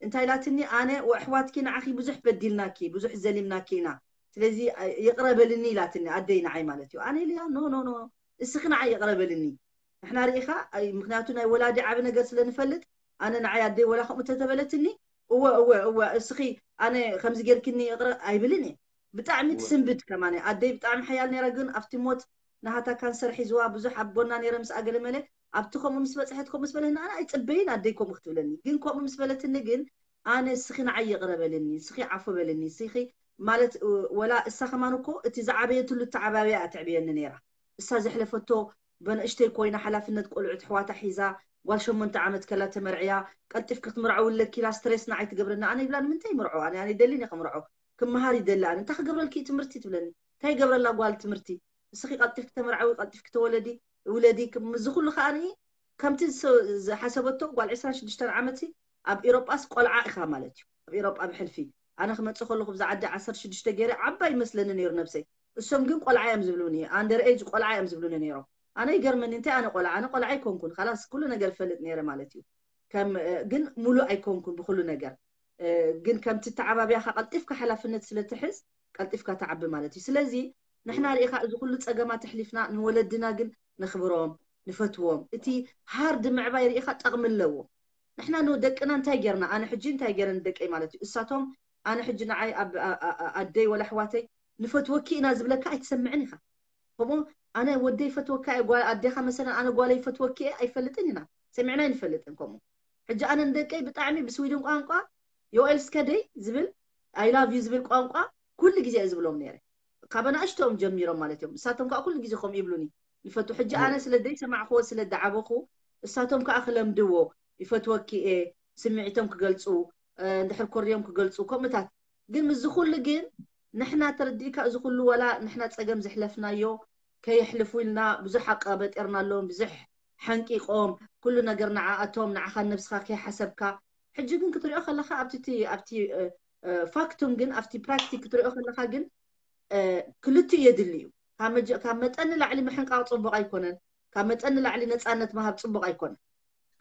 እንታይ ኢላትኒ ኣነ ወኣሕዋትኪ ንዓኺ ብዙሕ በዲልናኪ ብዙሕ ዘሊምናኪ ኢና ስለዚ ይቕረ በልኒ ኢላትኒ ኣደይ ንዓይ ማለት እዩ ኣነ ኢለያ ኖ ኖ ኖ እስኺ ንዓይ ይቕረ በልኒ ንሕና ርኢኻ ምክንያቱ ናይ ወላዲ ዓቢ ነገር ስለ ንፈልጥ ኣነ ንዓይ ኣደይ ወላ ከምኡ ተተበለትኒ እወ እወ እወ እስኺ ኣነ ከምዚ ጌርክኒ ይቕረ ኣይብልን እየ ብጣዕሚ ትስንብድ ከማን ኣደይ ብጣዕሚ ሓያል ነይራ ግን ኣብቲ ሞት ናሃታ ካንሰር ሒዝዋ ብዙሕ ኣብ ጎና ነይረ ምስ ኣገለመለ ኣብቲ ከምኡ ምስ በፅሐት ከምኡ ምስ በለኒ ኣነ ኣይፅበይን ኣደይ ከምኡ ክትብለኒ ግን ከምኡ ምስ በለትኒ ግን ኣነ እስኺ ንዓይ ይቕረ በልኒ እስኺ ዓፉ በልኒ እስኺ ማለት ወላ እሳ ከማን እኮ እቲ ዝዓበየትሉ ተዓባብያ እያ ትዕብየኒ ነይራ እሳ ዘሕለፈቶ በንእሽተይ ኮይና ሓላፍነት ቆልዑት ኣሕዋታ ሒዛ ጓል ሸሞንተ ዓመት ከላ ተመርዕያ ቀልጢፍኪ ክትምርዐዊ ኣለኪ ኢላ ስትሬስ ንዓይ ትገብረኒ ኣነ ይብላ ንምንታይ ይምርዖ ኣነ ኣነ ይደሊ እየ ክምርዖ ክመሃር ይደሊ ኣነ እንታይ ክገብረልኪ እዩ ትምህርቲ ትብለኒ እንታይ ይገብረላ ጓል ትምህርቲ እስኺ ቀልጢፍኪ ተመርዐዊ ቀልጢፍኪ ተወለዲ ውለዲ እዚ ኩሉ ከዓ ከምቲ ዝሓሰበቶ ጓል ዕስራን ሽዱሽተን ዓመት ኣብ ኤሮጳስ ቆልዓ ኢኻ ማለት እዩ ኣብ ኤሮጳ ብሕልፊ ኣነ ክመፅእ ከለኹ ብዛ ዓዲ ዓሰርተ ሽዱሽተ ገይረ ዓባይ ይመስለኒ ነይሩ ነብሰይ እሶም ግን ቆልዓ እዮም ዝብሉኒ ኣንደር ኤጅ ቆልዓ እዮም ዝብሉኒ ነይሮም ኣነ ይገርመኒ እንታይ ኣነ ቆልዓ ኣነ ቆልዓ ኣይኮንኩን ካላስ ኩሉ ነገር ፈልጥ ነይረ ማለት እዩ ግን ሙሉእ ኣይኮንኩን ብኩሉ ነገር ግን ከምቲ ተዓባቢያኻ ቀልጢፍካ ሓላፍነት ስለትሕዝ ቀልጢፍካ ተዓቢ ማለት እዩ ስለዚ ንሕና ርኢኻ እዚ ኩሉ ፀገማት ኣሕሊፍና ንወለድና ግን ነኽብሮም ንፈትዎም እቲ ሃርድ ምዕባይ ርኢኻ ጠቕሚ ኣለዎ ንሕና ንደቅና እንታይ ጌርና ኣነ ሕጂ እንታይ ጌረ ንደቀይ ማለት እዩ እሳቶም ኣነ ሕጂ ንዓይ ኣደይ ወላ ኣሕዋተይ ንፈትወኪ ኢና ዝብለካ ኣይትሰምዕን ኢኻ ከምኡ ኣነ ወደይ ይፈትወካ እየ ኣዴኻ መሰለን ኣነ ጓለይ ይፈትወኪ እየ ኣይፈልጥን ኢና ሰሚዕና ኣይንፈልጥን ከምኡ ሕጂ ኣነ ንደቀይ ብጣዕሚ ብስዊድን ቋንቋ ዮኤል ስከደይ ዝብል I love you ዝብል ቋንቋ ኩሉ ግዜ እየ ዝብሎም ነይረ ካብ ኣናእሽቶም ጀሚሮም ማለት እዮም እሳቶም ከዓ ኩሉ ግዜ ከምኡ ይብሉኒ ይፈቱ ሕጂ ኣነ ስለ ዘይሰማዕክዎ ስለ ዝዓበኹ እሳቶም ከዓ ክለምድዎ ይፈትወኪ እየ ስምዒቶም ክገልፁ እንድሕር ኮርዮም ክገልፁ ከምኡታት ግን ምስዚ ኩሉ ግን ንሕና ተረዲእካ እዚ ኩሉ ወላ ንሕና ፀገም ዘሕለፍናዮ ከየሕልፉ ኢልና ብዙሕ ኣቃበጢርናሎም ብዙሕ ሓንቂቖም ኩሉ ነገር ንዓኣቶም ንዓኻን ነብስኻ ከይሓሰብካ ሕጂ ግን ክትሪኦ ከለኻ ኣብቲ ኣብቲ ፋክቱም ግን ኣብቲ ፕራክቲክ ክትሪኦ ከለኻ ግን ክልቲኡ የድሊ እዩ ካብ መጠን ንላዕሊ ምሕንቃቕ ፅቡቕ ኣይኮነን ካብ መጠን ንላዕሊ ነፃነት ምሃብ ፅቡቕ ኣይኮነን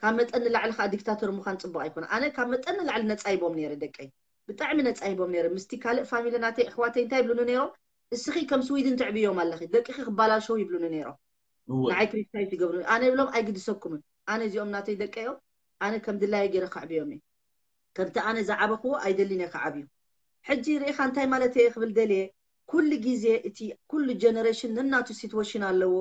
ካብ መጠን ንላዕሊ ከዓ ዲክታተር ምዃን ፅቡቕ ኣይኮነን ኣነ ካብ መጠን ንላዕሊ ነፃ ሂቦም ነይረ ደቀይ ብጣዕሚ ነፃ ሂቦም ነይረ ምስቲ ካልእ ፋሚሊ ናተይ ኣሕዋተይ እንታይ ይብሉኒ ነይሮም እስኺ ከም ስዊድን ትዕብዮም ኣለኺ ደቅኺ ክባላሸው ይብሉኒ ነይሮም ንዓይ ክሪቲሳይዝ ይገብሩ ኣነ ይብሎም ኣይግድሰኩምን ኣነ እዚኦም ናተይ ደቀ እዮም ኣነ ከም ድላየ ገይረ ከዕብዮም እየ ከምቲ ኣነ ዝዓበኽዎ ኣይደልን እየ ከዓብዩ ሕጂ ርኢኻ እንታይ ማለት እየ ክብል ደልየ ኩሉ ግዜ እቲ ኩሉ ጀነሬሽን ነናቱ ሲትዌሽን ኣለዎ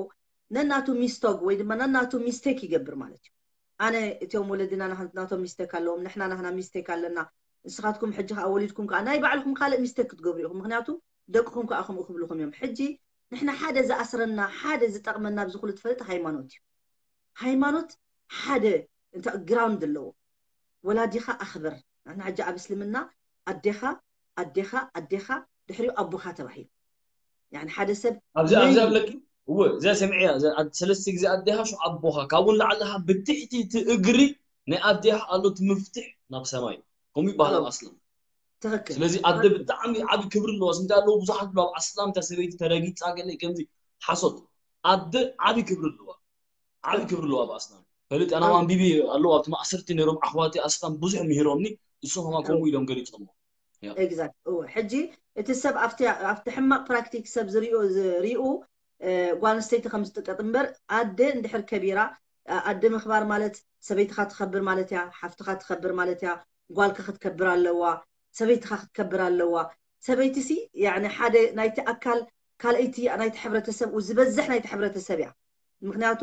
ነናቱ ሚስቶግ ወይ ድማ ነናቱ ሚስቴክ ይገብር ማለት እዩ። ኣነ እቶም ወለድና ናቶም ሚስቴክ ኣለዎም፣ ንሕና ናህና ሚስቴክ ኣለና። ንስኻትኩም ሕጂ ከዓ ወሊድኩም ከዓ ናይ ባዕልኹም ካልእ ሚስቴክ ክትገብሩ ኢኹም። ምክንያቱ ደቅኹም ከዓ ከምኡ ክብልኹም እዮም። ሕጂ ንሕና ሓደ ዝኣስረና ሓደ ዝጠቕመና ኣብዚ ኩሉ ትፈልጥ ሃይማኖት እዩ። ሃይማኖት ሓደ እንተ ግራውንድ ኣለዎ። ወላዲኻ ኣኽብር። ንሕና ሕጂ ኣብ እስልምና ኣዴኻ ኣዴኻ ኣዴኻ ድሕሪኡ ኣቦኻ ተባሂሉ። ያኒ ሓደ ሰብ ኣብዚ ኣብዚ ኣለኪ እወ እዚኣ ሰሚዐያ ሰለስተ ግዜ ኣዴኻ ሹ ኣቦኻ ካብኡ ንላዕሊ ብትሕቲ እቲ እግሪ ናይ ኣዴኻ ኣሎ እቲ ምፍትሕ ናብ ሰማይ ከምኡ ይበሃል ኣብ ኣስላም ትኽክል ስለዚ ኣደ ብጣዕሚ ዓቢ ክብሪ ኣለዋ ስንታ ኣለዉ ብዙሓት ብሎ ኣብ ኣስላም እታ ሰበይቲ ተረጊጻ ገለ ከምዚ ሓሶት ኣደ ዓቢ ክብሪ ኣለዋ ዓቢ ክብሪ ኣለዋ ኣብ ኣስላም ፈለጥ ኣና ኣንቢቢ ኣለዉ ኣብቲ ማእሰርቲ ነይሮም ኣሕዋቲ ኣስላም ብዙሕ ምሂሮምኒ እሶም ከማ ከምኡ ኢሎም ገሊጾሞ exact እወ ሕጂ እቲ ሰብ ኣብቲ ኣብቲ ሕማቅ ፕራክቲክ ሰብ ዝሪኡ ዝሪኡ እ፣ ጓል ኣንስተይቲ ከም ዝጥቀጥ እምበር ኣደ እንድሕር ከቢራ እ፣ ኣደ ምኽባር ማለት ሰበይትኻ ትኸብር ማለት እያ ሓፍትኻ ትኸብር ማለት እያ ጓልካ ክትከብር ኣለዋ ሰበይትኻ ክትከብር ኣለዋ ሰበይቲ ሲ ያኒ ሓደ ናይቲ ኣካል ካልኣይቲ ናይቲ ሕብረተሰብ ዝበዝሕ ናይቲ ሕብረተሰብ እያ ምክንያቱ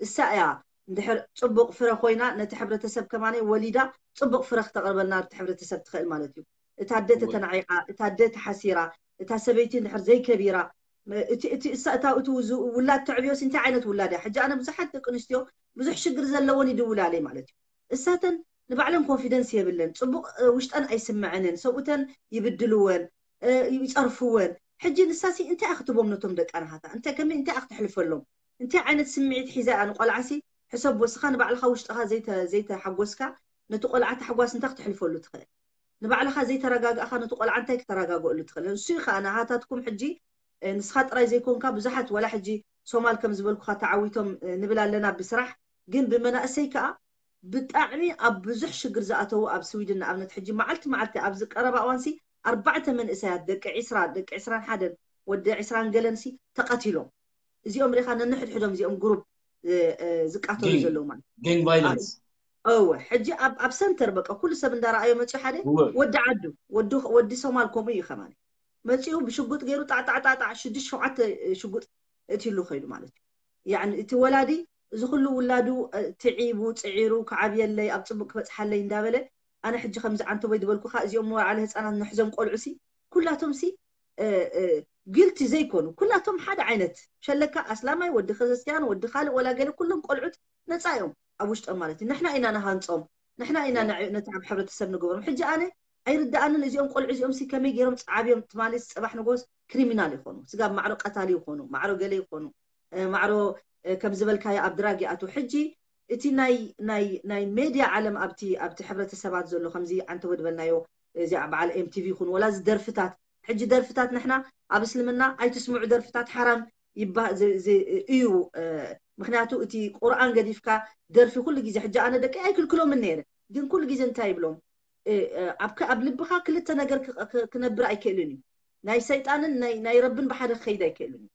እሳ እያ እንድሕር ፅቡቅ ፍረ ኮይና ነቲ ሕብረተሰብ ከማነ ወሊዳ ፅቡቅ ፍረ ክተቅርበልና እቲ ሕብረተሰብ ትኽእል ማለት እዩ እታ ኣደ ተተናዒቃ እታ ኣደ ተሓሲራ እታ ሰበይቲ እንድሕር ዘይከቢራ እቲ እቲ እሳ እታ እቲ ውላድ ተዕብዮስ እንታይ ዓይነት ውላድ እያ ሕጂ ኣነ ብዙሓት ደቂ ኣንስትዮ ብዙሕ ሽግር ዘለወን ይድውላለይ ማለት እዩ እሳተን ንባዕለን ኮንፊደንስ የብለን ፅቡቅ ውሽጠን ኣይስምዐንን ሰብኡተን ይብድልወን ይፀርፍወን ሕጂ ንሳሲ እንታይ ክትቦም ነቶም ደቂ ኣንሃታ እንታይ ከመይ እንታይ ክትሕልፈሎም እንታይ ዓይነት ስምዒት ሒዛ እያ ንቆልዓሲ ሕሰብ ወስኻ ንባዕልኻ ውሽጥኻ ዘይተሓጎስካ ነቲ ቆልዓ ታሕጓስ እንታይ ክትሕልፈሉ ትኽእል ንባዕልኻ ዘይተረጋጋእኻ ነቲ ቆልዓ እንታይ ክተረጋግእሉ ትኽእል ንሱ ከዓ ንሃታትኩም ሕጂ ንስኻ ጥራይ ዘይኮንካ ብዙሓት ወላ ሕጂ ሶማል ከም ዝበልኩኻ ተዓዊቶም ንብል ኣለና ብስራሕ ግን ብመናእሰይ ከዓ ብጣዕሚ ኣብ ብዙሕ ሽግር ዝኣተዉ ኣብ ስዊድን ንኣብነት ሕጂ መዓልቲ መዓልቲ ኣብዚ ቀረባ እዋንሲ ኣርባዕተ መንእሰያት ደቂ ዒስራ ደቂ ዒስራን ሓደን ወዲ ዒስራን ገለንሲ ተቐቲሎም እዚኦም ሪኻ ነንሕድሕዶም እዚኦም ግሩፕ ዝቃተሉ ዘለዉ ማለት gang violence እወ ሕጂ ኣብ ሰንተር በቃ ኩሉ ሰብ እንዳረኣዮ መፅኡ ሓደ ወዲ ዓዱ ወዲ ሶማል ከምኡ እዩ ከማን መፂኡ ብሽጉጥ ገይሩ ጣዕጣዕጣዕጣዕ ሽዱሽተ ሸውዓተ ሽጉጥ እትሉ ከይዱ ማለት እዩ ያኒ እቲ ወላዲ እዚ ኩሉ ውላዱ ትዒቡ ፅዒሩ ክዓብየለይ ኣብ ፅቡቅ ክበፅሓለይ እንዳበለ ኣነ ሕጂ ከምዚ ዓንተቦይ ዝበልኩካ እዚኦም መዋዕለ ህፃናት ንሕዞም ቆልዑ ሲ ኩላቶም ሲ ግልቲ ዘይኮኑ ኩላቶም ሓደ ዓይነት ሸለካ ኣስላማይ ወዲ ክርስትያን ወዲ ካልእ ወላ ገለ ኩሎም ቆልዑት ነፃ እዮም ኣብ ውሽጦም ማለት እዩ ንሕና ኢና ንሃንፆም ንሕና ኢና ነቲ ኣብ ሕብረተሰብ ንገበሮም ሕጂ ኣነ ኣይርዳኣንን እዚኦም ቆልዑ እዚኦም ሲ ከመይ ገይሮም ዓብዮም ትማሊ ፅባሕ ንጎስ ክሪሚናል ይኾኑ ስጋብ ማዕሮ ቀታሊ ይኾኑ ማዕሮ ገለ ይኾኑ ማዕሮ ከም ዝበልካዮ ኣብ ድራግ ይኣትዉ ሕጂ እቲ ናይ ናይ ናይ ሜድያ ዓለም ኣብቲ ኣብቲ ሕብረተሰባት ዘሎ ከምዚ ዓንተ ወድበልናዮ እዚኣ በዓል ኤምቲቪ ይኹን ወላ እዚ ደርፍታት ሕጂ ደርፍታት ንሕና ኣብ እስልምና ኣይትስምዑ ደርፍታት ሓራም ይባ- ዝ- ዝ- እዩ እ፣ ምክንያቱ እቲ ቁርኣን ገዲፍካ ደርፊ ኩሉ ግዜ ሕጂ ኣነ ደቂ ኣይክልክሎምን ነይረ ግን ኩሉ ግዜ እንታይ ይብሎም እ፣ እ፣ ኣብ ከ- ኣብ ልብካ ክልተ ነገር ክ- ክ- ክነብር ኣይክእልን እዩ ናይ ሰይጣንን ናይ ናይ ረብን ብሓደ ክኸይድ ኣይክእልን እዩ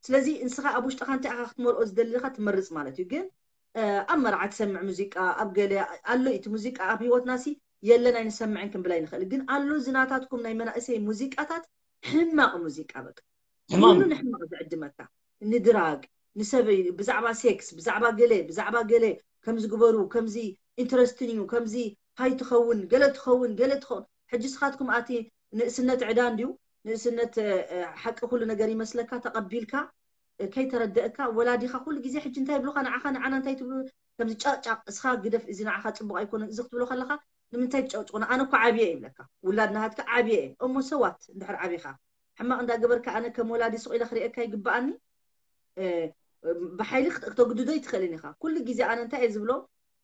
ስለዚ ንስኻ ኣብ ውሽጥኻ እንታይ ኢኻ ክትመርኦ ዝደሊ ኢኻ ትመርፅ ማለት እዩ ግን ኣብ መርዓ ትሰምዕ ሙዚቃ ኣብ ገለ ኣሎ እቲ ሙዚቃ ኣብ ህይወትና ሲ የለን ኣይንሰምዕን ክንብል ኣይንኽእል ግን ኣሎ ዝናታትኩም ናይ መናእሰይ ሙዚቃታት ሕማቕ ሙዚቃ በቃ ሕማም ኩሉ ንሕማቕ ዝዕድመካ ንድራግ ንሰበይ ብዛዕባ ሴክስ ብዛዕባ ገለ ብዛዕባ ገለ ከምዚ ግበሩ ከምዚ ኢንትረስትን እዩ ከምዚ ሃይ ትኸውን ገለ ትኸውን ገለ ትኸውን ሕጂ ስኻትኩም ኣቲ ንእስነት ዕዳ እንድዩ ንእስነት ሓቂ ኩሉ ነገር ይመስለካ ተቐቢልካ ከይተረደእካ ወላዲኻ ኩሉ ግዜ ሕጂ እንታይ ይብሉኻ ንዓኻ ንዓና እንታይ ትብሉ ከምዚ ጫቅጫቅ እስኻ ግደፍ እዚ ንዓኻ ፅቡቅ ኣይኮነን እዚ ክትብሎ ከለኻ ንምንታይ ትጨቅጭቁና ኣነ እኮ ዓብየ ይብለካ ውላድ ናሃትካ ዓብየ እየ እሞ ሰዋት እንድሕር ዓቢኻ ሕማቅ እንዳገበርካ ኣነ ከም ወላዲ ስቕ ኢለ ክርእየካ ይግበኣኒ ብሓይሊ ክተግድዶ ይትኽእልን ኢኻ ኩሉ ግዜ ኣነ እንታይ እየ ዝብሎ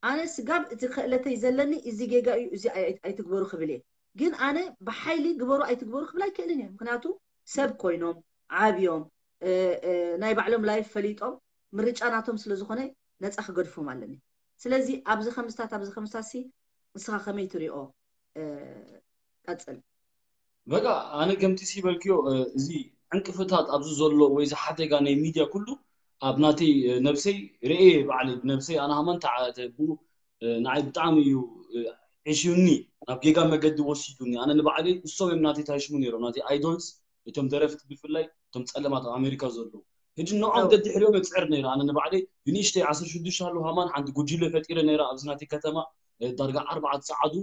ኣነ ስጋብ እቲ ክእለተይ ዘለኒ እዚ ጌጋ እዩ እዚ ኣይትግበሩ ክብል እየ ግን ኣነ ብሓይሊ ግበሩ ኣይትግበሩ ክብል ኣይክእልን እየ ምክንያቱ ሰብ ኮይኖም ዓብዮም ናይ ባዕሎም ላይፍ ፈሊጦም ምርጫ ናቶም ስለ ዝኾነ ነፃ ክገድፎም ኣለኒ ስለዚ ኣብዚ ከምስታት ኣብዚ ከምስታት ሲ ንስኻ ከመይ ትሪኦ ቀፅል በቃ ኣነ ከምቲ ሲበልክዮ እዚ ዕንቅፍታት ኣብዚ ዘሎ ወይ ዝሓደጋ ናይ ሚድያ ኩሉ ኣብ ናተይ ነብሰይ ርኤ ባዕለይ ብነብሰይ ኣነ ሃማን ተዓተቡ ንዓይ ብጣዕሚ እዩ ዕሽዩኒ ናብ ጌጋ መገዲ ወሲዱኒ ኣነ ንባዕለይ እሶም እዮም ናተይ ታሽሙ ነይሮም ናተይ ኣይዶልስ እቶም ደረፍቲ ብፍላይ እቶም ፀለማት ኣብ ኣሜሪካ ዘለዉ ሕጂ ንዖም ደድሕሪኦም እፅዕር ነይረ። ኣነ ንባዕለይ ብንእሽተይ ዓሰርተ ሽዱሽተ ኣለዉ ሃማን ሓንቲ ጉጅለ ፈጢረ ነይረ ኣብዚ ናተይ ከተማ። እ፣ ዳርጋ ኣርባዕተ ጸዓዱ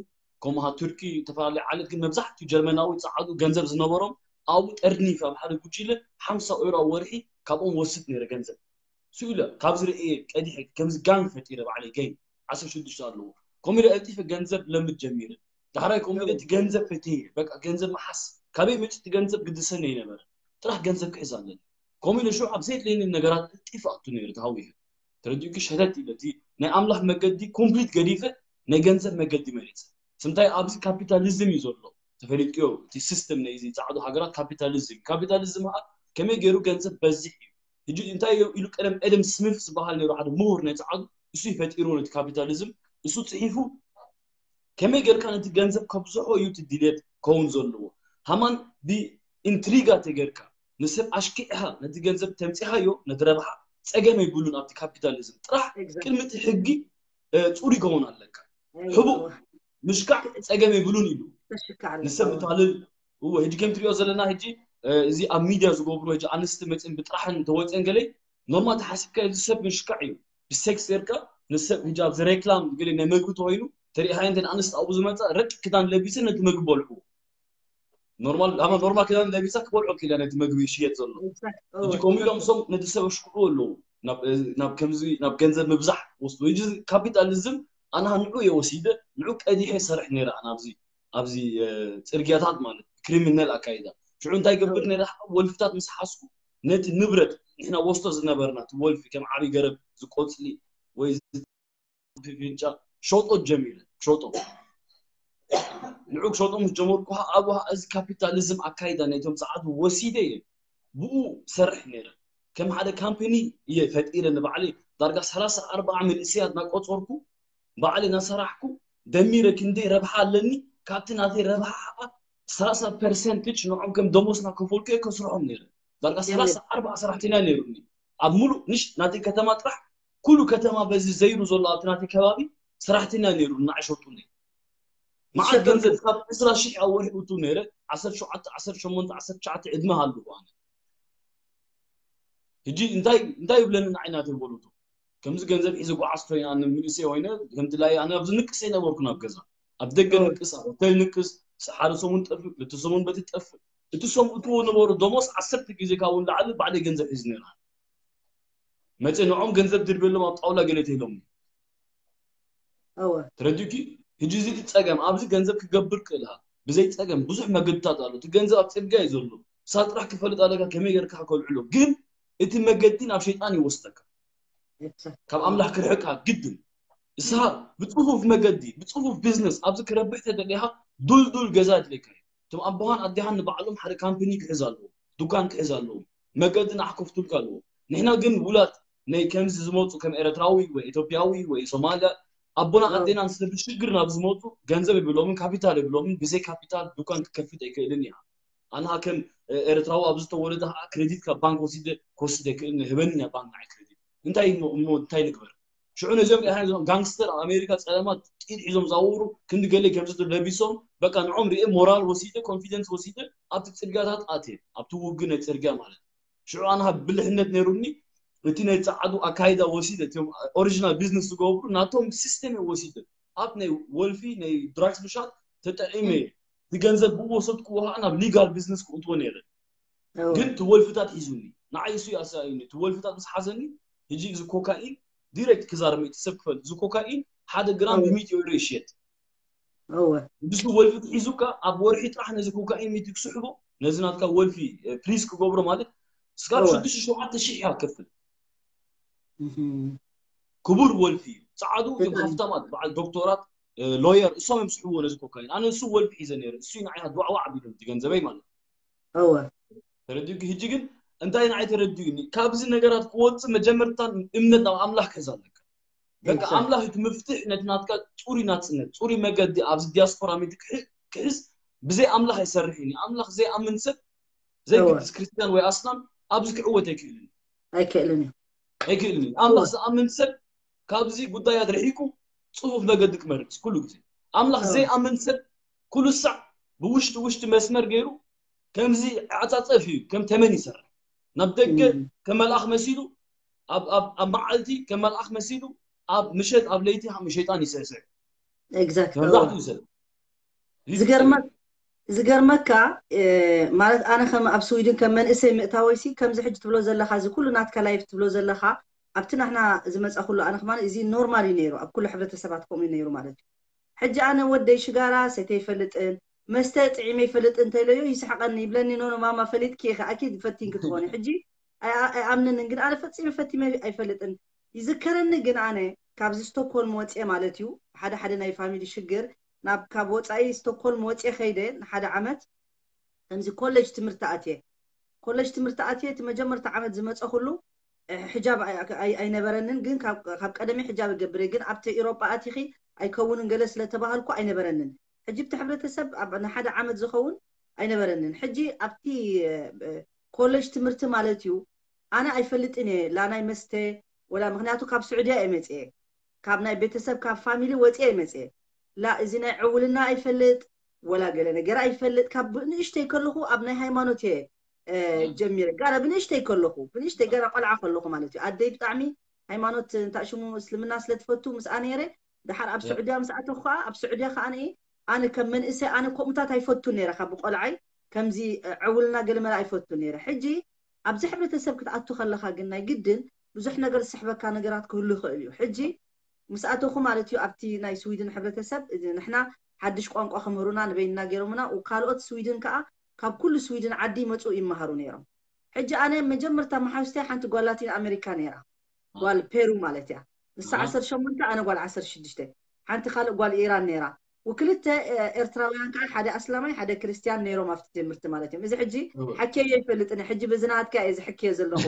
ከምኡ ቱርኪ፣ ዝተፈላለዩ ዓለት፣ ግን መብዛሕትኡ ጀርመናዊ ጸዓዱ ገንዘብ ዝነበሮም ኣብኡ ጠርኒፍ ኣብ ሓደ ጉጅለ ሓምሳ ዩሮ ኣብ ወርሒ ካብኦም ወስድ ነይረ ገንዘብ። ስኡ ኢለ ካብዚ ርእየ ቀዲሐ ከምዚ ጋንግ ፈጢረ ባዕለይ ገይ ዓሰርተ ሽዱሽተ ኣለዎ። ከምኡ ኢለ ቀልጢፈ ገንዘብ ለምድ ጀሚረ። ዳሕራይ ከምኡ ኢለ እቲ ገንዘብ ፈትየ በቃ ገንዘብ መሓስ ካበይ መፂ እቲ ገንዘብ ግድሰኒ ኣይነበረ። ጥራሕ ገንዘብ ክሕዝ ኣለኒ። ከምኡ ኢለ ሽዑ ኣብ ዘየድለየኒ ነገራት ቀልጢፈ ኣቱ ነይረ ተሃዊኸ። ተረዲኡኪ? ሸተት ኢለ እቲ ናይ ኣምላኽ መገዲ ኮምፕሊት ገዲፈ ናይ ገንዘብ መገዲ መሪጸ። ስምታይ ኣብዚ ካፒታሊዝም እዩ ዘሎ። ተፈሊጥዮ እቲ ሲስተም ናይ እዚ ጻዕዱ ሃገራት ካፒታሊዝም። ካፒታሊዝም ኸኣ ከመይ ገይሩ ገንዘብ በዝሕ እዩ። ሕጂ እንታይ ኢሉ ቀደም ኤደም ስሚት ዝበሃል ነይሩ ሓደ ምሁር ናይ ጻዕዱ እሱ ይፈጢሩ ነቲ ካፒታሊዝም እሱ ጽሒፉ ከመይ ጌርካ ነቲ ገንዘብ ከብዝሖ እዩ እቲ ድሌት ከውን ዘለዎ። ሃማን ብኢንትሪጋ ተጌርካ ንሰብ ኣሽኪዕኻ ነቲ ገንዘብ ተምፂኻዮ ነቲ ረብሓ ጸገም የብሉን። ኣብቲ ካፒታሊዝም ጥራሕ ቅድሚ እቲ ሕጊ እ፣ ፅሩይ ከውን ኣለካ። ሕቡእ ምሽካዕ ጸገም የብሉን ኢሉ ንሰብ ምታልል። እወ ሕጂ ከም ትሪኦ ዘለና ሕጂ እ፣ እዚ ኣብ ሚድያ ዝገብሩ ሕጂ ኣንስቲ መፅን ብጥራሕን ተወፅን ገለ ኖርማል ተሓሲብካ እዚ ሰብ ምሽካዕ እዩ። ብሴክስ ጌርካ ንሰብ ሕጂ ኣብዚ ሬክላም ገለ ናይ መግቢ ተኮይኑ ተሪኢኻ እንተ ኣንስቲ ኣብኡ ዝመፃ ረቂ ክዳን ለቢሰ ነቲ መግቢ በልዑ። ኖርማል ኣማ ኖርማል ክዳን ለቢሳ ክበልዑ ክኢላ ነቲ መግቢ ይሽየጥ ዘሎ። ሕጂ ከምኡ ኢሎም ሶም ነቲ ሰብ ኣሽክዑ ኣለዉ። ናብ እ፣ ናብ ከምዚ ናብ ገንዘብ ምብዛሕ ወስዱ። ሕጂ እዚ ካፒታሊዝም ኣነ ንዑ እየ ወሲደ ንዑ ቀዲሐ ሰርሕ ነይረ ኣነ ኣብዚ ኣብዚ እ፣ ጽርግያታት ማለት ክሪሚናል ኣካይዳ። ሽዑ እንታይ ገብር ነይረ ወልፍታት ምስ ሓዝኩ ነቲ ንብረት ንሕና ወስዶ ዝነበርና እቲ ወልፊ ከም ዓቢ ገረብ ዝቆጽሊ ወይ ፍንጫ ሸጦ ጀሚረ ሸጦ ንዑ ክሸጦ ምስ ጀመርኩ ኣብኡ እዚ ካፒታሊዝም ኣካይዳ ናይቶም ጸዓዱ ወሲደ እየ ብኡ ሰርሕ ነይረ። ከም ሓደ ካምፕኒ እየ ፈጢረ ንባዕለይ ዳርጋ ሰላሳ ኣርባዓ መንእሰያት እናቆጸርኩ ባዕለይ እናሰራሕኩ ደሚረ ክንደይ ረብሓ ኣለኒ ካብቲ ናተይ ረብሓ ከዓ ሰላሳ ፐርሰንትጅ ንዖም ከም ደሞዝ እናከፈልኩ እየ ከስርሖም ነይረ። ዳርጋ ሰላሳ ኣርባዓ ሰራሕተኛ ነይሩኒ ኣብ ሙሉእ ንሽ ናተይ ከተማ ጥራሕ ኩሉ ከተማ በዚ ዘይሩ ዘሎ ኣብቲ ናተይ ከባቢ ሰራሕተኛ ነይሩ ንዓይ ሸጡኒ። መዓት ገንዘብ ካብ ዕስራ ሺሕ ኣብ ወርሒ እቱ ነይረ ዓሰርተ ሸውዓተ ዓሰርተ ሸሞንተ ዓሰርተ ትሽዓተ ዕድመ ሃለኹ ኣነ። ሕጂ እንታይ እንታይ ይብለኒ ንዓይ ናተይ ወለዶ ከምዚ ገንዘብ ሒዘ ጓዓዝ ኮይነ ኣነ ምንእሰይ ኮይነ ከምቲ ላይ ኣነ ኣብዚ ንቅስ ኣይነበርኩን ኣብ ገዛ ኣብ ደገ ንቅስ ኣብ ሆቴል ንቅስ ሓደ ሰሙን ጠፍእ ክልተ ሰሙን በቲ ጠፍእ እቲ ሰም እትዎ ነበሩ ደሞስ ዓሰርተ ግዜ ካብኡ ንላዕሊ ባዕለይ ገንዘብ ሒዝ ነይረ። መፀ ንዖም ገንዘብ ድርበሎም ኣብ ጣውላ ገለ ተይሎም እወ ተረዲእኪ? ሕጂ እዚ እቲ ጸገም ኣብዚ ገንዘብ ክገብር ክእል ሃ ብዘይ ጸገም ብዙሕ መገድታት ኣሎ። እቲ ገንዘብ ኣብ ጽርግያ እዩ ዘሎ። እሳ ጥራሕ ክፈልጥ ኣለካ ከመይ ጌርካ ከልዕሎ። ግን እቲ መገዲ ናብ ሸይጣን ይወስደካ። ካብ ኣምላኽ ክርሕቃ ግድን። እሳ ብጽፉፍ መገዲ ብጽፉፍ ቢዝነስ ኣብዚ ክረብሕ ተደሊኻ ዱልዱል ገዛ ኣድልየካ እዩ። እቶም ኣቦኻን ኣዴኻን ንባዕሎም ሓደ ካምፕኒ ክሕዝ ኣለዎም፣ ዱካን ክሕዝ ኣለዎም፣ መገዲ ንዓ ከፍቱልካ ኣለዎም። ንሕና ግን ውላድ ናይ ከምዚ ዝመፁ ከም ኤረትራዊ ወይ ኢትዮጵያዊ ወይ ሶማልያ ኣቦና ኣዴና ንስለ ብሽግር ናብ ዝመፁ ገንዘብ የብሎምን ካፒታል የብሎምን ብዘይ ካፒታል ዱካን ክከፍት ኣይክእልን እያ ኣንሃ ከም ኤረትራዊ ኣብ ዝተወለደ ከዓ ክሬዲት ካብ ባንክ ወሲደ ክወስድ ኣይክእልን ህበኒ እያ ባንክ ንዓይ ክሬዲት እንታይ እሞ እንታይ ንግበር ሽዑ ነዚኦም ሪኢኻ ነዞም ጋንግስተር ኣብ ኣሜሪካ ፀለማት ጥይት ሒዞም ዝዛውሩ ክንዲ ገለ ከምዚ ለቢሶም በቃ ንዖም ሪኤ ሞራል ወሲደ ኮንፊደንስ ወሲደ ኣብቲ ፅርግያታት ኣትየ ኣብቲ ውግእ ናይ ፅርግያ ማለት ሽዑ ኣነ ብልሕነት ነይሩኒ እቲ ናይ ፃዓዱ ኣካይዳ ወሲደ እቲኦም ኦሪጂናል ቢዝነስ ዝገብሩ ናቶም ሲስተም እየ ወሲደ ኣብ ናይ ወልፊ ናይ ድራግስ ምሻጥ ተጠዒመ እየ እቲ ገንዘብ ብኡ ወሰድክዎ ከዓ ናብ ሊጋል ቢዝነስ ክእትዎ ነይረ ግን እቲ ወልፍታት ሒዙኒ ንዓይ እሱ ኣሳእዩኒ እቲ ወልፍታት ምስ ሓዘኒ ሕጂ እዚ ኮካኢን ዲሬክት ክዛረብ እቲ ሰብ ክፈልጥ እዚ ኮካኢን ሓደ ግራም ብሚእቲ ዩሮ ይሽየጥ እወ ንሱ ወልፊ ሒዙካ ኣብ ወርሒ ጥራሕ ነዚ ኮካኢን ሚእቲ ክስሕቦ ነዚ ናትካ ወልፊ ፕሪስ ክገብሮ ማለት ስካብ ሽዱሽተ ሸውዓተ ሺሕ እያ ክከፍል ክቡር ወልፊ እዩ ፃዓዱ እዮም ሃፍታማት በዓል ዶክተራት ሎየር እሶም እዮም ስሕብዎ ነዚ ኮካይን ኣነ እሱ ወልፊ ሒዘ ነይረ እሱ ንዓይ ዱዕዋዕ ኣቢሉ እቲ ገንዘበይ ማለት እወ ተረዲኡ ሕጂ ግን እንታይ ንዓይ ተረዲኡኒ ካብዚ ነገራት ክወፅእ መጀመርታ እምነት ናብ ኣምላኽ ክሕዝ ኣለካ በቃ ኣምላኽ እቲ ምፍትሕ ነቲ ናትካ ፅሩይ ናፅነት ፅሩይ መገዲ ኣብዚ ዲያስፖራ ሚቲ ክሕዝ ብዘይ ኣምላኽ ኣይሰርሕን እዩ ኣምላኽ ዘይኣምን ሰብ ዘይግድስ ክርስትያን ወይ ኣስላም ኣብዚ ክዕወት ኣይክእልን እዩ ኣይክእልን እዩ ኣይክእልን እዩ ኣምላኽ ዝኣምን ሰብ ካብዚ ጉዳያት ርሒቁ ፅፉፍ መገዲ ክመርፅ ኩሉ ግዜ ኣምላኽ ዘይኣምን ሰብ ኩሉ ሳዕ ብውሽጢ ውሽጢ መስመር ገይሩ ከምዚ ዓፃፀፍ እዩ ከም ተመን ይሰርሕ ናብ ደገ ከም መልኣኽ መሲሉ ኣብ ኣብ ኣብ መዓልቲ ከም መልኣኽ መሲሉ ኣብ ምሸት ኣብ ለይቲ ከም ሸይጣን ይስዕስዕ። exactly መብዛሕትኡ ሰብ ዝገርመ ዝገርመካ ማለት ኣነ ከም ኣብ ስዊድን ከም መንእሰይ ምእታወይሲ ከምዚ ሕጂ ትብሎ ዘለኻ እዚ ኩሉ ናትካ life ትብሎ ዘለኻ ኣብቲ ናሕና ዝመፃ ኩሉ ኣነ ከማን እዚ ኖርማል እዩ ነይሩ ኣብ ኩሉ ሕብረተሰባት ከምኡ እዩ ነይሩ ማለት እዩ ሕጂ ኣነ ወደይ ሽጋራ ሰተ ይፈልጥን መስተ ጥዒመ ይፈልጥ እንተኢለዮ ይስሕቀኒ ይብለኒ ኖኖ ማማ ፈሊጥኪ ኢኺ ኣኪ ፈቲን ክትኾኒ ሕጂ ኣይኣምንን ግን ኣነ ፈፂመ ፈቲመ ኣይፈልጥን ይዝከረኒ ግን ኣነ ካብዚ ስቶክሆልም ወፅኤ ማለት እዩ ሓደ ሓደ ናይ ፋሚሊ ሽግር ናብ ካብ ወፃኢ ስቶክሆልም ወፅኤ ከይደ ንሓደ ዓመት ከምዚ ኮሌጅ ትምህርቲ ኣትየ ኮሌጅ ትምህርቲ ኣትየ እቲ መጀመርታ ዓመት ዝመፀ ኩሉ ሕጃብ ኣይነበረንን ግን ካብ ቀደሚ ሕጃብ ይገብር ግን ኣብቲ ኤሮጳ ኣቲኺ ኣይከውንን ገለ ስለተባሃልኩ ኣይነበረንን ሕጂ ብቲ ሕብረተሰብ ንሓደ ዓመት ዝኸውን ኣይነበረንን ሕጂ ኣብቲ ኮሌጅ ትምህርቲ ማለት እዩ ኣነ ኣይፈልጥን እየ ላ ናይ መስተ ወላ ምክንያቱ ካብ ስዑድያ እየ መፅየ ካብ ናይ ቤተሰብ ካብ ፋሚሊ ወፅየ እየ መፅየ ላ እዚ ናይ ዕውልና ኣይፈልጥ ወላ ገለ ነገር ኣይፈልጥ ካብ ንእሽተይ ከለኹ ኣብ ናይ ሃይማኖት እየ ጀሚረ ጋራ ብንእሽተይ ከለኹ ብንእሽተይ ገራ ቆልዓ ከለኹ ማለት እዩ ኣደይ ብጣዕሚ ሃይማኖት እንታይ ሽሙ እስልምና ስለ ትፈቱ ምስኣ ነይረ ድሓር ኣብ ስዑድያ ምስ ኣተኹ ከዓ ኣብ ስዑድያ ከዓ ኣነ ከም መንእሰይ ኣነ ከምኡታት ኣይፈቱን ነይረ ካብ ቆልዓይ ከምዚ ዕውልና ገለመለ ኣይፈቱን ነይረ ሕጂ ኣብዚ ሕብረተሰብ ክትኣቱ ከለካ ግን ናይ ግድን ብዙሕ ነገር ዝስሕበካ ነገራት ክህሉ ይኽእል እዩ ሕጂ ምስ ኣተኹ ማለት እዩ ኣብቲ ናይ ስዊድን ሕብረተሰብ ንሕና ሓድሽ ቋንቋ ክምህሩና ንበይንና ገይሮምና ካልኦት ስዊድን ከዓ ካብ ኩሉ ስዊድን ዓዲ ይመፁ ይመሃሩ ነይሮም ሕጂ ኣነ መጀመርታ መሓዝተይ ሓንቲ ጓል ላቲን ኣሜሪካ ነይራ ጓል ፔሩ ማለት እያ ንሳ ዓሰርተ ሸሞንተ ኣነ ጓል ዓሰርተ ሽዱሽተ ሓንቲ ካልእ ጓል ኢራን ነይራ ወክልተ ኤርትራውያን ከዓ ሓደ ኣስላማይ ሓደ ክርስትያን ነይሮም ኣብቲ ትምህርቲ ማለት እዮም እዚ ሕጂ ሓኬዮ ይፈልጥኒ ሕጂ ብዝናትካ እየ ዝሕክዮ ዘለኹ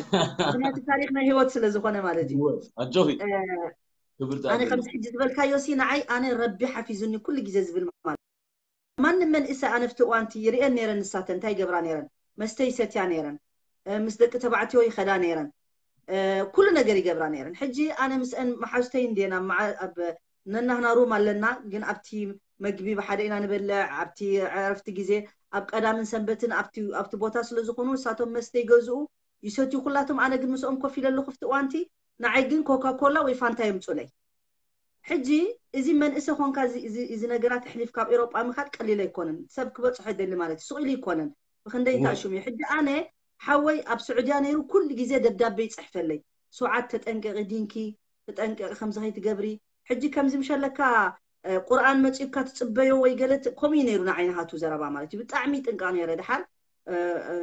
ምክንያቱ ታሪክ ናይ ህይወት ስለ ዝኾነ ማለት እዩ ኣጆኺ ኣነ ከምዚ ሕጂ ዝበልካዮ ሲ ንዓይ ኣነ ረቢ ሓፊዙኒ ኩሉ ግዜ ዝብል ማለት ማንም መንእሰ ኣነ ኣብቲ እዋንቲ ይርእየን ነይረን ንሳተን እንታይ ይገብራ ነይረን መስተ ይሰትያ ነይረን ምስ ደቂ ተባዕትዮ ይኸዳ ነይረን ኩሉ ነገር ይገብራ ነይረን ሕጂ ኣነ ምስአን መሓዝተይ እንዴና ኣብ ነናህና ሩም ኣለና ግን ኣብቲ መግቢ ብሓደ ኢና ንበልዕ ኣብቲ ዕረፍቲ ግዜ ኣብ ቀዳምን ሰንበትን ኣብቲ ቦታ ስለ ዝኾኑ ንሳቶም መስተ ይገዝኡ ይሰትዩ ኩላቶም ኣነ ግን ምስኦም ኮፍ ኢለ ኣለኹ ኣብቲ እዋንቲ ንዓይ ግን ኮካ ኮላ ወይ ፋንታ የምፁለይ ሕጂ እዚ መንእሰ ኮንካ እዚ ነገራት ኣሕሊፍ ካብ ኤሮጳ ምካድ ቀሊል ኣይኮነን ሰብ ክበፅሖ ይደሊ ማለት እዩ ስቕ ኢሉ ይኮነን ብክንደይ እንታይ ሽሙ እዩ ሕጂ ኣነ ሓወይ ኣብ ስዑድያ ነይሩ ኩሉ ግዜ ደብዳቤ ይፅሕፈለይ ሱዓድ ተጠንቀቂ ዲንኪ ተጠንቀቂ ከምዚ ከይትገብሪ ሕጂ ከምዚ ምሸለካ ቁርኣን መፂኡካ ትፅበዮ ወይ ገለ ከምኡ እዩ ነይሩ ንዓይ ናሃቱ ዘረባ ማለት እዩ ብጣዕሚ ጥንቀቕ ነይረ ድሓር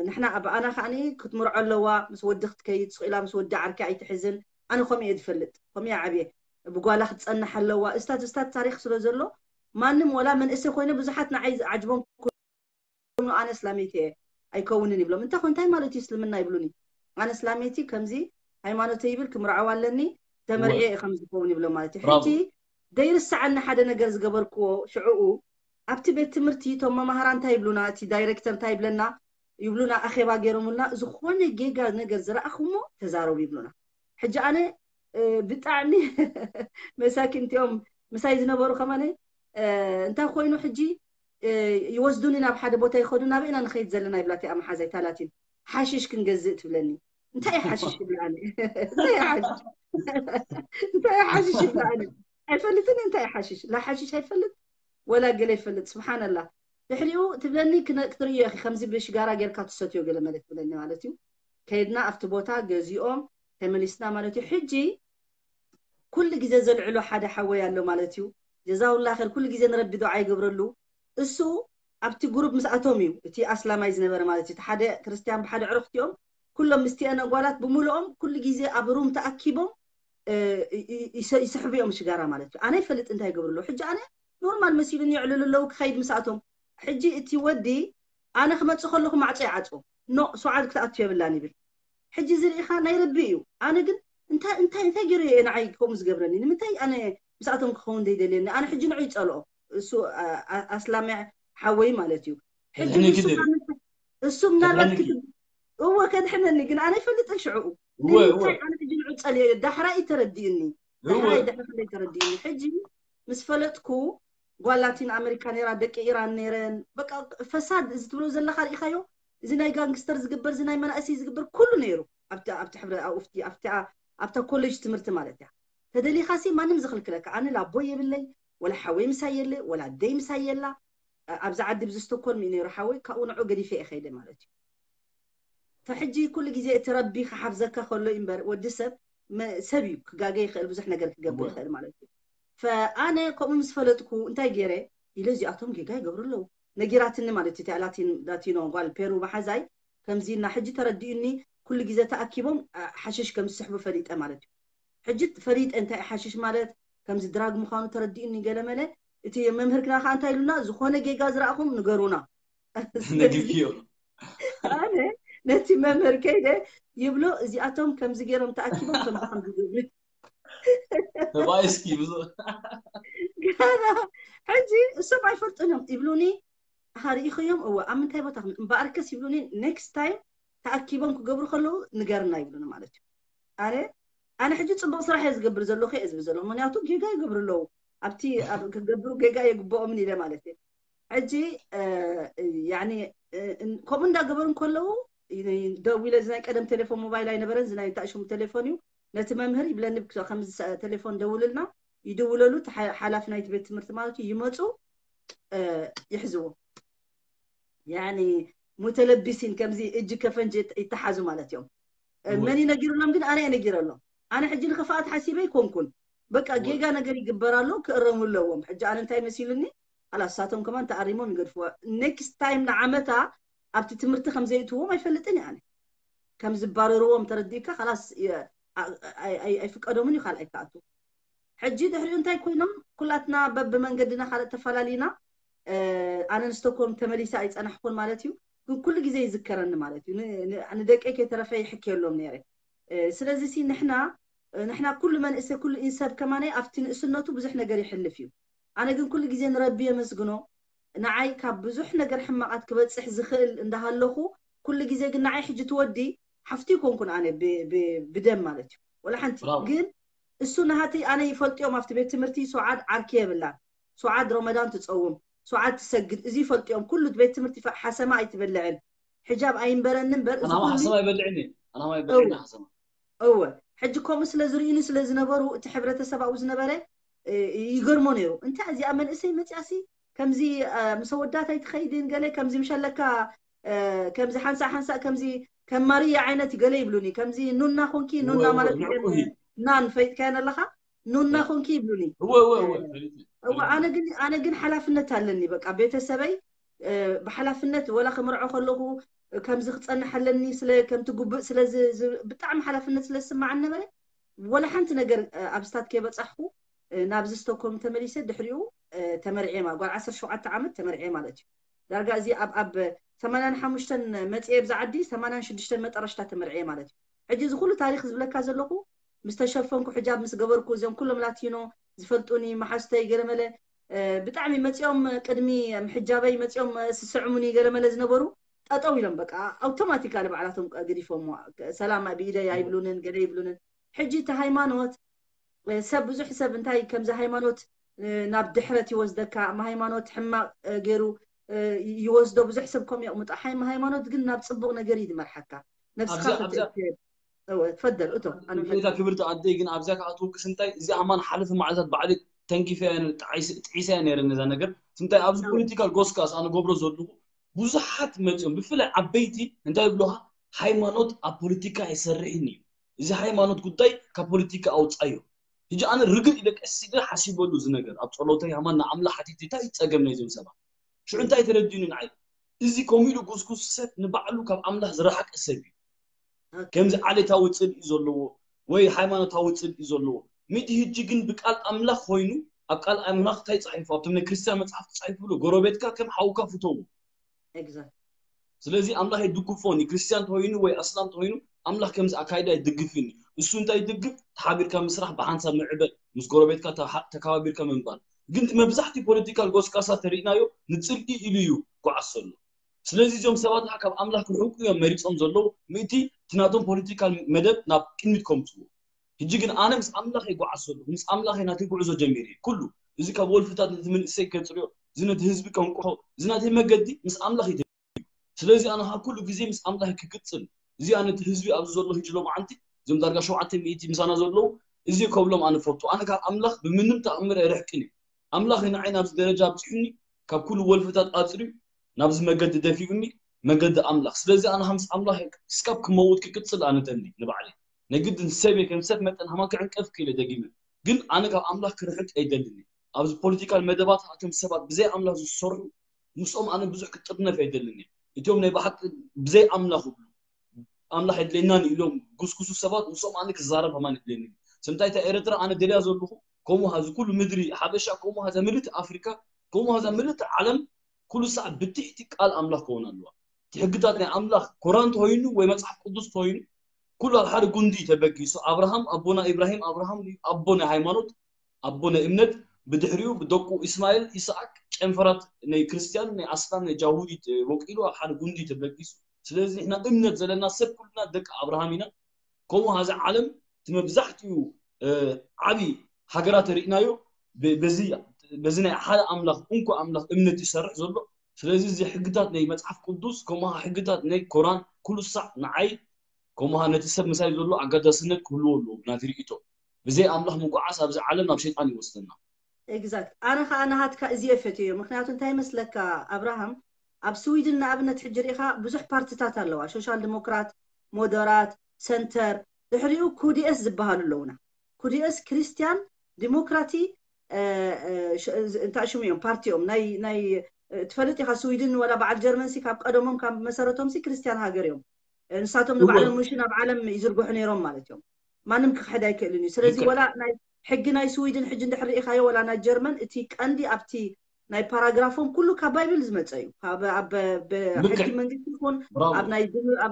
ንሕና ብኣና ከዓ ክትምርዖ ኣለዋ ምስ ወዲ ክትከይድ ስኢላ ምስ ወዲ ዓርኪ ኣይትሕዝን ኣነ ከምኡ እየ ዝፈልጥ ከምኡ እየ ዓብየ ብጓላ ክትፀንሕ ኣለዋ እስታት እስታት ታሪክ ስለ ዘሎ ማንም ወላ መንእሰ ኮይነ ብዙሓት ንዓይ ዝዓጅቦም ኣነ እስላመይቲ እየ ኣይከውንን ይብሎም እንታይ ኮንታይ ማለት እዩ እስልምና ይብሉኒ ኣነ እስላመይቲ ከምዚ ሃይማኖተ ይብል ክምርዓው ኣለኒ ተመርዒ እየ ከም ዝከውን ይብሎም ማለት እዩ ሕጂ ደይርስዓኒ ሓደ ነገር ዝገበርክዎ ሽዕኡ ኣብቲ ቤት ትምህርቲ እቶም መማህራ እንታይ ይብሉና እቲ ዳይሬክተር እንታይ ይብለና ይብሉና ኣኼባ ገይሮምልና ዝኾነ ጌጋ ነገር ዝረኣኹሞ ተዛረቡ ይብሉና ሕጂ ኣነ ብጣዕሚ መሳኪን እቲኦም ምሳይ ዝነበሩ ከማነ እንታይ ኮይኑ ሕጂ ይወስዱኒ ናብ ሓደ ቦታ ይኸዱ ናበይ ኢና ንኸይድ ዘለና ይብላ እቲኣ መሓዛይ ታላቲን ሓሽሽ ክንገዝእ ትብለኒ እንታይ ሓሽሽ ይብላ እንታይ ሓሽሽ ይብላ ኣይፈልጥን እንታይ ሓሽሽ ላ ሓሽሽ ኣይፈልጥ ወላ ገለ ይፈልጥ ስብሓንላ ድሕሪኡ ትብለኒ ክትርእዮ ኢኺ ከምዚ ብሽጋራ ጌርካ ትሰትዮ ገለ መለ ትብለኒ ማለት እዩ ከይድና ኣብቲ ቦታ ገዚኦም ተመሊስና ማለት እዩ ሕጂ ኩሉ ግዜ ዘልዕሎ ሓደ ሓወይ ኣሎ ማለት እዩ ጀዛውላ ኸር ኩሉ ግዜ ንረቢ ዱዓ ይገብረሉ እሱ ኣብቲ ግሩፕ ምስኣቶም እዩ እቲ ኣስላማይ ዝነበረ ማለት እዩ ሓደ ክርስትያን ብሓደ ዕረፍቲኦም ኩሎም ምስቲአን ኣጓላት ብምልኦም ኩሉ ግዜ ኣብ ሩም ተኣኪቦም ይስሕቡ እዮም ሽጋራ ማለት እዩ ኣነ ይፈልጥ እንታይ ይገብርሉ ሕጂ ኣነ ኖርማል መሲሉን የዕልሉ ኣለዉ ክኸይድ ምስኣቶም ሕጂ እቲ ወዲ ኣነ ክመፅእ ከለኹ ማዕፆ ይዓፅዎ ኖ ሰዓት ክትኣቱ የብላን ይብል ሕጂ ዝርኢኻ ናይ ረቢ እዩ ኣነ ግን እንታይ እንታይ እንታይ ገይሩ እየ ንዓይ ከምኡ ዝገብረኒ ንምንታይ ኣነ ምስኣቶም ክኸውን ዘይደልየኒ ኣነ ሕጂ ንዑ ይፀልኦ እሱ ኣስላሚ ሓወይ ማለት እዩ ሕጂ እሱ ምናልባት ክትብ እወ ከድሕነኒ ግን ኣነ ይፈልጥን ሽዕኡ ንምንታይ ኣነ ሕጂ ንዑ ፀልዮ ዳሕራ እዩ ተረዲእኒ ዳሕራ ይድሕር ክንደይ ተረዲእኒ ሕጂ ምስ ፈለጥኩ ጓል ላቲን ኣሜሪካ ነራ ደቂ ኢራን ነረን በቃ ፈሳድ እዚ ትብሎ ዘለካ ርኢካዮ እዚ ናይ ጋንግስተር ዝግበር፣ እዚ ናይ መናእሰይ ዝግበር ኩሉ ነይሩ ኣብቲ ኣብቲ ሕብረ ኣብቲ ኣብቲ ኣብታ ኮሌጅ ትምህርቲ ማለት እያ። ተደሊኻሲ ማንም ዝኽልክለካ፣ ኣነ ላቦ የብለይ፣ ወላ ሓወይ ምሳይ የለ፣ ወላ ኣደይ ምሳይ የላ። ኣብዚ ዓዲ ብዚ ስቶኮልም እዩ ነይሩ ሓወይ፣ ካብኡ ንዑ ገዲፈ እየ ከይደ ማለት እዩ። ፈሕጂ ኩሉ ግዜ እቲ ረቢ ክሓፍዘካ ከሎ እዩ እምበር፣ ወዲ ሰብ ሰብ እዩ ክጋገ ይኽእል፣ ብዙሕ ነገር ክገብር ይኽእል ማለት እዩ። ፈኣነ ከምኡ ምስ ፈለጥኩ እንታይ ገይረ ኢለ፣ እዚኣቶም ጌጋ ይገብሩ ኣለዉ ነጊራትኒ ማለት እዩ። እቲኣ ላቲኖ ጓል ፔሩ መሓዛይ ከምዚ እና ሕጂ ተረዲኡኒ፣ ኩሉ ግዜ ተኣኪቦም ሓሽሽ ከም ዝስሕቡ ፈሊጠ ማለት እዩ። ሕጂ ፈሊጠ እንታይ ሓሽሽ ማለት ከምዚ ድራግ ምዃኑ ተረዲኡኒ። ገለመለ እቲ መምህር ግና ከዓ እንታይ ኢሉና፣ ዝኾነ ጌጋ ዝረኣኹም ንገሩና። ነጊርክዮ። ኣነ ነቲ መምህር ከይደ ይብሎ፣ እዚኣቶም ከምዚ ገይሮም ተኣኪቦም ከምዚ ከምዚ ዝብል ተባይ እስኪ ብዙ ገና ሕጂ እሶም ኣይፈልጡን እዮም ይብሉኒ። ሃ ርኢኽዮም? እወ። ኣብ ምንታይ ቦታ እምበኣርከስ ይብሉኒ፣ ኔክስት ታይም ተኣኪቦም ክገብሩ ከለዉ ንገርና ይብሉኒ ማለት እዩ። ኣነ ኣነ ሕጂ ፅቡቅ ስራሕ እየ ዝገብር ዘለኹ እየ ዝብል ዘለኹ፣ ምክንያቱ ጌጋ ይገብሩ ኣለዉ። ኣብቲ ክገብሩ ጌጋ የግብኦምን ኢለ ማለት እየ። ሕጂ ከምኡ እንዳገበሩ ከለዉ ደዊለ፣ እዚ ናይ ቀደም ቴሌፎን ሞባይል ኣይነበረን፣ እዚ ናይ ታእሽሙ ቴሌፎን እዩ። ነቲ መምህር ይብለኒ፣ ከም ቴሌፎን ደውልልና፣ ይድውለሉ፣ ሓላፊ ናይቲ ቤት ትምህርቲ ማለት እዩ፣ ይመፁ፣ ይሕዝዎ። ያኒ ሙተለቢሲን ከምዚ እጅ ከፈንጅ ይተሓዙ ማለት እዮም። መን ነጊሩሎም ግን? ኣነ ነጊረሎም። ኣነ ሕጂ ንክፍኣት ሓሲበ ኣይኮንኩን። በቃ ጌጋ ነገር ይግበር ኣሎ፣ ክእረሙ ኣለዎም። ሕጂ ኣነ እንታይ መሲሉኒ? ኣላ እሳቶም ከማን ተኣሪሞም ይገድፍዎ። ኔክስት ታይም ንዓመታ ኣብቲ ትምህርቲ ከም ዘይእትዎም ኣይፈልጥን እየ ኣነ። ከም ዝባረርዎም ተረዲእካ፣ ከላስ ኣይፍቀዶምን እዩ ካልኣይ ክኣቱ። ሕጂ ድሕሪኡ እንታይ ኮይኖም፣ ኩላትና በብመንገድና ካልእ ተፈላሊና። ኣነ ንስቶኮልም ተመሊሰ ኣይጸናሕኩን ማለት እዩ፣ ግን ኩሉ ግዜ ይዝከረኒ ማለት እዩ። ንደቀይ ከይተረፈ ይሕክየሎም ነይረ። ስለዚ ሲ ንሕና ንሕና ኩሉ መንእሰ ኩሉ ኢንሰብ ከማነይ ኣብቲ ንእስነቱ ብዙሕ ነገር ይሕልፍ እዩ። ኣነ ግን ኩሉ ግዜ ንረቢ የመስግኖ፣ ንዓይ ካብ ብዙሕ ነገር ሕማቓት ክበጽሕ ዝኽእል እንዳሃለኹ፣ ኩሉ ግዜ ግን ንዓይ ሕጂ ትወዲ ሓፍቲ ይኮንኩን ኣነ ብደም ማለት እዩ። ወላ ሓንቲ ግን እሱ ናሃተይ ኣነ ይፈልጥዮም። ኣብቲ ቤት ትምህርቲ ሱዓድ ዓርኪ የብላን። ሱዓድ ረመዳን ትጸውም፣ ሱዓድ ትሰግድ፣ እዚ ይፈልጥዮም። ኩሉ ቤት ትምህርቲ ሓሰማ ኣይትበልዕን፣ ሕጃብ ኣይንበረኒ እምበር እዚ ኩሉ ሓሰማ ይበልዕኒ። ኣናማ ይበልዕኒ ሓሰማ። እወ፣ ሕጂ ከምኡ ስለ ዝርእዩኒ ስለ ዝነበሩ፣ እቲ ሕብረተሰብ ኣብኡ ዝነበረ ይገርሞ ነይሩ። እንታይ እዚኣ መንእሰይ መፅያሲ ከምዚ ምስ ኣወዳት ኣይትኸይድን፣ ገለ ከምዚ ምሸለካ ከምዚ ሓንሳእ ሓንሳእ ከምዚ ከም ማርያ ዓይነት ገለ ይብሉኒ። ከምዚ ኑና ኮንኪ፣ ኑና ማለት ናን ፈይጥካየን ኣለኻ፣ ኑና ኮንኪ ይብሉኒ። እወ፣ ኣነ ግን ሓላፍነት ኣለኒ። በቃ ቤተሰበይ ብሓላፍነት ወላ ክምርዖ ከለኹ ከምዚ ክፀንሕ ኣለኒ ስለ ከምቲ ጉብእ ስለ ብጣዕሚ ሓላፍነት ስለ ዝስማዓኒ ነበረ። ወላ ሓንቲ ነገር ኣብ ስታት ከይበፃሕኩ ናብዚ ስቶኮልም ተመሊሰ። ድሕሪኡ ተመርዕየ ማለት ጓል ዓሰርተ ሸውዓተ ዓመት ተመርዕየ ማለት እዩ። ዳርጋ እዚ ኣብ ኣብ ሰማንያን ሓሙሽተን መፅየ ብዛ ዓዲ ሰማንያን ሽዱሽተን መጠረሽታ ተመርዕየ ማለት እዩ። ሕጂ እዚ ኩሉ ታሪክ ዝብለካ ዘለኹ ምስ ተሸፈንኩ፣ ሕጃብ ምስ ገበርኩ፣ እዚኦም ኩሎም ላቲኖ ዝፈልጡኒ መሓዝተይ ገለመለ ብጣዕሚ መፂኦም ቅድሚ ምሕጃበይ መፂኦም ስስዕሙኒ ገለመለ ዝነበሩ ጠጠው ኢሎም በቃ ኣውቶማቲካሊ ባዕላቶም ገዲፎምዋ። ሰላም ብኢደይ ኣይብሉንን ገለ ይብሉንን። ሕጂ እቲ ሃይማኖት ሰብ ብዙሕ ሰብ እንታይ ከምዚ ሃይማኖት ናብ ድሕረት ይወስደካ፣ ሃይማኖት ሕማቅ ገይሩ ይወስዶ። ብዙሕ ሰብ ከም የቕምጦ። ሃይማኖት ግን ናብ ፅቡቅ ነገር እዩ ዝመርሓካ። ነብስካ ክትእክብ። ትፈደል እቶ ክብርቲ ኣደይ ግን ኣብዚያ ከኣትወክስ እንታይ እዚኣ ማን ሓለፈ መዓልታት ባዕሊ ተንኪፈያ ጥዒሰያ ነይረ ነዛ ነገር። እንታይ ኣብዚ ፖለቲካል ጎስጋስ ኣነ ገብሮ ዘለኹ ብዙሓት መፅኦም ብፍላይ ዓበይቲ እንታይ ይብሉካ፣ ሃይማኖት ኣብ ፖለቲካ ኣይሰርሕን እዩ፣ እዚ ሃይማኖት ጉዳይ ካብ ፖለቲካ ኣውፃዮ። ሕጂ ኣነ ርግእ ኢለ ቀስ ኢለ ሓሲበሉ እዚ ነገር ኣብ ፀሎተይ ሃማን ንኣምላኽ ሓቲተ እንታይ እዩ ፀገም ናይዞም ሰባት? ሽዑ እንታይ ተረዲኡኒ ንዓይ፣ እዚ ከምኡ ኢሉ ጉስጉስ ሰብ ንባዕሉ ካብ ኣምላኽ ዝረሓቀ ሰብ እዩ። ከምዚ ዓሌታዊ ፅልኢ ዘለዎ ወይ ሃይማኖታዊ ፅልኢ ዘለዎ ሚእቲ ሕጂ ግን ብቃል ኣምላኽ ኮይኑ ኣብ ቃል ኣምላኽ እንታይ ፃሒፉ ኣብቶም ናይ ክርስትያን መፅሓፍ ተፃሒፉ ብሎ ጎረቤትካ ከም ሓውካ ፍተዎ። ስለዚ ኣምላኽ ኣይድግፎን እዩ። ክርስትያን ተኮይኑ ወይ ኣስላም ተኮይኑ ኣምላኽ ከምዚ ኣካይዳ ኣይድግፍን እዩ። እሱ እንታይ ይድግፍ? ተሓቢርካ ምስራሕ፣ ብሓንሳብ ምዕበል፣ ምስ ጎረቤትካ ተከባቢርካ ምንባር። ግን መብዛሕትኡ ፖለቲካል ጎስጋሳ ተሪእናዮ ንፅልኢ ኢሉ እዩ ጓዓዝ ዘሎ። ስለዚ እዚኦም ሰባት ከዓ ካብ ኣምላኽ ክርሕቁ እዮም መሪፆም ዘለዉ። ምእንቲ እቲ ናቶም ፖለቲካል መደብ ናብ ቅድሚት ከምፅዎ። ሕጂ ግን ኣነ ምስ ኣምላኽ ይጓዓዝ ዘለኹ፣ ምስ ኣምላኽ ናተይ ጉዕዞ ጀሚረ። ኩሉ እዚ ካብ ወልፍታት ነቲ መንእሰይ ከፅርዮ፣ እዚ ነቲ ህዝቢ ከንቅሖ፣ እዚ ናተይ መገዲ ምስ ኣምላኽ እዩ። ስለዚ ኣነ ካብ ኩሉ ግዜ ምስ ኣምላኽ ክቅጽል፣ እዚ ኣነ እቲ ህዝቢ ኣብዚ ዘሎ ህጂ ሎማዓንቲ፣ እዞም ዳርጋ ሸውዓተ ሚእቲ ምሳና ዘለዉ፣ እዚ ከብሎም ኣነ ፈቱ። ኣነ ካብ ኣምላኽ ብምንም ተኣምር ኣይርሕቅን እየ። ኣምላኽ እዩ ንዓይ ናብዚ ደረጃ ኣብጽሑኒ፣ ካብ ኩሉ ወልፍታት ኣጽርዩ ናብዚ መገዲ ደፊኡኒ፣ መገዲ ኣምላኽ። ስለዚ ኣነ ምስ ኣምላኽ እስካብ ክመውት ክቅጽል ኣነ ደሊ ንባዕለይ። ናይ ግድን ሰብ እየ፣ ከም ሰብ መጠን ሃማ ክዕንቀፍ ክኢለ ደጊመ። ግን ኣነ ካብ ኣምላኽ ክርሕቅ ኣይደልን እየ። ኣብዚ ፖለቲካል መደባት ኣቶም ሰባት ብዘይ ኣምላኽ ዝሰርሑ ምስኦም ኣነ ብዙሕ ክጥርነፍ ኣይደልን እየ። እቲኦም ናይ ብሓቂ ብዘይ ኣምላኽ ይብሉ ኣምላኽ የድልየናን ኢሎም ጉስጉሱ ሰባት ምስኦም ኣነ ክዛረብ ከማን የድልየኒ። ስምታይ እታ ኤረትራ ኣነ ደልያ ዘለኹ ከምኡ ሃዚ ኩሉ ምድሪ ሓበሻ ከምኡ ሃዛ ምልእቲ ኣፍሪካ ከምኡ ሃዛ ምልእቲ ዓለም ኩሉ ሳዕ ብትሕቲ ቃል ኣምላኽ ክኸውን ኣለዋ። እቲ ሕግታት ናይ ኣምላኽ ኮራን ተኮይኑ ወይ መጽሓፍ ቅዱስ ተኮይኑ ኩሉ ኣብ ሓደ ጉንዲ ተበጊሱ ኣብርሃም ኣቦና ኢብራሂም ኣብርሃም ኣቦ ናይ ሃይማኖት ኣቦ ናይ እምነት ብድሕሪኡ ብደቁ ኢስማኤል ኢስሓቅ ጨንፈራት ናይ ክርስትያን ናይ ኣስላም ናይ ጃሁዲ ወቂሉ ኣብ ሓደ ጉንዲ ተበጊሱ። ስለዚ ንሕና እምነት ዘለና ሰብ ኩልና ደቂ ኣብርሃም ኢና። ከምኡ ሃዚ ዓለም እቲ መብዛሕትኡ ዓብዪ ሃገራት ርኢናዮ በዚ ናይ ሓደ ኣምላኽ እንኮ ኣምላኽ እምነት ይሰርሕ ዘሎ። ስለዚ እዚ ሕግታት ናይ መፅሓፍ ቅዱስ ከምኡ ሕግታት ናይ ኮራን ኩሉ ሳዕ ንዓይ ከምኡ ነቲ ሰብ ምሳይ ዘሎ ኣጋዳስነት ክህልዎ ኣለዎ ናቲ ርእቶ። ብዘይ ኣምላኽ ምጉዓዝ ኣብዚ ዓለም ናብ ሸይጣን ይወስደና። ኤግዛክት ኣነ ከዓ ናሃትካ እዚ የፈትዮ። ምክንያቱ እንታይ መስለካ ኣብርሃም፣ ኣብ ስዊድን ንኣብነት ሕጂ ርኢኻ ብዙሕ ፓርትታት ኣለዋ፣ ሶሻል ዲሞክራት፣ ሞደራት፣ ሰንተር፣ ድሕሪኡ ኩዲኤስ ዝበሃሉ ኣለውና። ኩዲኤስ ክርስቲያን ዲሞክራቲ እንታይ ሽሙ እዮም ፓርቲኦም ናይ ናይ ትፈልጥ ኢኻ ስዊድን ወላ በዓል ጀርመን ሲ ካብ ቀደሞም ካብ መሰረቶም ሲ ክርስቲያን ሃገር እዮም። ንሳቶም ንባዕሎም ምሽ ናብ ዓለም ይዝርግሑ ነይሮም ማለት እዮም። ማንም ክሕድ ኣይክእልን እዩ። ስለዚ ወላ ናይ ሕጊ ናይ ስዊድን ሕጂ እንድሕር ርኢኻዮ ወላ ናይ ጀርመን እቲ ቀንዲ ኣብቲ ናይ ፓራግራፎም ኩሉ ካብ ባይብል ዝመፀ እዩ። ካብ ኣብ ሕጊ መንግስቲ ይኹን ኣብ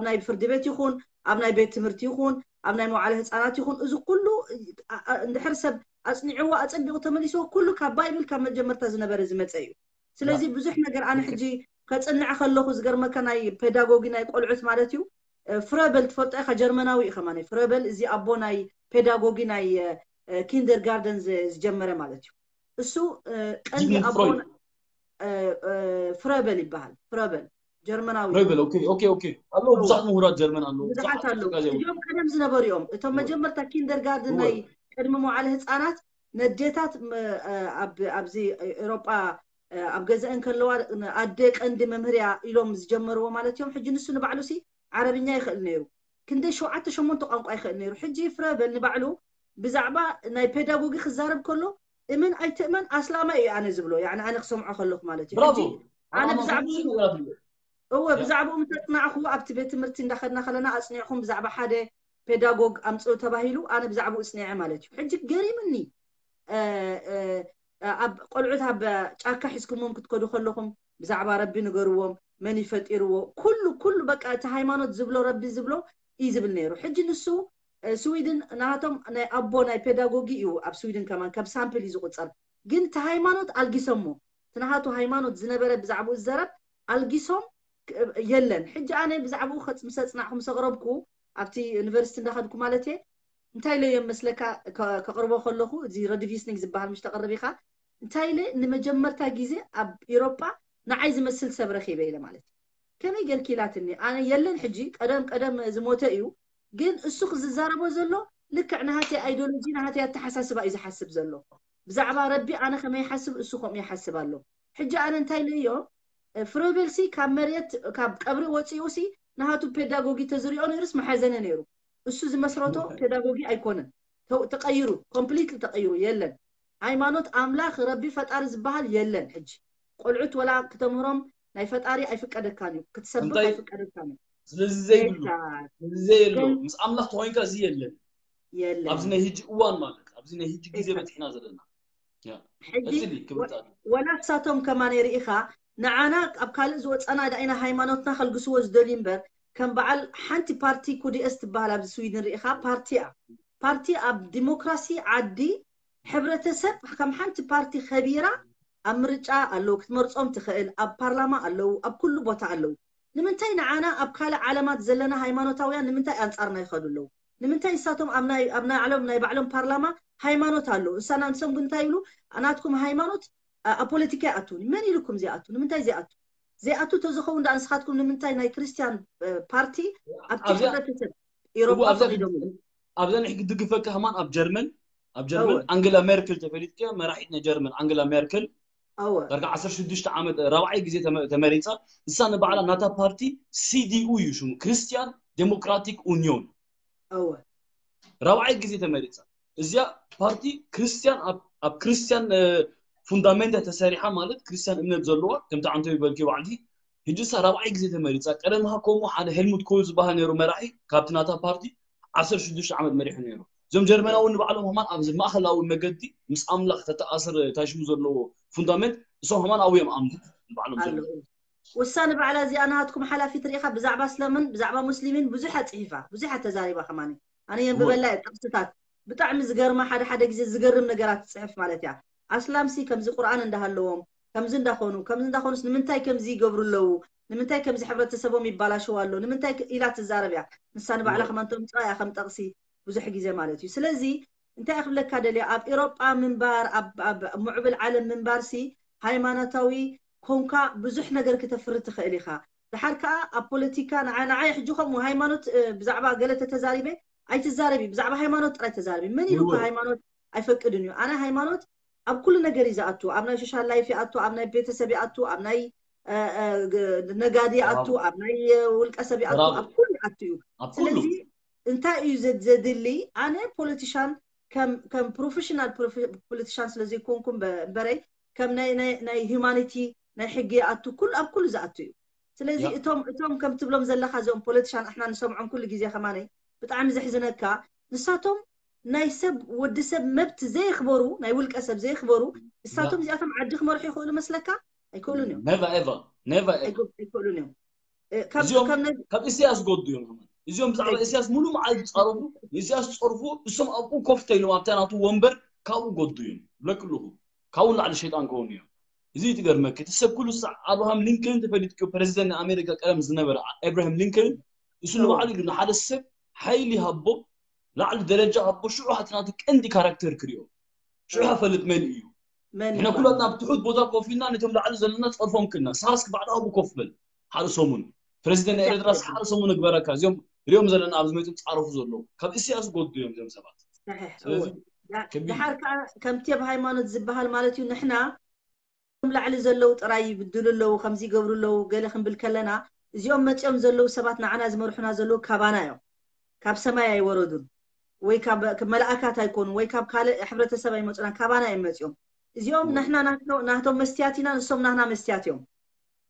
ናይ ፍርዲ ቤት ይኹን ኣብ ናይ ቤት ትምህርቲ ይኹን ኣብ ናይ መዋዕለ ህፃናት ይኹን እዚ ኩሉ እንድሕር ሰብ ኣፅኒዕዎ ኣፀቢቑ ተመሊስዎ ኩሉ ካብ ባይብል ካብ መጀመርታ ዝነበረ ዝመፀ እዩ። ስለዚ ብዙሕ ነገር ኣነ ሕጂ ከፅንዕ ከለኹ ዝገርመካ ናይ ፔዳጎጊ ናይ ቆልዑት ማለት እዩ። ፍረበል ትፈልጦ ኢኻ፣ ጀርመናዊ እዩ ከማን። ፍረበል እዚ ኣቦ ናይ ፔዳጎጊ ናይ ኪንደርጋርደን ዝጀመረ ማለት እዩ። እሱ ቀንዲ ኣቦ ፍረበል ይበሃል። ፍረበል ጀርመናዊ ፍረበል። ኦኬ ኦኬ ኦኬ። ኣለዉ ብዙሓት ምሁራት ጀርመን ኣለዉ። ብዙሓት ኣለዉ። እዚኦም ቀደም ዝነበሩ እዮም። እቶም መጀመርታ ኪንደርጋርደን ናይ ቅድሚ መዋዕለ ህፃናት ነዴታት ኣብዚ ኤሮጳ ኣብ ገዛአን ከለዋ ኣደ ቀንዲ መምህርያ ኢሎም ዝጀመርዎ ማለት እዮም። ሕጂ ንሱ ንባዕሉ ሲ ዓረብኛ ይኽእል ነይሩ። ክንደይ ሸውዓተ ሸሞንተ ቋንቋ ይኽእል ነይሩ። ሕጂ ፍረበል ንባዕሉ ብዛዕባ ናይ ፔዳጎጊ ክዛረብ ከሎ እመን ኣይትእመን ኣስላማይ እዩ ኣነ ዝብሎ። ያኒ ኣነ ክሰምዖ ከለኹ ማለት እዩ። ሕጂ ኣነ ብዛዕባ እወ ብዛዕባኡ ምስ ኣፅናዕኹ ኣብቲ ቤት ትምህርቲ እንዳኸድና ከለና ኣፅኒዕኹም ብዛዕባ ሓደ ፔዳጎግ ኣምፅኡ ተባሂሉ ኣነ ብዛዕባኡ ፅኒዐ ማለት እዩ። ሕጂ ገሪምኒ ኣብ ቆልዑት ኣብ ጫካ ሒዝኩሞም ክትከዱ ከለኹም ብዛዕባ ረቢ ንገርዎም፣ መን ይፈጢርዎ፣ ኩሉ ኩሉ በቃ እቲ ሃይማኖት ዝብሎ ረቢ ዝብሎ እዩ ዝብል ነይሩ። ሕጂ ንሱ ስዊድን ናቶም ናይ ኣቦ ናይ ፔዳጎጊ እዩ ኣብ ስዊድን ከማን ከም ሳምፕል እዩ ዝቁፀር። ግን እቲ ሃይማኖት ኣልጊሶሞ እቲ ናሃቱ ሃይማኖት ዝነበረ ብዛዕባኡ ዝዘረብ ኣልጊሶም የለን። ሕጂ ኣነ ብዛዕባኡ ምስ ኣፅናዕኩ ምስ ኣቕረብኩ ኣብቲ ዩኒቨርሲቲ እንዳኸድኩ ማለት እየ እንታይ ኢለ እዮም መስለካ ከቕርቦ ከለኹ እዚ ረድቪስኒንግ ዝበሃል ምሽ ተቕርብ ኢኻ እንታይ ኢለ ንመጀመርታ ግዜ ኣብ ኤሮጳ ንዓይ ዝመስል ሰብ ረኺበ ኢለ ማለት እዩ። ከመይ ጌርኪ ኢላትኒ። ኣነ የለን ሕጂ ቀደም ቀደም ዝሞተ እዩ ግን እሱ ክዝዛረቦ ዘሎ ልክዕ ናሃተይ ኣይዶሎጂ ናሃተይ ኣተሓሳስባ እዩ ዝሓስብ ዘሎ። ብዛዕባ ረቢ ኣነ ከመይ ይሓስብ እሱ ከምኡ ይሓስብ ኣሎ። ሕጂ ኣነ እንታይ ኢለዮ ፍረበልሲ ካብ መሬት ካብ ቀብሪ ወፂኡ ሲ ናሃቱ ፔዳጎጊ ተዝሪኦ ነይሩስ መሓዘነ ነይሩ። እሱ ዝመስረቶ ፔዳጎጊ ኣይኮነን። ተው- ተቀይሩ ኮምፕሊትሊ ተቀይሩ የለን። ሃይማኖት ኣምላኽ ረቢ ፈጣሪ ዝበሃል የለን። ሕጂ ቆልዑት ወላ ክተምህሮም ናይ ፈጣሪ ኣይፍቀደካን እዩ ክትሰብኽ እንታይ? ኣይፍቀደካን እዩ። ስለዚ ዘይብሉ Exact. ስለዚ ዘየሎ ግን ምስ ኣምላኽ ተኮይንካ እዚ የለን። የለን ኣብዚ ናይ ህጂ እዋን ማለት ኣብዚ ናይ ህጂ ግዜ Exact. በፂሕና ዘለና ሕጂ ቀፅሊ ክብል ወ- ተኣለ። ወላ ንሳቶም ከማን ርኢኻ ንዓና ኣብ ካልእ ዝወፀና ዳኢና ሃይማኖትና ከልግስዎ ዝደልዩ እምበር ከም በዓል ሓንቲ ፓርቲ ኩዲኤስ ትበሃል ኣብዚ ስዊድን ርኢኻ ፓርቲ እያ ፓርቲ ኣብ ዲሞክራሲ ዓዲ ሕብረተሰብ ከም ሓንቲ ፓርቲ ከቢራ ኣብ ምርጫ ኣለዉ ክትመርፆም ትኽእል ኣብ ፓርላማ ኣለዉ ኣብ ኩሉ ቦታ ኣለዉ ንምንታይ ንዓና ኣብ ካልእ ዓለማት ዘለና ሃይማኖታውያን ንምንታይ ኣንፃርና ይኸዱ ኣለዉ ንምንታይ ንሳቶም ኣብ ናይ ኣብ ናይ ዓለም ናይ ባዕሎም ፓርላማ ሃይማኖት ኣለዉ ንሳና ንሶም ግን እንታይ ይብሉ ናትኩም ሃይማኖት ኣብ ፖለቲካ ይኣትው መን ኢልኩም ዘይኣቱ ንምንታይ ዘይኣቱ ዘይኣቱ ተዝኸውን ደኣ ንስኻትኩም ንምንታይ ናይ ክርስቲያን እ፣ ፓርቲ ኣብቲ ኣብዚኣ ሕብረተሰብ እቡ ኤሮጳ ኣብዛ ፈቒዶም? ክድ- ኣብዛ ንሕ ክድግፈካ ከማን ኣብ ጀርመን ኣብ ጀርመን እወ ኣንገላ ሜርክል ተፈሊጥኪ መራሒት ናይ ጀርመን ኣንገላ ሜርክል እወ ዳርጋ ዓሰርተ ሽዱሽተ ዓመት ራብዓይ ግዜ ተመ- ተመሪፃ። እሳ ንባዕላ ናታ ፓርቲ ሲዲኡ እዩ ሽሙ፣ ክርስቲያን ዴሞክራቲክ ኡኒዮን። እወ ራብዓይ ግዜ ተመሪፃ። እዚኣ ፓርቲ ክርስቲያን ኣብ ኣብ ክርስቲያን እ፣ ፉንዳሜንታ ተሰሪሓ፣ ማለት ክርስቲያን እምነት ዘለዋ፣ ከምቲ ዓንተቢ በልኪ ባዕልኪ። ሕጂ እሳ ራብዓይ ግዜ ተመሪፃ። ቀደም ከ ከምኡ ሓደ ሄልሙት ኮል ዝበሃል ነይሩ መራሒ፣ ካብቲ ናታ ፓርቲ ዓሰርተ ሽዱሽተ ዓመት መሪሑ ነይሩ። እዞም ጀርመናዊ ንባዕሎም ከማን ኣብዚ ማእኸላዊ መገዲ ምስ ኣምላኽ ተተኣሰረ ታሽሙ ዘለዎ ፉንዳሜንት እሶም ከማን ኣብኡ እዮም ኣምኑ ንባዕሎም ኣሎ ጀርመን። እሱ ንባዕላ እዚኣ ናሃትኩም ሓላፊት ርኢኻ ብዛዕባ እስላምን ብዛዕባ ሙስሊምን ብዙሕ ኣፅሒፋ ብዙሕ ተዛሪባ ከማን ኣነ እወ የንብበላ እየ ጥቕስታት ብጣዕሚ ዝገርማ ሓደ ሓደ ግዜ ዝገርም ነገራት ትፅሕፍ ማለት እያ ኣስላምሲ ከምዚ ቁርኣን እንዳሃለዎም ከምዚ እንዳኾኑ ከምዚ እንዳኾኑስ ንምንታይ ከምዚ ይገብሩ ኣለዉ ንምንታይ ከምዚ ሕብረተሰቦም ይባላሸው ኣሎ ንምንታይ ክ- ኢላ ትዛረብ እያ ንሳ ንባዕላ እወ ከማን ተምፅኣ እያ ከም ጠቕሲ ብዙሕ ግዜ ማለት እዩ ስለዚ እንታይ ክብለካ ደልየ ኣብ ኤሮጳ ምንባር ኣብ ኣብ ምዕብል ዓለም ምንባርሲ ሃይማኖታዊ ኮንካ ብዙሕ ነገር ክተፍሪ ትኽእል ኢኻ ድሓር ከዓ ኣብ ፖለቲካ ንዓ- ንዓይ ሕጂ ከምኡ ሃይማኖት እ፣ ብዛዕባ ገለ ተተዛሪበ ኣይትዛረቢ ብዛዕባ ሃይማኖት ጥራይ ተዛረቢ መን ኢሉካ እወ ሃይማኖት ኣይፈቅድን እዩ ኣነ ሃይማኖት ኣብ ኩሉ ነገር እዩ ዝኣቱ ኣብ ናይ ሶሻል ላይፍ ይኣቱ ኣብ ናይ ቤተሰብ ይኣቱ ኣብ ናይ እ፣ እ፣ ግ- ነጋዲ ይኣቱ ተራብ ኣብ ናይ እ፣ ውልቀ ሰብ ይኣቱ ተራብ ኣብ ኩሉ ይኣቱ እዩ ኣብ ኩሉ ስለዚ እንታይ እዩ ዘድ- ዘድሊ ኣነ ፖለቲሻን ከም ከም ፕሮፌሽናል ፖለቲሻን ስለ ዘይኮንኩ እምበ- እምበረይ ከም ናይ ናይ ናይ ሂማኒቲ ናይ ሕጊ ይኣቱ ኩሉ ኣብ ኩሉ ዝኣቱ እዩ ስለዚ ያ እቶም እቶም ከም ትብሎም ዘለካ እዚኦም ፖለቲሻን ኣሕና ንሰምዖም ኩሉ ግዜ ከማነይ ብጣዕሚ ዘሕዝነካ ንሳቶም ናይ ሰብ ወዲ ሰብ መብት ዘየክበሩ ናይ ውልቀ ሰብ ዘየክበሩ ያ ንሳቶም እዚኣቶም ዓዲ ክመርሑ ይኽእሉ መስለካ ኣይክእሉን እዮም never ever never ever ኣይክእሉን እዮም እ፣ ካብ እዚኦም ካብ ነዚ ካብ ኢሳያስ ጎዱ እዮም ከማን እዚኦም ብዛዕባ ቴክ ኢሳያስ ሙሉእ መዓልቲ ዝፃረፉ ንኢሳያስ ዝፀርፉ እሶም ኣብኡ ኮፍ ተይሎም ኣብታ ናቱ ወንበር ካብኡ ጎዱ እዮም ብለክልኹ ካብኡ ንላዕሊ ሸይጣን ከውን እዮም እዚ ትገርመክ እቲ ሰብ ኩሉ ሳዕ ኣብርሃም ሊንከን ተፈሊጥክዮ ፕሬዚደንት ናይ ኣሜሪካ ቀደም ዝነበረ ኤብራሂም ሊንከን እሱ እወ ንባዕሉ ኢሉ ንሓደ ሰብ ሓይሊ ሃቦ ላዕሊ ደረጃ ሃቦ ሽዑ ሃቲ ናቱ ቀንዲ ካራክተር ክሪኦ ሽዑ እወ ሃፈልጥ መን እዩ መን ንሕና ይባል ኩላትና ኣብ ትሑት ቦታ ኮፍ ኢልና ነቶም ላዕሊ ዘለና ፀርፎም ክልና ሳስክ ባዕሉ ኣብኡ ኮፍ በል ሓደ ሰሙን ፕሬዚደንት ናይ ኤርትራስ exactly ሓደ ሰሙን እግበረካ እዚኦም ሪኦም ዘለና ኣብዚ መፅኦም ፃረፉ ዘለዉ ካብ እስያስ ጎዱ እዮም እዚኦም ሰባት صحيح ስለዚ እወ ዳ- ከቢድ ድሓር እዩ ከዓ ከምቲ ኣብ ሃይማኖት ዝበሃል ማለት እዩ ንሕና እቶም ላዕሊ ዘለዉ ጥራይ ይብድሉ ኣለዉ ከምዚ ይገብሩ ኣለዉ ገለ ክንብል ከለና እዚኦም መፂኦም ዘለዉ ሰባት ንዓና ዝመርሑና ዘለዉ ካባና እዮም ካብ ሰማይ ኣይወረዱን ወይ ካብ ካብ መላእካት ኣይኮኑ ወይ ካብ ካልእ ሕብረተሰብ ኣይመፁና ካባና እዮም መፂኦም እዚኦም እወ ንሕና ናቶ- ናቶም መስትያት ኢና ንሶም ናህና መስትያት እዮም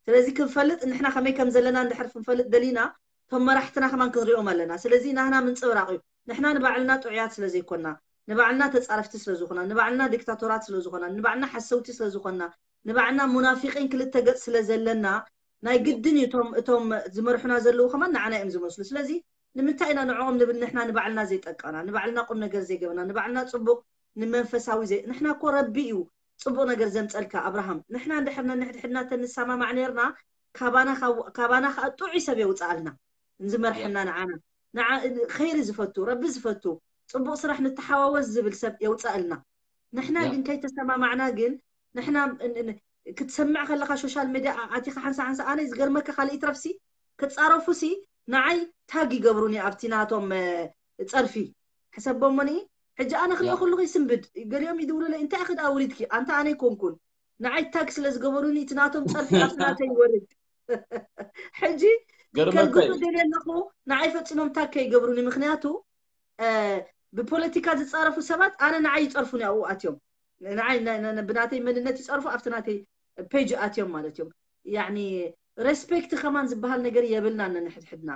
ስለዚ ክንፈልጥ ንሕና ከመይ ከም ዘለና እንድሕር ክንፈልጥ ደሊና እቶም መራሕትና ከማን ክንሪኦም ኣለና ስለዚ ናህና ምንፅብራቕ እዩ ንሕና ንባዕልና ጥዑያት ስለ ዘይኮና ንባዕልና ተፃረፍቲ ስለ ዝኾና ንባዕልና ዲክታቶራት ስለ ዝኾና ንባዕልና ሓሰውቲ ስለ ዝኾና ንባዕልና ሙናፊቂን ክልተ ገፅ ስለ ዘለና ናይ ግድን እዩ እቶም እቶም ዝመርሑና ዘለዉ ከማን ንዓና እዮም ዝመስሉ ስለዚ ንምንታይ ኢና ንዕኦም ንብል ንሕና ንባዕልና ዘይጠቀና ንባዕልና ቁም ነገር ዘይገበና ንባዕልና ፅቡቅ ንመንፈሳዊ ዘይ ንሕና እኮ ረቢ እዩ ፅቡቅ ነገር ዘምፀልካ ኣብርሃም ንሕና እንድሕር ነንሕድሕድና ተንሰማማዕ ነርና ካባና ካው- ካባና ከዓ ጥዑይ ሰብ የውፅኣልና ያ ንዝመርሐና ንዓና ንዓ ኸይሪ ዝፈቱ ረቢ ዝፈቱ ፅቡቅ ስራሕ ንተሓዋወስ ዝብል ሰብ የውፅኣልና ንሕና ያ ግን ከይተሰማማዕና ግን ንሕና ን- ን- ክትሰምዕ ከለካ ሶሻል ሚድያ ኣቲካ ሓንሳ ሓንሳ ኣነ ዝገርመካ ካልእ ይትረፍሲ ክፃረፉሲ ንዓይ ታግ ይገብሩኒ ኣብቲ ናቶም እ፣ ፀርፊ ሕሰቦሞኒ ሕጂ ኣነ ክሪኦ ያ ከለኹ ይስንብድ ገሊኦም ይድውሉለይ እንታይ ክዳ ውሪድኪ ኣንታ ኣነ ይኮንኩን ንዓይ ታግ ስለ ዝገበሩኒ እቲ ናቶም ፀርፊ ኣብቲ ናተይ ይወርድ ሕጂ ገርመካ ከግዞ እዩ ደልየ ኣለኹ ንዓይ ፈፂሞም ታግ ከይገብሩኒ ምክንያቱ እ፣ ብፖለቲካ ዝፃረፉ ሰባት ኣነ ንዓይ ይፀርፉኒ ኣብኡ ኣትዮም ንዓይ ነ- ነ- ነ- ብናተይ መንነት ይፀርፉ ኣብቲ ናተይ ፔጅ ኣትዮም ማለት እዮም ያኒ ሬስፔክት ከማን ዝበሃል ነገር የብልና ነንሕድሕድና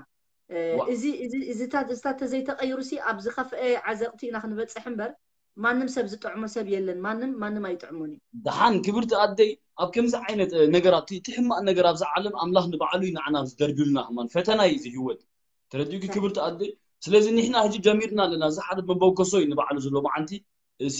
እ፣ ዋ እዚ እዚ እዚታት እዚታት ተዘይተቀይሩ ሲ ኣብ ዝኸፍአ ዓዘቅቲ ኢና ክንበፅሕ እምበር ማንም ሰብ ዝጥዕሞ ሰብ የለን ማንም ማንም ኣይጥዕሞን እዩ ደሓን ክብርቲ ኣደይ ኣብ ከምዚ ዓይነት እ፣ ነገራት እቲ እቲ ሕማቅ ነገር ኣብዛ ዓለም ኣምላኽ ንባዕሉ እዩ ንዓና ደርቢሉና ከማን ፈተና እዩ እዚ ህይወት ተረዲኡኪ ሳይ ክብርቲ ኣደይ ስለዚ ንሕና ሕጂ ጀሚርና ኣለና እዚ ሓደ መበገሶ እዩ ንባዕሉ ዘሎ መዓንቲ እዚ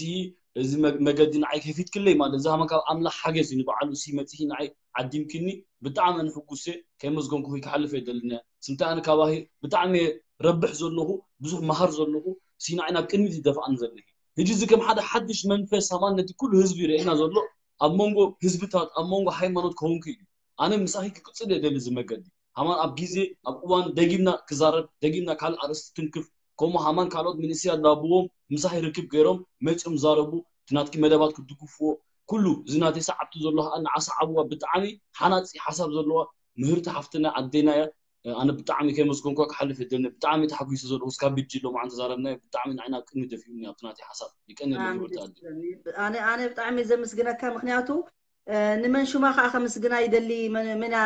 እዚ መ- መገዲ ንዓይ ከፊትክለይ ማለት እዚ ሃመ ካብ ኣምላኽ ሓገዝ እዩ ንባዕሉ እዚ መፂኺ ንዓይ ዓዲምክኒ ብጣዕሚ ኣነ ሕጉስ እየ ከይመስገንኩኺ ክሓልፍ የደልን እየ ስምታይ ኣነ ካባኺ ብጣዕሚ እየ ረብሕ ዘለኹ ብዙሕ መሃር ዘለኹ እዚ ንዓይ ናብ ቅድሚት ይደፍኣኒ ዘለኺ ሕጂ እዚ ከም ሓደ ሓድሽ መንፈስ ሃማን ነቲ ኩሉ ህዝቢ ይርእየና ዘሎ ኣብ መንጎ ህዝብታት ኣብ መንጎ ሃይማኖት ክኸውን ክኢሉ እዩ ኣነ ምሳኺ ክቅፅል እየ ደሊ እዚ መገዲ። ሃማን ኣብ ግዜ ኣብ እዋን ደጊምና ክዛረብ፣ ደጊምና ካልእ ኣርእስቲ ትንክፍ፣ ከምኡ ሃማን ካልኦት መንእሰያት ዳብዎም ምሳኺ ርክብ ገይሮም መፂኦም ዛረቡ፣ እቲ ናትኪ መደባት ክድግፍዎ፣ ኩሉ እዚ ናተይ ሰዓብቲ ዘሎ ከዓ ንዓ ሰዓብዋ። ብጣዕሚ ሓናፂ ሓሳብ ዘለዋ ምህርቲ ሓፍትና ኣዴና እያ። ኣነ ብጣዕሚ ከመስገንኳ ክሓልፍ የደልን። ብጣዕሚ ተሓጒሰ ዘለኹ እስካብ ብጂ ሎማዓንቲ ዛረብናዮ ብጣዕሚ ንዓይ ናብ ቅድሚ ደፊኡኒ ኣብቲ ናተይ ሓሳብ። ይቀንየለይ ክብርቲ ኣዴ። ኣነ ኣነ ብጣዕሚ ዘመስግነካ፣ ምክንያቱ ንመን ሽማ ከዓ ከምስግና ይደሊ። መና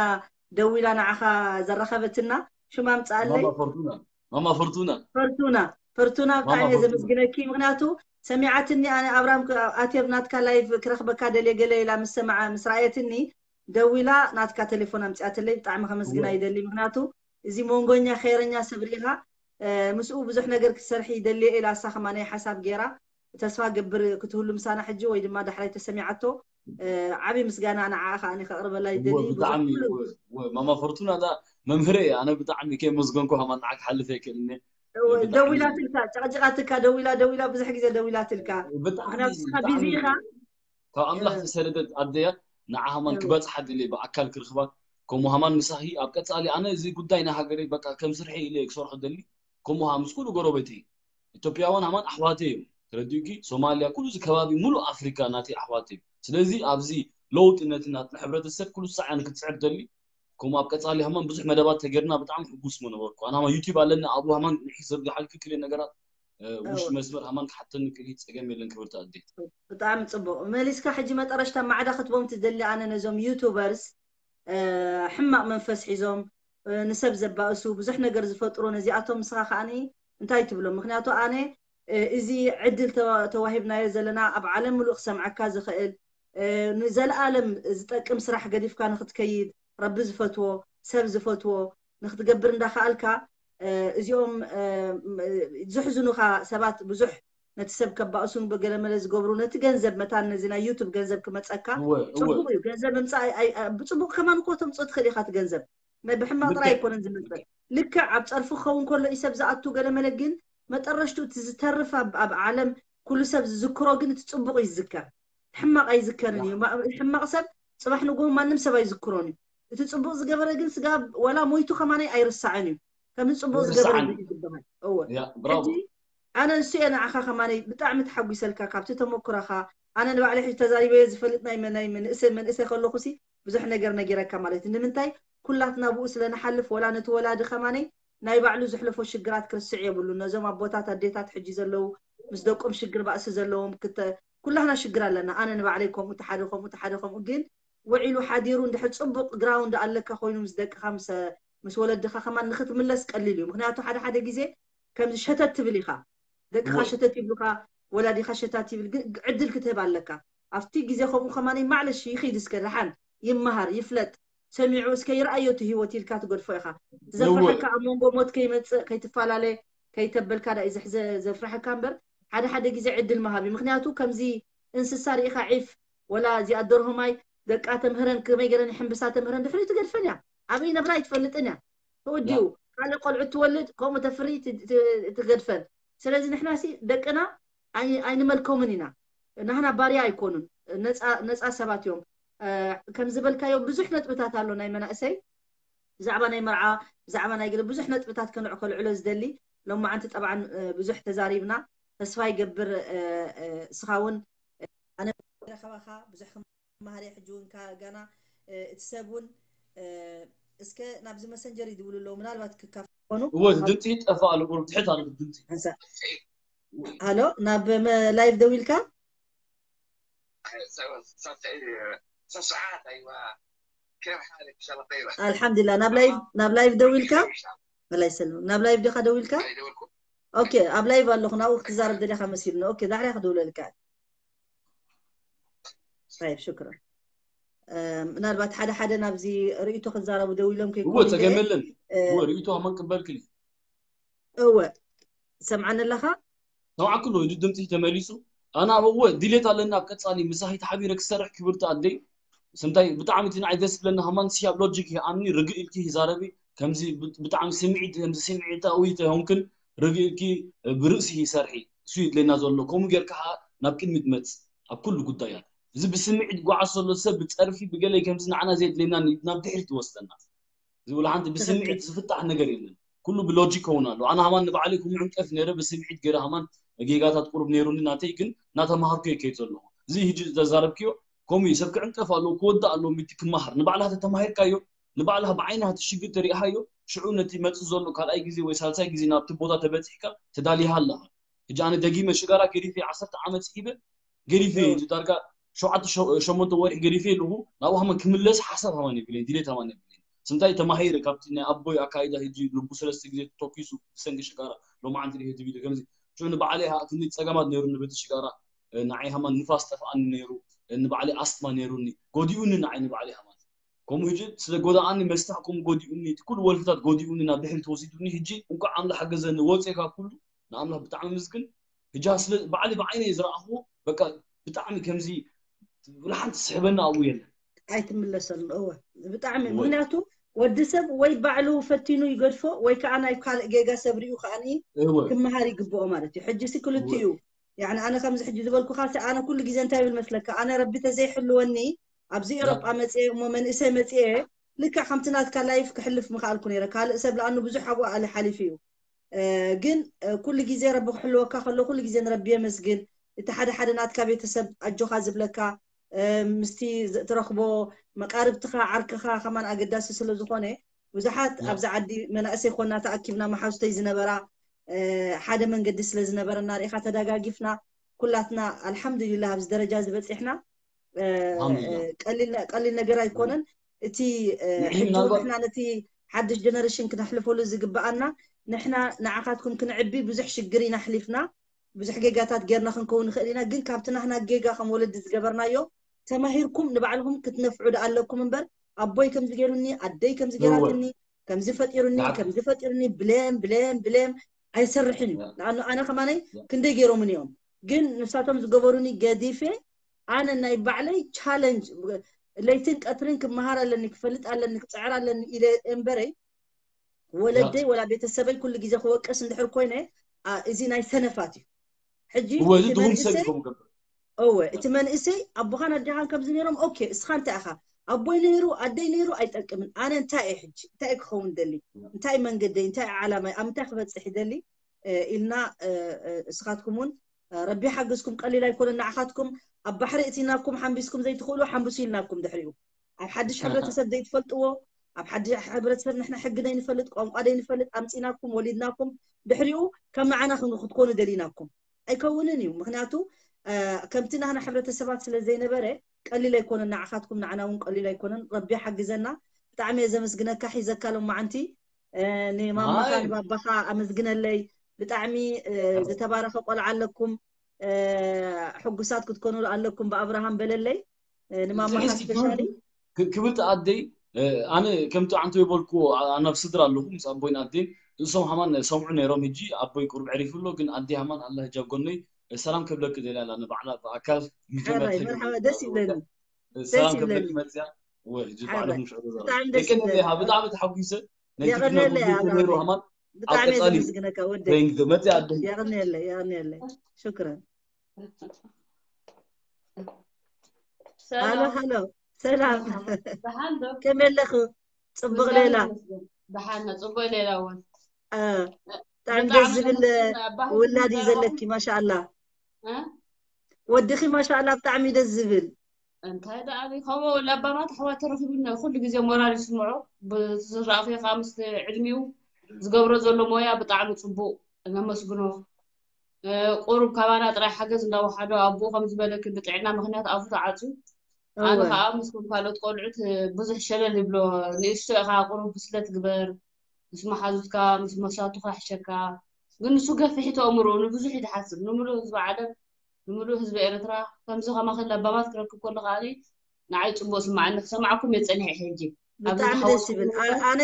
ደዊላ ንዓኻ ዘራኸበትና ሽማ ምፅኣለይ ማማ ፈርቱና ማማ ፈርቱና ፈርቱና ፈርቱና ብጣዕሚ እየ ዘመስግነኪ። ምክንያቱ ሰሚዓትኒ ኣነ ኣብራም ኣትየብ ናትካ ላይቭ ክረክበካ ደልየ ገለ ኢላ ምስ ሰማዓ ምስ ረኣየትኒ ደዊላ ናትካ ቴሌፎን ኣምፅኣትለይ። ብጣዕሚ ከመስግና ይደሊ። ምክንያቱ እዚ መንጎኛ ከይረኛ ሰብ ርኢኻ ምስኡ ብዙሕ ነገር ክትሰርሒ ይደልየ ኢላ እሳ ከማ ናይ ሓሳብ ገይራ ተስፋ ገብር ክትህሉ ምሳና ሕጂ ወይ ድማ ዳሕራይ ተሰሚዓቶ ዓብዪ ምስጋና ንዓኣ ከኣ ከቕርበላ ይደሊ። ብጣዕሚ ማማ ፈርቱና ዳ መምህረ እየ። ኣነ ብጣዕሚ ከመስገንኩ ከማ ንዓ ክሓልፍ ኣይክእልን። ደዊላትልካ ጨቕጭቓትካ ደዊላ ደዊላ ብዙሕ ግዜ ደዊላትልካ ምክንያቱ ስኻ ቢዚ ኢኻ። ካብ ኣምላኽ ዝሰደደት ኣደያ ንዓ ሃማን ክበፅሓ ደልየ ብኣካል ክርኽባ። ከምኡ ሃማን ምሳኺ ኣብ ቀፃሊ ኣነ እዚ ጉዳይ ናይ ሃገረይ በቃ ከም ስርሐይ ኢለ ክሰርሖ ደሊ። ከምኡ ምስ ኩሉ ጎረቤተይ ኢትዮጵያውያን ሃማን ኣሕዋተይ እዮም። ተረዲኡኪ? ሶማልያ ኩሉ እዚ ከባቢ ሙሉእ ኣፍሪካ ናተይ ኣሕዋተይ እዮም። ስለዚ ኣብዚ ለውጢ ነቲ ናትና ሕብረተሰብ ኩሉ ሳዕ እያ ንክትስዕር ደሊ። ከምኡ ኣብ ቀፃሊ ሃማን ብዙሕ መደባት ተገርና ብጣዕሚ ሕጉስ ምነበርኩ። ኣነ ሃማን ዩቲብ ኣለኒ ኣብኡ ሃማን ንሒ ዘርግሓልኪ ክልእ ነገራት ውሽጢ መስመር ሃማን ክሓተኒ ክእል ጸገም የለን ክብርቲ ኣዴ። ብጣዕሚ ጽቡቅ መሊስካ። ሕጂ መጠረሽታ ማዕዳ ክትቦም ትደሊ ኣነ ነዞም ዩቱበርስ ሕማቅ መንፈስ ሒዞም ንሰብ ዘባእሱ ብዙሕ ነገር ዝፈጥሩ ነዚኣቶም ንስኻ ከኣኒ እንታይ ትብሎም? ምክንያቱ ኣነ እዚ ዕድል ተዋሂብናዮ ዘለና ኣብ ዓለም ምሉእ ክሰምዓካ ዝኽእል ንዘለኣለም ዝጠቅም ስራሕ ገዲፍካ ንክትከይድ ረቢ ዝፈትዎ ሰብ ዝፈትዎ ንክትገብር እንዳከኣልካ እዚኦም ዝሕዝኑኻ ሰባት ብዙሕ ነቲ ሰብ ከባእሱን በገለመለ ዝገብሩ ነቲ ገንዘብ መታን ነዚ ናይ ዩቱብ ገንዘብ ክመፀካ እወ፣ እወ። ፅቡቅ እዩ። ገንዘብ ምምፃእ ኣይ- ኣይ- ብፅቡቅ ከማን እኮ ተምፅኦ ትኽእል ኢኻ እቲ ገንዘብ ናይ ብሕማቅ ጥራይ ልክዕ፣ ኣይኮነን ዝመፅእ። ልክዕ። ልክዕ ኣብ ፀርፊ ክኸውን ከሎ እዩ ሰብ ዝኣቱ ገለመለ፣ ግን መጠረሽቱ እቲ ዝተርፍ ኣብ ኣብ ዓለም ኩሉ ሰብ ዝዝክሮ ግን እቲ ፅቡቅ ይዝከር፣ ሕማቅ ኣይዝከርን እዩ። ማ- ሕማቅ ሰብ ፅባሕ ንግሆ ማንም ሰብ ኣይዝክሮን እዩ። እቲ ፅቡቅ ዝገበረ ግን ስጋ ወላ ሞይቱ ከማነይ ኣይርሳዕን እዩ። ከምዚ ፅቡቅ ዝገበረ ኣይርሳዕን። ይዝክር ይበሃል። እወ ያ ብራቮ። ሕጂ ኣነ ንሱ እየ ንዓኻ ከማነይ ብጣዕሚ ተሓጒሰልካ ካብቲ ተመኩረኻ። ኣነ ንባዕለይ ሕጂ ተዛሪበዮ ዝፈልጥ ናይ መ- ናይ መንእሰይ መንእሰይ ከለኹሲ ብዙሕ ነገር ነጊረካ ማለት እዩ። ንምንታይ ኩላትና ብኡ ስለ ንሓልፍ ወላ ነቲ ወላዲ ከማነይ ናይ ባዕሉ ዘሕለፎ ሽግራት ክርስዕ የብሉን። ነዞም ኣቦታት ኣዴታት ሕጂ ዘለዉ ምስ ደቆም ሽግር ባእሲ ዘለዎም ክተ ኩላህና ሽግር ኣለና። ኣነ ንባዕለይ ከምኡ ተሓደ ከምኡ ተሓደ ከምኡ ግን ውዒሉ ሓዲሩ እንድሕር ፅቡቅ ግራውንድ ኣለካ ኮይኑ ምስ ደቅኻ ምስ ምስ ወለድኻ ከማን ንክትምለስ ቀሊል እዩ። ምክንያቱ ሓደ ሓደ ግዜ ከምዚ ሸተት ትብል ኢኻ ደቅኻ እወ። ሸተት ይብሉካ ወላዲኻ ሸታት ይብል ግን ዕድል ክትህብ ኣለካ። ኣብቲ ግዜ ከምኡ ከማን ማዕለሽ ይኺድ እስከ ደሓን ይመሃር ይፍለጥ ሰሚዑ እስከ ይርኣዮ እቲ ህይወት ኢልካ ትገድፎ ኢኻ። ዘፍርሐካ ኣብ መንጎ ሞት ከይመፅእ ከይትፈላለ ከይተበልካ ዳ እዩ ዘፍርሐካ እምበር ሓደ ሓደ ግዜ ዕድል ምሃብ እዩ። ምክንያቱ ከምዚ እንስሳ ርኢኻ ዒፍ ወላ እዚኣ ደርሆ ማይ ደቃ ተምህረን ከመይ ገረን ይሕምብሳ ተምህረን ድሕሪ ትገድፈን እያ። ኣበይ ነብራ ኣይትፈልጥን እያ። ተወዲኡ ካልእ ቆልዑ ትወልድ ከምኡ ተፍሪ ትገድፈን። ስለዚ ንሕና ሲ ደቅና ኣይንመልኮምን ኢና። ናህና ባርያ ኣይኮኑን፣ ነፃ ሰባት እዮም። ከም ዝበልካዮ ብዙሕ ነጥብታት ኣሎ ናይ መናእሰይ ብዛዕባ ናይ መርዓ ብዛዕባ ናይ ገለ ብዙሕ ነጥብታት ከንዕ ከልዕሎ ዝደሊ። ሎማዓንቲ ጠብዓን ብዙሕ ተዛሪብና። ተስፋ ይገብር እስኻ እውን ኣነ ረኸባኻ ብዙሕ ክመሃር እየ። ሕጂ እውን ጋና እቲ ሰብ እውን እስከ ናብዚ መሰንጀር ይድውሉ ኣለዉ ምናልባት ክካፈሉ እወ ድምፂ ይጠፋ ኣሎ ቁሩብ ትሕት ኣሎ ድምፂ። ሃሎ ናብ ላይቭ ደው ኢልካ ኣልሓምዱላ ናብ ላይቭ ደው ኢልካ መላ ይሰልም ናብ ላይቭ ዲኻ ደው ኢልካ ኦኬ ኣብ ላይቭ ኣለኹ ናብኡ ክትዛረብ ደሊኻ መሲሉኒ ኦኬ ዳሕሪያ ክድውለልካ ይ ሽክራ ምናልባት ሓደ ሓደ ናብዚ ርእቶ ክዛረቡ ደው ኢሎም ከይኮኑ ጸገመለን ርእቶ ኣመን ቅበልክል እወ ሰምዓኒ ኣለኻ ሰምዓኩ ኣሎ ድምፂ ተመሊሱ ኣነ ኣብ እወ ድሌት ኣለኒ ኣብ ቀፃሊ ምሳኺ ተሓቢረ ክሰርሕ ክብርቲ ኣደይ ስንታይ ብጣዕሚ እቲ ንዓይ ደስ ዝብለኒ ሃማን ሲ ኣብ ሎጂክ ይኣምኒ ርግእ ኢልኪ ይዛረቢ ከምዚ ብጣዕሚ ስምዒት ከምዚ ስምዒታዊ ተይኮንክን ርግእ ኢልኪ ብርእሲ ይሰርሒ እሱ ይድለየና ዘሎ ከምኡ ጌርካ ከዓ ናብ ቅድሚ ትመፅእ ኣብ ኩሉ ጉዳያት እዚ ብስምዒት ጓዓዝ ዘሎ ሰብ ብፀርፊ ብገለ ከምዚ ንዓና ዘየድለየና ናብ ድሕሪት ይወስደና። እዚ ወላ ሓንቲ ብስምዒት ዝፍታሕ ነገር የለን። ኩሉ ብሎጂክ ከውን ኣሎ። ኣነ ሃማን ንባዕለይ ከምኡ ዕንቀፍ ነይረ፣ ብስምዒት ገይረ ሃማን ጌጋታት ቁሩብ ነይሩኒ ናተይ፣ ግን እናተማሃርኩ እየ ከይድ ዘለኹ። እዚ ሕጂ ዘዛረብክዮ ከምኡ እዩ። ሰብ ክዕንቀፍ ኣለዎ፣ ክወዳእ ኣለዎ፣ ሚቲ ክመሃር። ንባዕልኻ ተተማሂርካዮ፣ ንባዕልኻ ብዓይንኻ እቲ ሽግር ተሪእኻዮ፣ ሽዑ ነቲ መጽእ ዘሎ ካልኣይ ግዜ ወይ ሳልሳይ ግዜ ናብቲ ቦታ ተበጺሕካ ተዳሊኻ ኣለኻ። ሕጂ ኣነ ደጊመ ሽጋራ ገዲፈ፣ ዓሰርተ ዓመት ስሒበ ገዲፈ፣ ሕጂ ዳርጋ ሸውዓተ ሸ- ሸሞንተ ወርሒ ገዲፈ ኣለኹ። ናብኡ ሃማን ክምለስ ሓሳብ ሃማን የብለይን፣ ድሌት ሃማን የብለይን። ስንታይ ተማሂረ ካብቲ ናይ ኣቦይ ኣካይዳ፣ ሕጂ ልቡ ሰለስተ ግዜ ተተኪሱ ብሰንኪ ሽጋራ ሎማዓንቲ ድሕሪ ትቢሉ ከምዚ። ሽዑ ንባዕለይ ሃ- ክንዲ ጸገማት ነይሩኒ በቲ ሽጋራ፣ እ፣ ንዓይ ሃማን ንፋስ ጠፍኣኒ ነይሩ፣ እ፣ ንባዕለይ ኣስትማ ነይሩኒ፣ ጎዲኡኒ ንዓይ ንባዕለይ ሃማን። ከምኡ ሕጂ ስለ ጎዳኣኒ መስታሕ ከምኡ ጎዲኡኒ፣ እቲ ኩሉ ወልፍታት ጎዲኡኒ፣ ናብ ድሕሪት ወሲዱኒ። ሕጂ እንኳዕ ኣምላኽ ሓገዘኒ፣ ወፂኤ ካብ ኩሉ ንኣምላኽ ብጣዕሚ ምስግን። ሕጂ ስለ ባዕሊ ብዓይነይ ዝረኣኽዎ በቃ ብጣዕሚ ከምዚ ብልሓንቲ ዝስሕበኒ ኣብኡ የለን። ኣይትምለሰሉ። እወ፣ ብጣዕሚ። እወ። ምክንያቱ ወዲ ሰብ ወይ ባዕሉ ፈቲኑ ይገድፎ ወይ ከዓ ናይ ካልእ ጌጋ ሰብ ሪኡ ከዓኒ እወ። ክመሃር ይግብኦ ማለት እዩ። ሕጂ ሲ ክልቲኡ እወ። ያኒ ኣነ ከምዚ ሕጂ ዝበልኩኻ ሲ ኣነ ኩሉ ግዜ እንታይ ይብል መስለካ? ኣነ ረቢ ተዘይሕልወኒ ኣብዚ ኤሮጳ መፅኤ እሞ መንእሰይ መፅኤ ልክዕ ከምቲ ናትካ ላይፍ ክሕልፍ ምኽኣልኩ ነይረ። ካልእ ሰብ ለኣኑ ብዙሕ ኣብኡ ኣለ ሓሊፉ እዩ። እ፣ ግን እ፣ ኩሉ ግዜ ረቢ ክሕልወካ ከሎ ኩሉ ግዜ ንረቢ የመስግን። እቲ ሓደ ሓደ ናትካ ቤተሰብ ኣጆኻ ዝብለካ እ፣ ምስቲ ዝ- ትረኽቦ መቃርብትኻ ዓርክኻ ከማን ኣገዳሲ ስለ ዝኾነ ብዙሓት እያ። ኣብዚ ዓዲ መናእሰይ ኮና ተኣኪብና መሓዙተይ ዝነበራ እ፣ ሓደ መንገዲ ስለ ዝነበረና ርኢኻ ተደጋጊፍና ኩላትና ኣልሓምዱሊላህ ኣብዚ ደረጃ ዝበፂሕና እ፣ ኣልሓምዱሊላህ። ቀሊል ቀሊል ነገር ኣይኮነን። እቲ እ፣ ንዒ ሕጂ እውን ምናልባት ንሕና ነቲ ሓድሽ ጀነሬሽን ክነሕልፈሉ ዝግበኣና ንሕና ንዓኻትኩም ክንዕቢ ብዙሕ ሽግር ኢና ኣሕሊፍና ብዙሕ ጌጋታት ጌርና ክንከውን ንኽእል ኢና። ግን ካብቲ ናህና ጌጋ ከም ወለዲ ዝገበርናዮ ተማሂርኩም ንባዕልኹም ክትነፍዑ ዶ ኣለኩም እምበር ኣቦይ ከምዚ ገይሩኒ ኣደይ ከምዚ እወ። ገይራትኒ ከምዚ ፈጢሩኒ ያ- ከምዚ ፈጢሩኒ ብሌም ብሌም ብሌም ኣይሰርሕን እዩ። ያ- ንኣኑ ኣነ ከማነይ ያ- ክንደይ ገይሮምን እዮም ግን ንሳቶም ዝገበሩኒ ገዲፌ ኣነ ናይ ባዕለይ ቻለንጅ ለይትን ቀትርን ክመሃር ኣለኒ ክፈልጥ ኣለኒ ክፅዕር ኣለኒ ኢለ እምበረይ ወለደይ ወላ ቤተሰበይ ኩሉ ግዜ ክወቅስ እንድሕር ኮይነ አ፣ እዚ ናይ ሰነፋት እዩ። ሕጂ እወ፣ እዚ እቲ ድኹም ሰብ መንእሰይ እዩ ከምኡ ገብር። እወ እቲ መንእሰይ ኣቦኻን ኣዴኻን ከምዚ ነይሮም ኦኬ እስኻ እንታይ ኢኻ ኣቦይ ነይሩ ኣደይ ነይሩ ኣይጠቅምን ኣነ እንታይ እየ ሕጂ እንታይ እየ ክኸውን ደሊ እንታይ እዩ መንገደይ እንታይ እዩ ዓላማይ ኣብ ምንታይ ክበፅሕ ይደሊ እ፣ ኢልና እ፣ እ፣ እስኻትኩም እውን እ፣ ረቢ ሓግዝኩም ቀሊል ኣይኮነን ንዓኻትኩም ኣብ ባሕሪ እቲናኩም ሓንቢስኩም ዘይትኽእሉ ሓንብሱ ኢልናኩም ድሕሪኡ ኣብ ሓድሽ ሕብረተሰብ ዘይትፈልጥዎ ኣብ ሓድሽ ሕብረተሰብ ንሕና ሕጊ ዘይንፈልጥ ቋንቋ ዘይንፈልጥ ኣምፂናኩም ወሊድናኩም ድሕሪኡ ከም ንዓና ክን- ክትኮኑ ደሊናኩም ኣይከውንን እዩ ምክንያቱ እ፣ ከምቲ ናህና ሕብረተሰባት ስለ ዘይነበረ ቀሊል ኣይኮነን ንዓኻትኩም ንዓና እውን ቀሊል ኣይኮነን ረቢ ሓግዘና ብጣዕሚ እየ ዘመስግነካ ሒዘካ ሎማዓንቲ እ፣ ንማማኻ ሃይ። ንባባኻ ኣመስግነለይ ብጣዕሚ እ፣ ዝተባረኸ ቆልዓ ኣለኩም እ፣ ሕጉሳት ክትኮኑ ኣለኩም ብኣብርሃም በለለይ እ፣ ንማማኻ ትሕዝቲ ስፔሻሊ ክብር- ክ- ክብርቲ ኣደይ እ፣ ኣነ ከምቲ ዓንተ ይበልኩ ናብ ስድራ ኣለኹ ምስ ኣቦይን ኣደይን እሶም ሃማን ሰምዑ ነይሮም ሕጂ ኣቦይ ቁሩብ ዕሪፉ ኣሎ ግን ኣደይ ሃማን ኣላ ሕጂ ኣብ ጎነይ እ፣ ሰላም ከብለኪ ደልያ ኣላ ንባዕላ ብኣካል መጀመርታ ሕራይ ሕጂ መርሓባ ደስ ይብለኒ እ፣ ደስ ሰላም ይብለኒ ከብለኪ መፅያ ወይ ሕጂ ባዕልኹም ሽዑ ተዛረቡ ብጣዕሚ ደስ የቀንየለይ ይብለኒ ሃ ብጣዕሚ ተሓጒሰ ነቲ ቪድዮ የቐንየለይ ክብሉ ነይሩ ኣብራሃም ሃማን ኣብ ብጣዕሚ እየ ቀፃሊ ዘመስግነካ ወደይ ቴንክ መፅያ ኣደይ የቐንየለይ የቐንየለይ ሽክረን ሃሎ ሰላም ሃሎ ሰላም ደሓን ዶ ከመይ ኣለኹ ፅቡቕ ሌላ ደሓን ጽቡቅ ሌላ እውን አ፣ ብጣዕሚ ደስ ዝብል ውላድ እዩ ዘለኪ ማሻኣላ እ? ወድኺ ማሻኣላ ብጣዕሚ ደስ ዝብል እንታይ ደኣ ከምኡ ለባማት ኣሕዋት ተረኪቡና ኩሉ ግዜ ሞራል ይስምዖ ብዝረኣኽዮ ከዓ ምስ ዕድሚኡ ዝገብሮ ዘሎ ሞያ ብጣዕሚ ፅቡቅ ነመስግኖ ቁሩብ ካባና ጥራይ ሓገዝ እንዳወሓዶ ኣቦኡ ከም ዝበለኪ ብጥዕና ምኽንያት ኣፉ ተዓፅዩ ኣነ እወ ከዓ ምስቶም ካልኦት ቆልዑት ብዙሕ ሸለል ይብሎ ንእሽቶ ኢኻ ቁሩብ ብስለት ግበር ምስ መሓዙትካ ምስ መሳቱኻ ይሕሸካ ግን ንሱ ገፊሕ ተእምሮ ንብዙሕ እዩ ዝሓስብ ንምሉእ ህዝቢ ዓለም ንምሉእ ህዝቢ ኤርትራ ከምዚ ከማኺ ለባማት ክረክብ ከሎ ከዓኒ ንዓይ ፅቡቅ ስማዓኒ ክሰማዕኩም እየ ፀኒሐ ሕጂ ኣብዚ ብጣዕሚ ዝሓወስኩ ደስ ይብል ኣ- ኣነ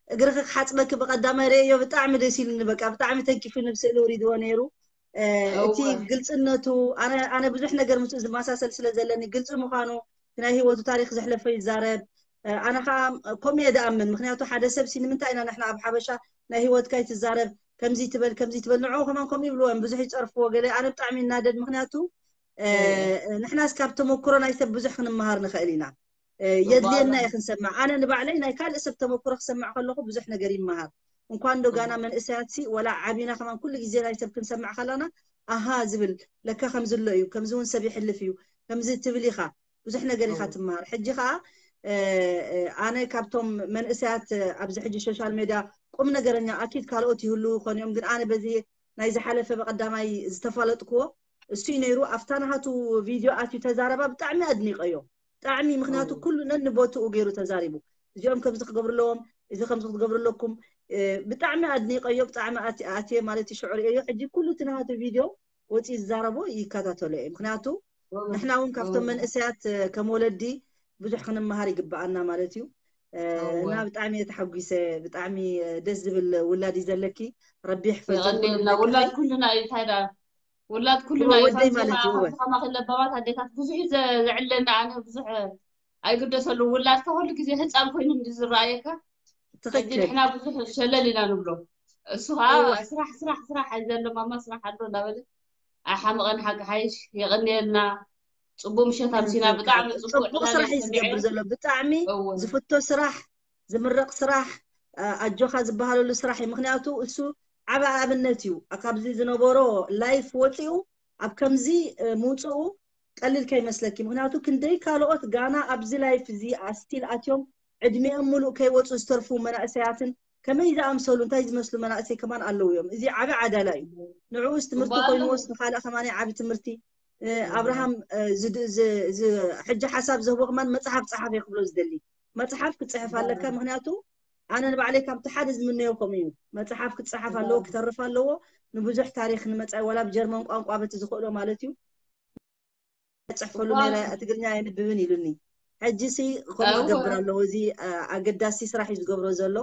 እግርኺ ክሓፅበኪ ብቀዳማይ ርእዮ ብጣዕሚ ደስ ኢሉኒ በቃ ብጣዕሚ ተንኪፉ ንብስእሊ ውሪድዎ ነይሩ እ፣ እቲ እወ ግልፅነቱ ኣነ ኣነ ብዙሕ ነገር ምስኡ ዝመሳሰል ስለ ዘለኒ ግልፂ ምዃኑ ናይ ህይወቱ ታሪክ ዘሕለፎ ይዛረብ እ፣ ኣነ ከዓ ከምኡ እየ ዝኣምን ምክንያቱ ሓደ ሰብ ሲ ንምንታይ ኢና ንሕና ኣብ ሓበሻ ናይ ህይወትካ ይትዛረብ ከምዚ ትበል ከምዚ ትበል ንዕኡ ከማን ከምኡ ይብልዎ እዮም ብዙሕ ይፀርፍዎ ገለ ኣነ ብጣዕሚ ይናደድ ምክንያቱ ንሕናስ ካብ ተመክሮ ናይ ሰብ ብዙሕ ክንመሃር ንኽእል ኢና። የድልየና እዩ ክንሰማዕ። ኣነ ንባዕለይ ናይ ካልእ ሰብ ተመክሮ ክሰማዕ ከለኹ ብዙሕ ነገር ይመሃር። እንኳን ዶ ጋና መንእሰያት ሲ ወላ ዓቢና ከማን ኩሉ ግዜ ናይ ሰብ ክንሰማዕ ከለና ኣሃ ዝብል ለካ ከምዚ ኣሎ እዩ፣ ከምዚ እውን ሰብ ይሕልፍ እዩ፣ ከምዚ ትብል ኢኻ፣ ብዙሕ ነገር ኢኻ ትመሃር። ሕጂ ከዓ ኣነ ካብቶም መንእሰያት ኣብዚ ሕጂ ሶሻል ሜድያ ቁም ነገረኛ ኣኪድ ካልኦት ይህሉ ይኾኑ እዮም፣ ግን ኣነ በዚ ናይ ዝሓለፈ ብቐዳማይ ዝተፋለጥክዎ እሱ እዩ ነይሩ። ኣብታ ናሃቱ ቪድዮ ኣትዩ ተዛረባ ብጣዕሚ ኣድኒቀዮ። ብጣዕሚ ምክንያቱ ኩሉ ነንቦትኡ ገይሩ ተዛሪቡ። እዚኦም ከምዚ ክገብሩ ኣለዎም፣ እዚ ከምዚ ክትገብሩ ኣለኩም። ብጣዕሚ ኣድኒቀዮ፣ ብጣዕሚ ኣትየ ማለት እዩ ሽዑ ርእዮ። ሕጂ ኩሉ እቲ ናሃቱ ቪድዮ ወፂኡ ዝዛረቦ ይከታተሎ እየ። ምክንያቱ ንሕና እውን ካብቶም መንእሰያት ከም ወለዲ ብዙሕ ክንመሃር ይግበኣና ማለት እዩ። እና ብጣዕሚ እየ ተሓጒሰ። ብጣዕሚ ደስ ዝብል ውላድ እዩ ዘለኪ። ረቢ ይሕፈዞ። ውላድ ኩልና እዩ። እንታይ ደኣ ውላድ ኩልና እዩ። ወደይ ማለት እዩ። ከማኺ ለባማት ኣዴታት ብዙሕ እዩ ዘዕለና። ኣነ ብዙሕ ኣይግደሰሉ። ውላድካ ኩሉ ግዜ ህፃን ኮይኑ እንዲ ዝረኣየካ ሕጂ ንሕና ብዙሕ ሸለል ኢና ንብሎ። እሱ ከዓ ስራሕ ስራሕ ስራሕ ዘሎ ማማ ስራሕ ኣሎ እንዳበለ ኣይሓመቐን። ሓቂ ሓይሽ የቐንየልና። ፅቡቅ ምሸት ኣምሲና። ብጣዕሚ ፅቡቅ ስራሕ እዩ ዝገብር ዘሎ። ብጣዕሚ ዝፍቶ ስራሕ፣ ዝምረቅ ስራሕ፣ ኣጆኻ ዝበሃለሉ ስራሕ እዩ። ምክንያቱ እሱ ዓቢ ኣብነት እዩ። ካብዚ ዝነበሮ ላይፍ ወፂኡ ኣብ ከምዚ ምውፅኡ ቀሊል ከይመስለኪ። ምክንያቱ ክንደይ ካልኦት ጋና ኣብዚ ላይፍ እዚ ኣስቲል ኣትዮም ዕድሚኦም ሙሉእ ከይወፁ ዝተርፉ መናእሰያትን ከመይ ዝኣምሰሉ እንታይ ዝመስሉ መናእሰይ ከማን ኣለዉ እዮም። እዚ ዓቢ ዓዳላ እዩ። ንዕኡስ ትምህርቲ ኮይንዎስ ንካልእ ከማን ዓቢ ትምህርቲ። ኣብርሃም ሕጂ ሓሳብ ዝህቦ ከማን መፅሓፍ ፀሓፍ እየ ክብሎ ዝደሊ። መፅሓፍ ክፅሕፍ ኣለካ። ምክንያቱ ኣነ ንባዕለይ ካብቲ ሓደ ዝምነዮ ከምኡ እዩ። መፅሓፍ ክፀሓፍ ኣለዎ፣ ክተርፍ ኣለዎ። ንብዙሕ ታሪክ ንመፃኢ ዋላ ብጀርመን ቋንቋ በቲ ዝኽእሎ ማለት እዩ ፅሕፈሉ ነረ ትግርኛ የንብብን ኢሉኒ። ሕጂ ሲ ከምኡ ክገብር ኣለዎ። እዚ ኣገዳሲ ስራሕ እዩ ዝገብሮ ዘሎ።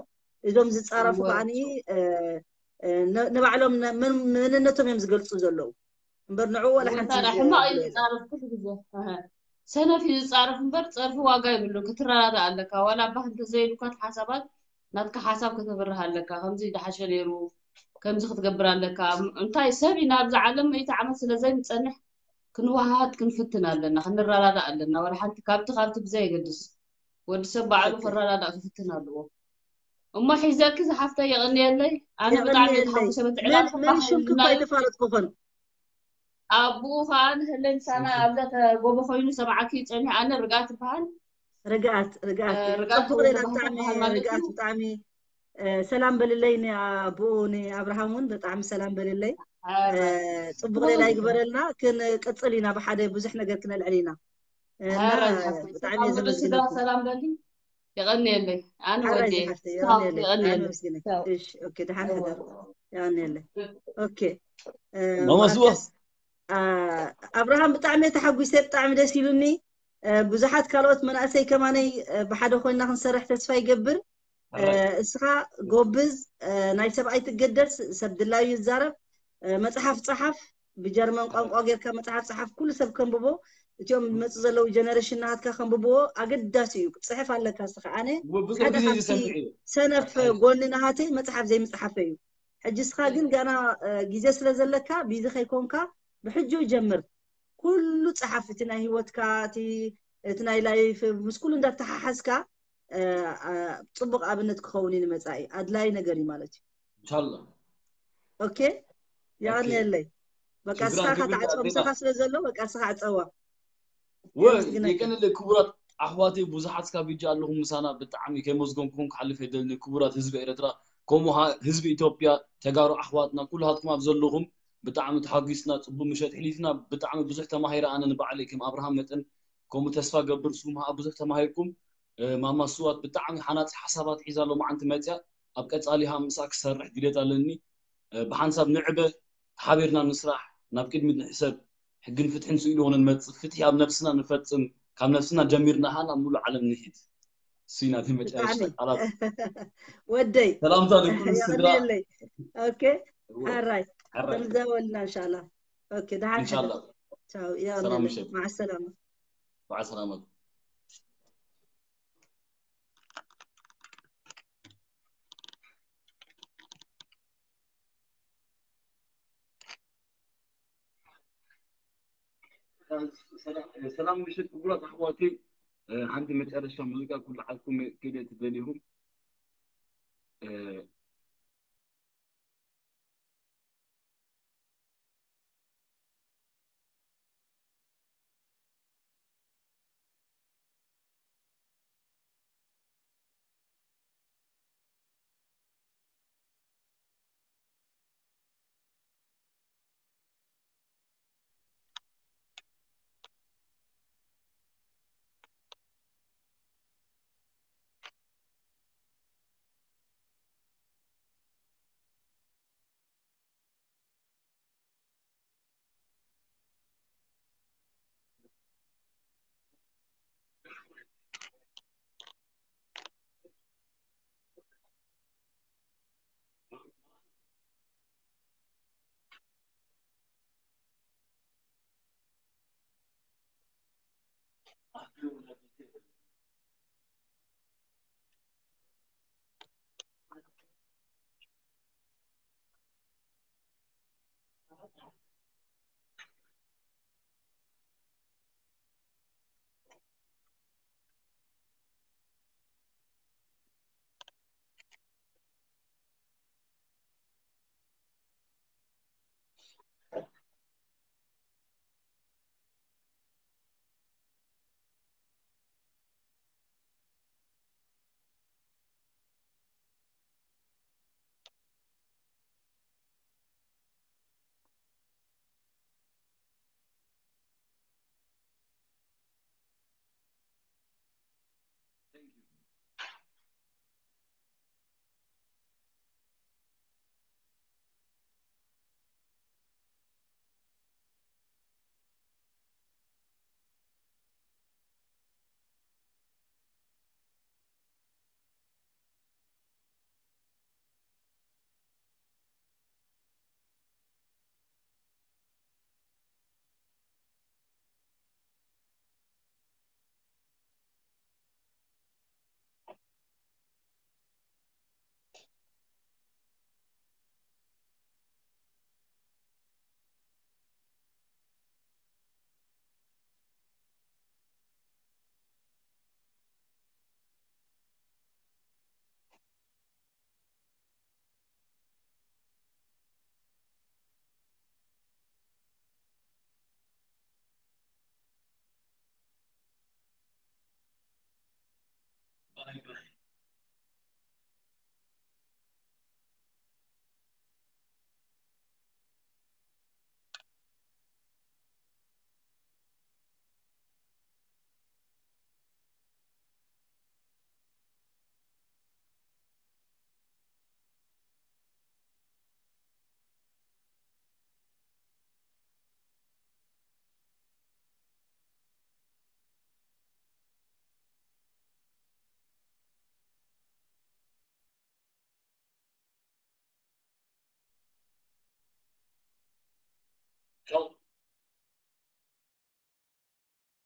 እዞም ዝፃረፉ ከዓኒ ንባዕሎም መንነቶም እዮም ዝገልፁ ዘለዉ እምበር ንዕኡ ወላ ሓንቲ ሕማቕ እዩ ዝፃረፍ ኩሉ ግዜ። ሰነፍ እዩ ዝፃረፍ እምበር ፀርፊ ዋጋ ይብሉ። ክትረዳዳእ ኣለካ። ዋላ ኣባህ እንተዘይሉካ ሓሳባት ናትካ ሓሳብ ከተብርህ ኣለካ። ከምዚ ድሓሸ ነይሩ፣ ከምዚ ክትገብር ኣለካ። እንታይ ሰብ ኢና ኣብዚ ዓለም መይተ ዓመት ስለ ዘይንፀንሕ ክንወሃሃድ ክንፍትን ኣለና፣ ክንረዳዳእ ኣለና። ዋላ ሓንቲ ካብቲ ካብቲ ብዘየገድስ ወዲ ሰብ ባዕሉ ክረዳዳእ ክፍትን ኣለዎ። እሞ ሒዘኪ ዝሓፍተይ የቐንየለይ። ኣነ ብጣዕሚ ተሓጉሰ በቲ ዕላል መን ሽምኪ እኳ ኣይተፋለጥኩኹን። ኣቡኡ ከዓ ንህለይ ምሳና ኣብዛ ተጎቦ ኮይኑ ሰማዓኪ ጸኒሕ። ኣነ ርግኣት ትበሃል። ርግኣት ርግኣት ጽቡቅ ሌላ ብጣዕሚ ርግኣት ብጣዕሚ ሰላም በልለይ ንኣቦኡ ንኣብርሃም እውን ብጣዕሚ ሰላም በልለይ። ጽቡቅ ሌላ ይግበረልና። ክንቅጽል ኢና ብሓደ ብዙሕ ነገር ክነልዕል ኢና። ብጣዕሚ ሰላም በሊ። የቐንየለይ። ኣነ ወዲ ደሓን ሕደር። የቐንየለይ። ኦኬ ማማስወስ ኣብርሃም ብጣዕሚ ተሓጒሰ። ብጣዕሚ ደስ ኢሉኒ። ብዙሓት ካልኦት መናእሰይ ከማነይ ብሓደ ኮይና ክንሰርሕ ተስፋ ይገብር። እስኻ ጎብዝ፣ ናይ ሰብ ኣይትገደስ፣ ሰብ ድላዩ ይዛረብ። መፅሓፍ ፀሓፍ፣ ብጀርመን ቋንቋ ጌርካ መፅሓፍ ፀሓፍ፣ ኩሉ ሰብ ከንብቦ። እቲኦም ዝመፁ ዘለዉ ጀነሬሽን ናሃትካ ከንብብዎ ኣገዳሲ እዩ። ክፅሕፍ ኣለካ እስኻ። ኣነ ሓደ ካብቲ ሰነፍ ጎኒ ናሃተይ መፅሓፍ ዘይምፅሓፈ እዩ። ሕጂ እስኻ ግን ገና ግዜ ስለ ዘለካ ቢዚ ከይኮንካ ብሕጂ ጀምር። ኩሉ ፀሓፍ፣ እቲ ናይ ህይወትካ እቲ ናይ ላይፍ ምስ ኩሉ እንዳተሓሓዝካ ፅቡቅ ኣብነት ክኸውን እዩ ንመፃኢ። ኣድላይ ነገር እዩ ማለት እዩ። ኢንሻላ። ኦኬ የቀንየለይ። በቃ እስኻ ኢኻ ትዓፀዋ፣ ምሳኻ ስለ ዘሎ በቃ እስኻ ዕፀዋ። ወይ የቀንየለይ ክቡራት ኣሕዋተይ፣ ብዙሓት እስካብ ሕጂ ኣለኹም ምሳና። ብጣዕሚ ከይመስገንኩም ክሓልፍ ኣይደልን። ክቡራት ህዝቢ ኤርትራ ከምኡ ህዝቢ ኢትዮጵያ፣ ተጋሩ ኣሕዋትና ኩላትኩም ኣብ ዘለኹም ብጣዕሚ ተሓጒስና። ፅቡቅ ምሸት ሕሊፍና። ብጣዕሚ ብዙሕ ተማሂረ ኣነ ንባዕለይ ከም ኣብርሃም መጠን ከምኡ ተስፋ ገብር ንስኹም ከዓ ብዙሕ ተማሂርኩም። ማማ ስዋት ብጣዕሚ ሓናፂ ሓሳባት ሒዛ ሎማዓንቲ መፅያ። ኣብ ቀፃሊ ከዓ ምሳኣ ክሰርሕ ድሌት ኣለኒ። ብሓንሳብ ንዕበ፣ ሓቢርና ንስራሕ፣ ናብ ቅድሚት ንሕሰብ። ሕግን ፍትሕን ስኢሉ ኾነ ንመፅእ፣ ፍትሒ ኣብ ነብስና ንፈፅም፣ ካብ ነብስና ጀሚርና ኸዓ ናብ ሙሉእ ዓለም ንሂድ። እሱ እዩ ናተይ መጨረሽታ ቃላት። ወደይ ሰላምታ ንኩሉ ስድራ። ኦኬ ኣራይ ከምዘበልና እንሻላ። ኦኬ ደሓን እንሻላ። ቻው። ሰላም ምሸት። ማዓ ሰላማ። በዓል ሰላማ። ሰላም ምሽት ክቡራት ኣሕዋተይ። ሓንቲ መጨረሻ ሙዚቃ ክልዓልኩም ክእለ ትደልይኹም።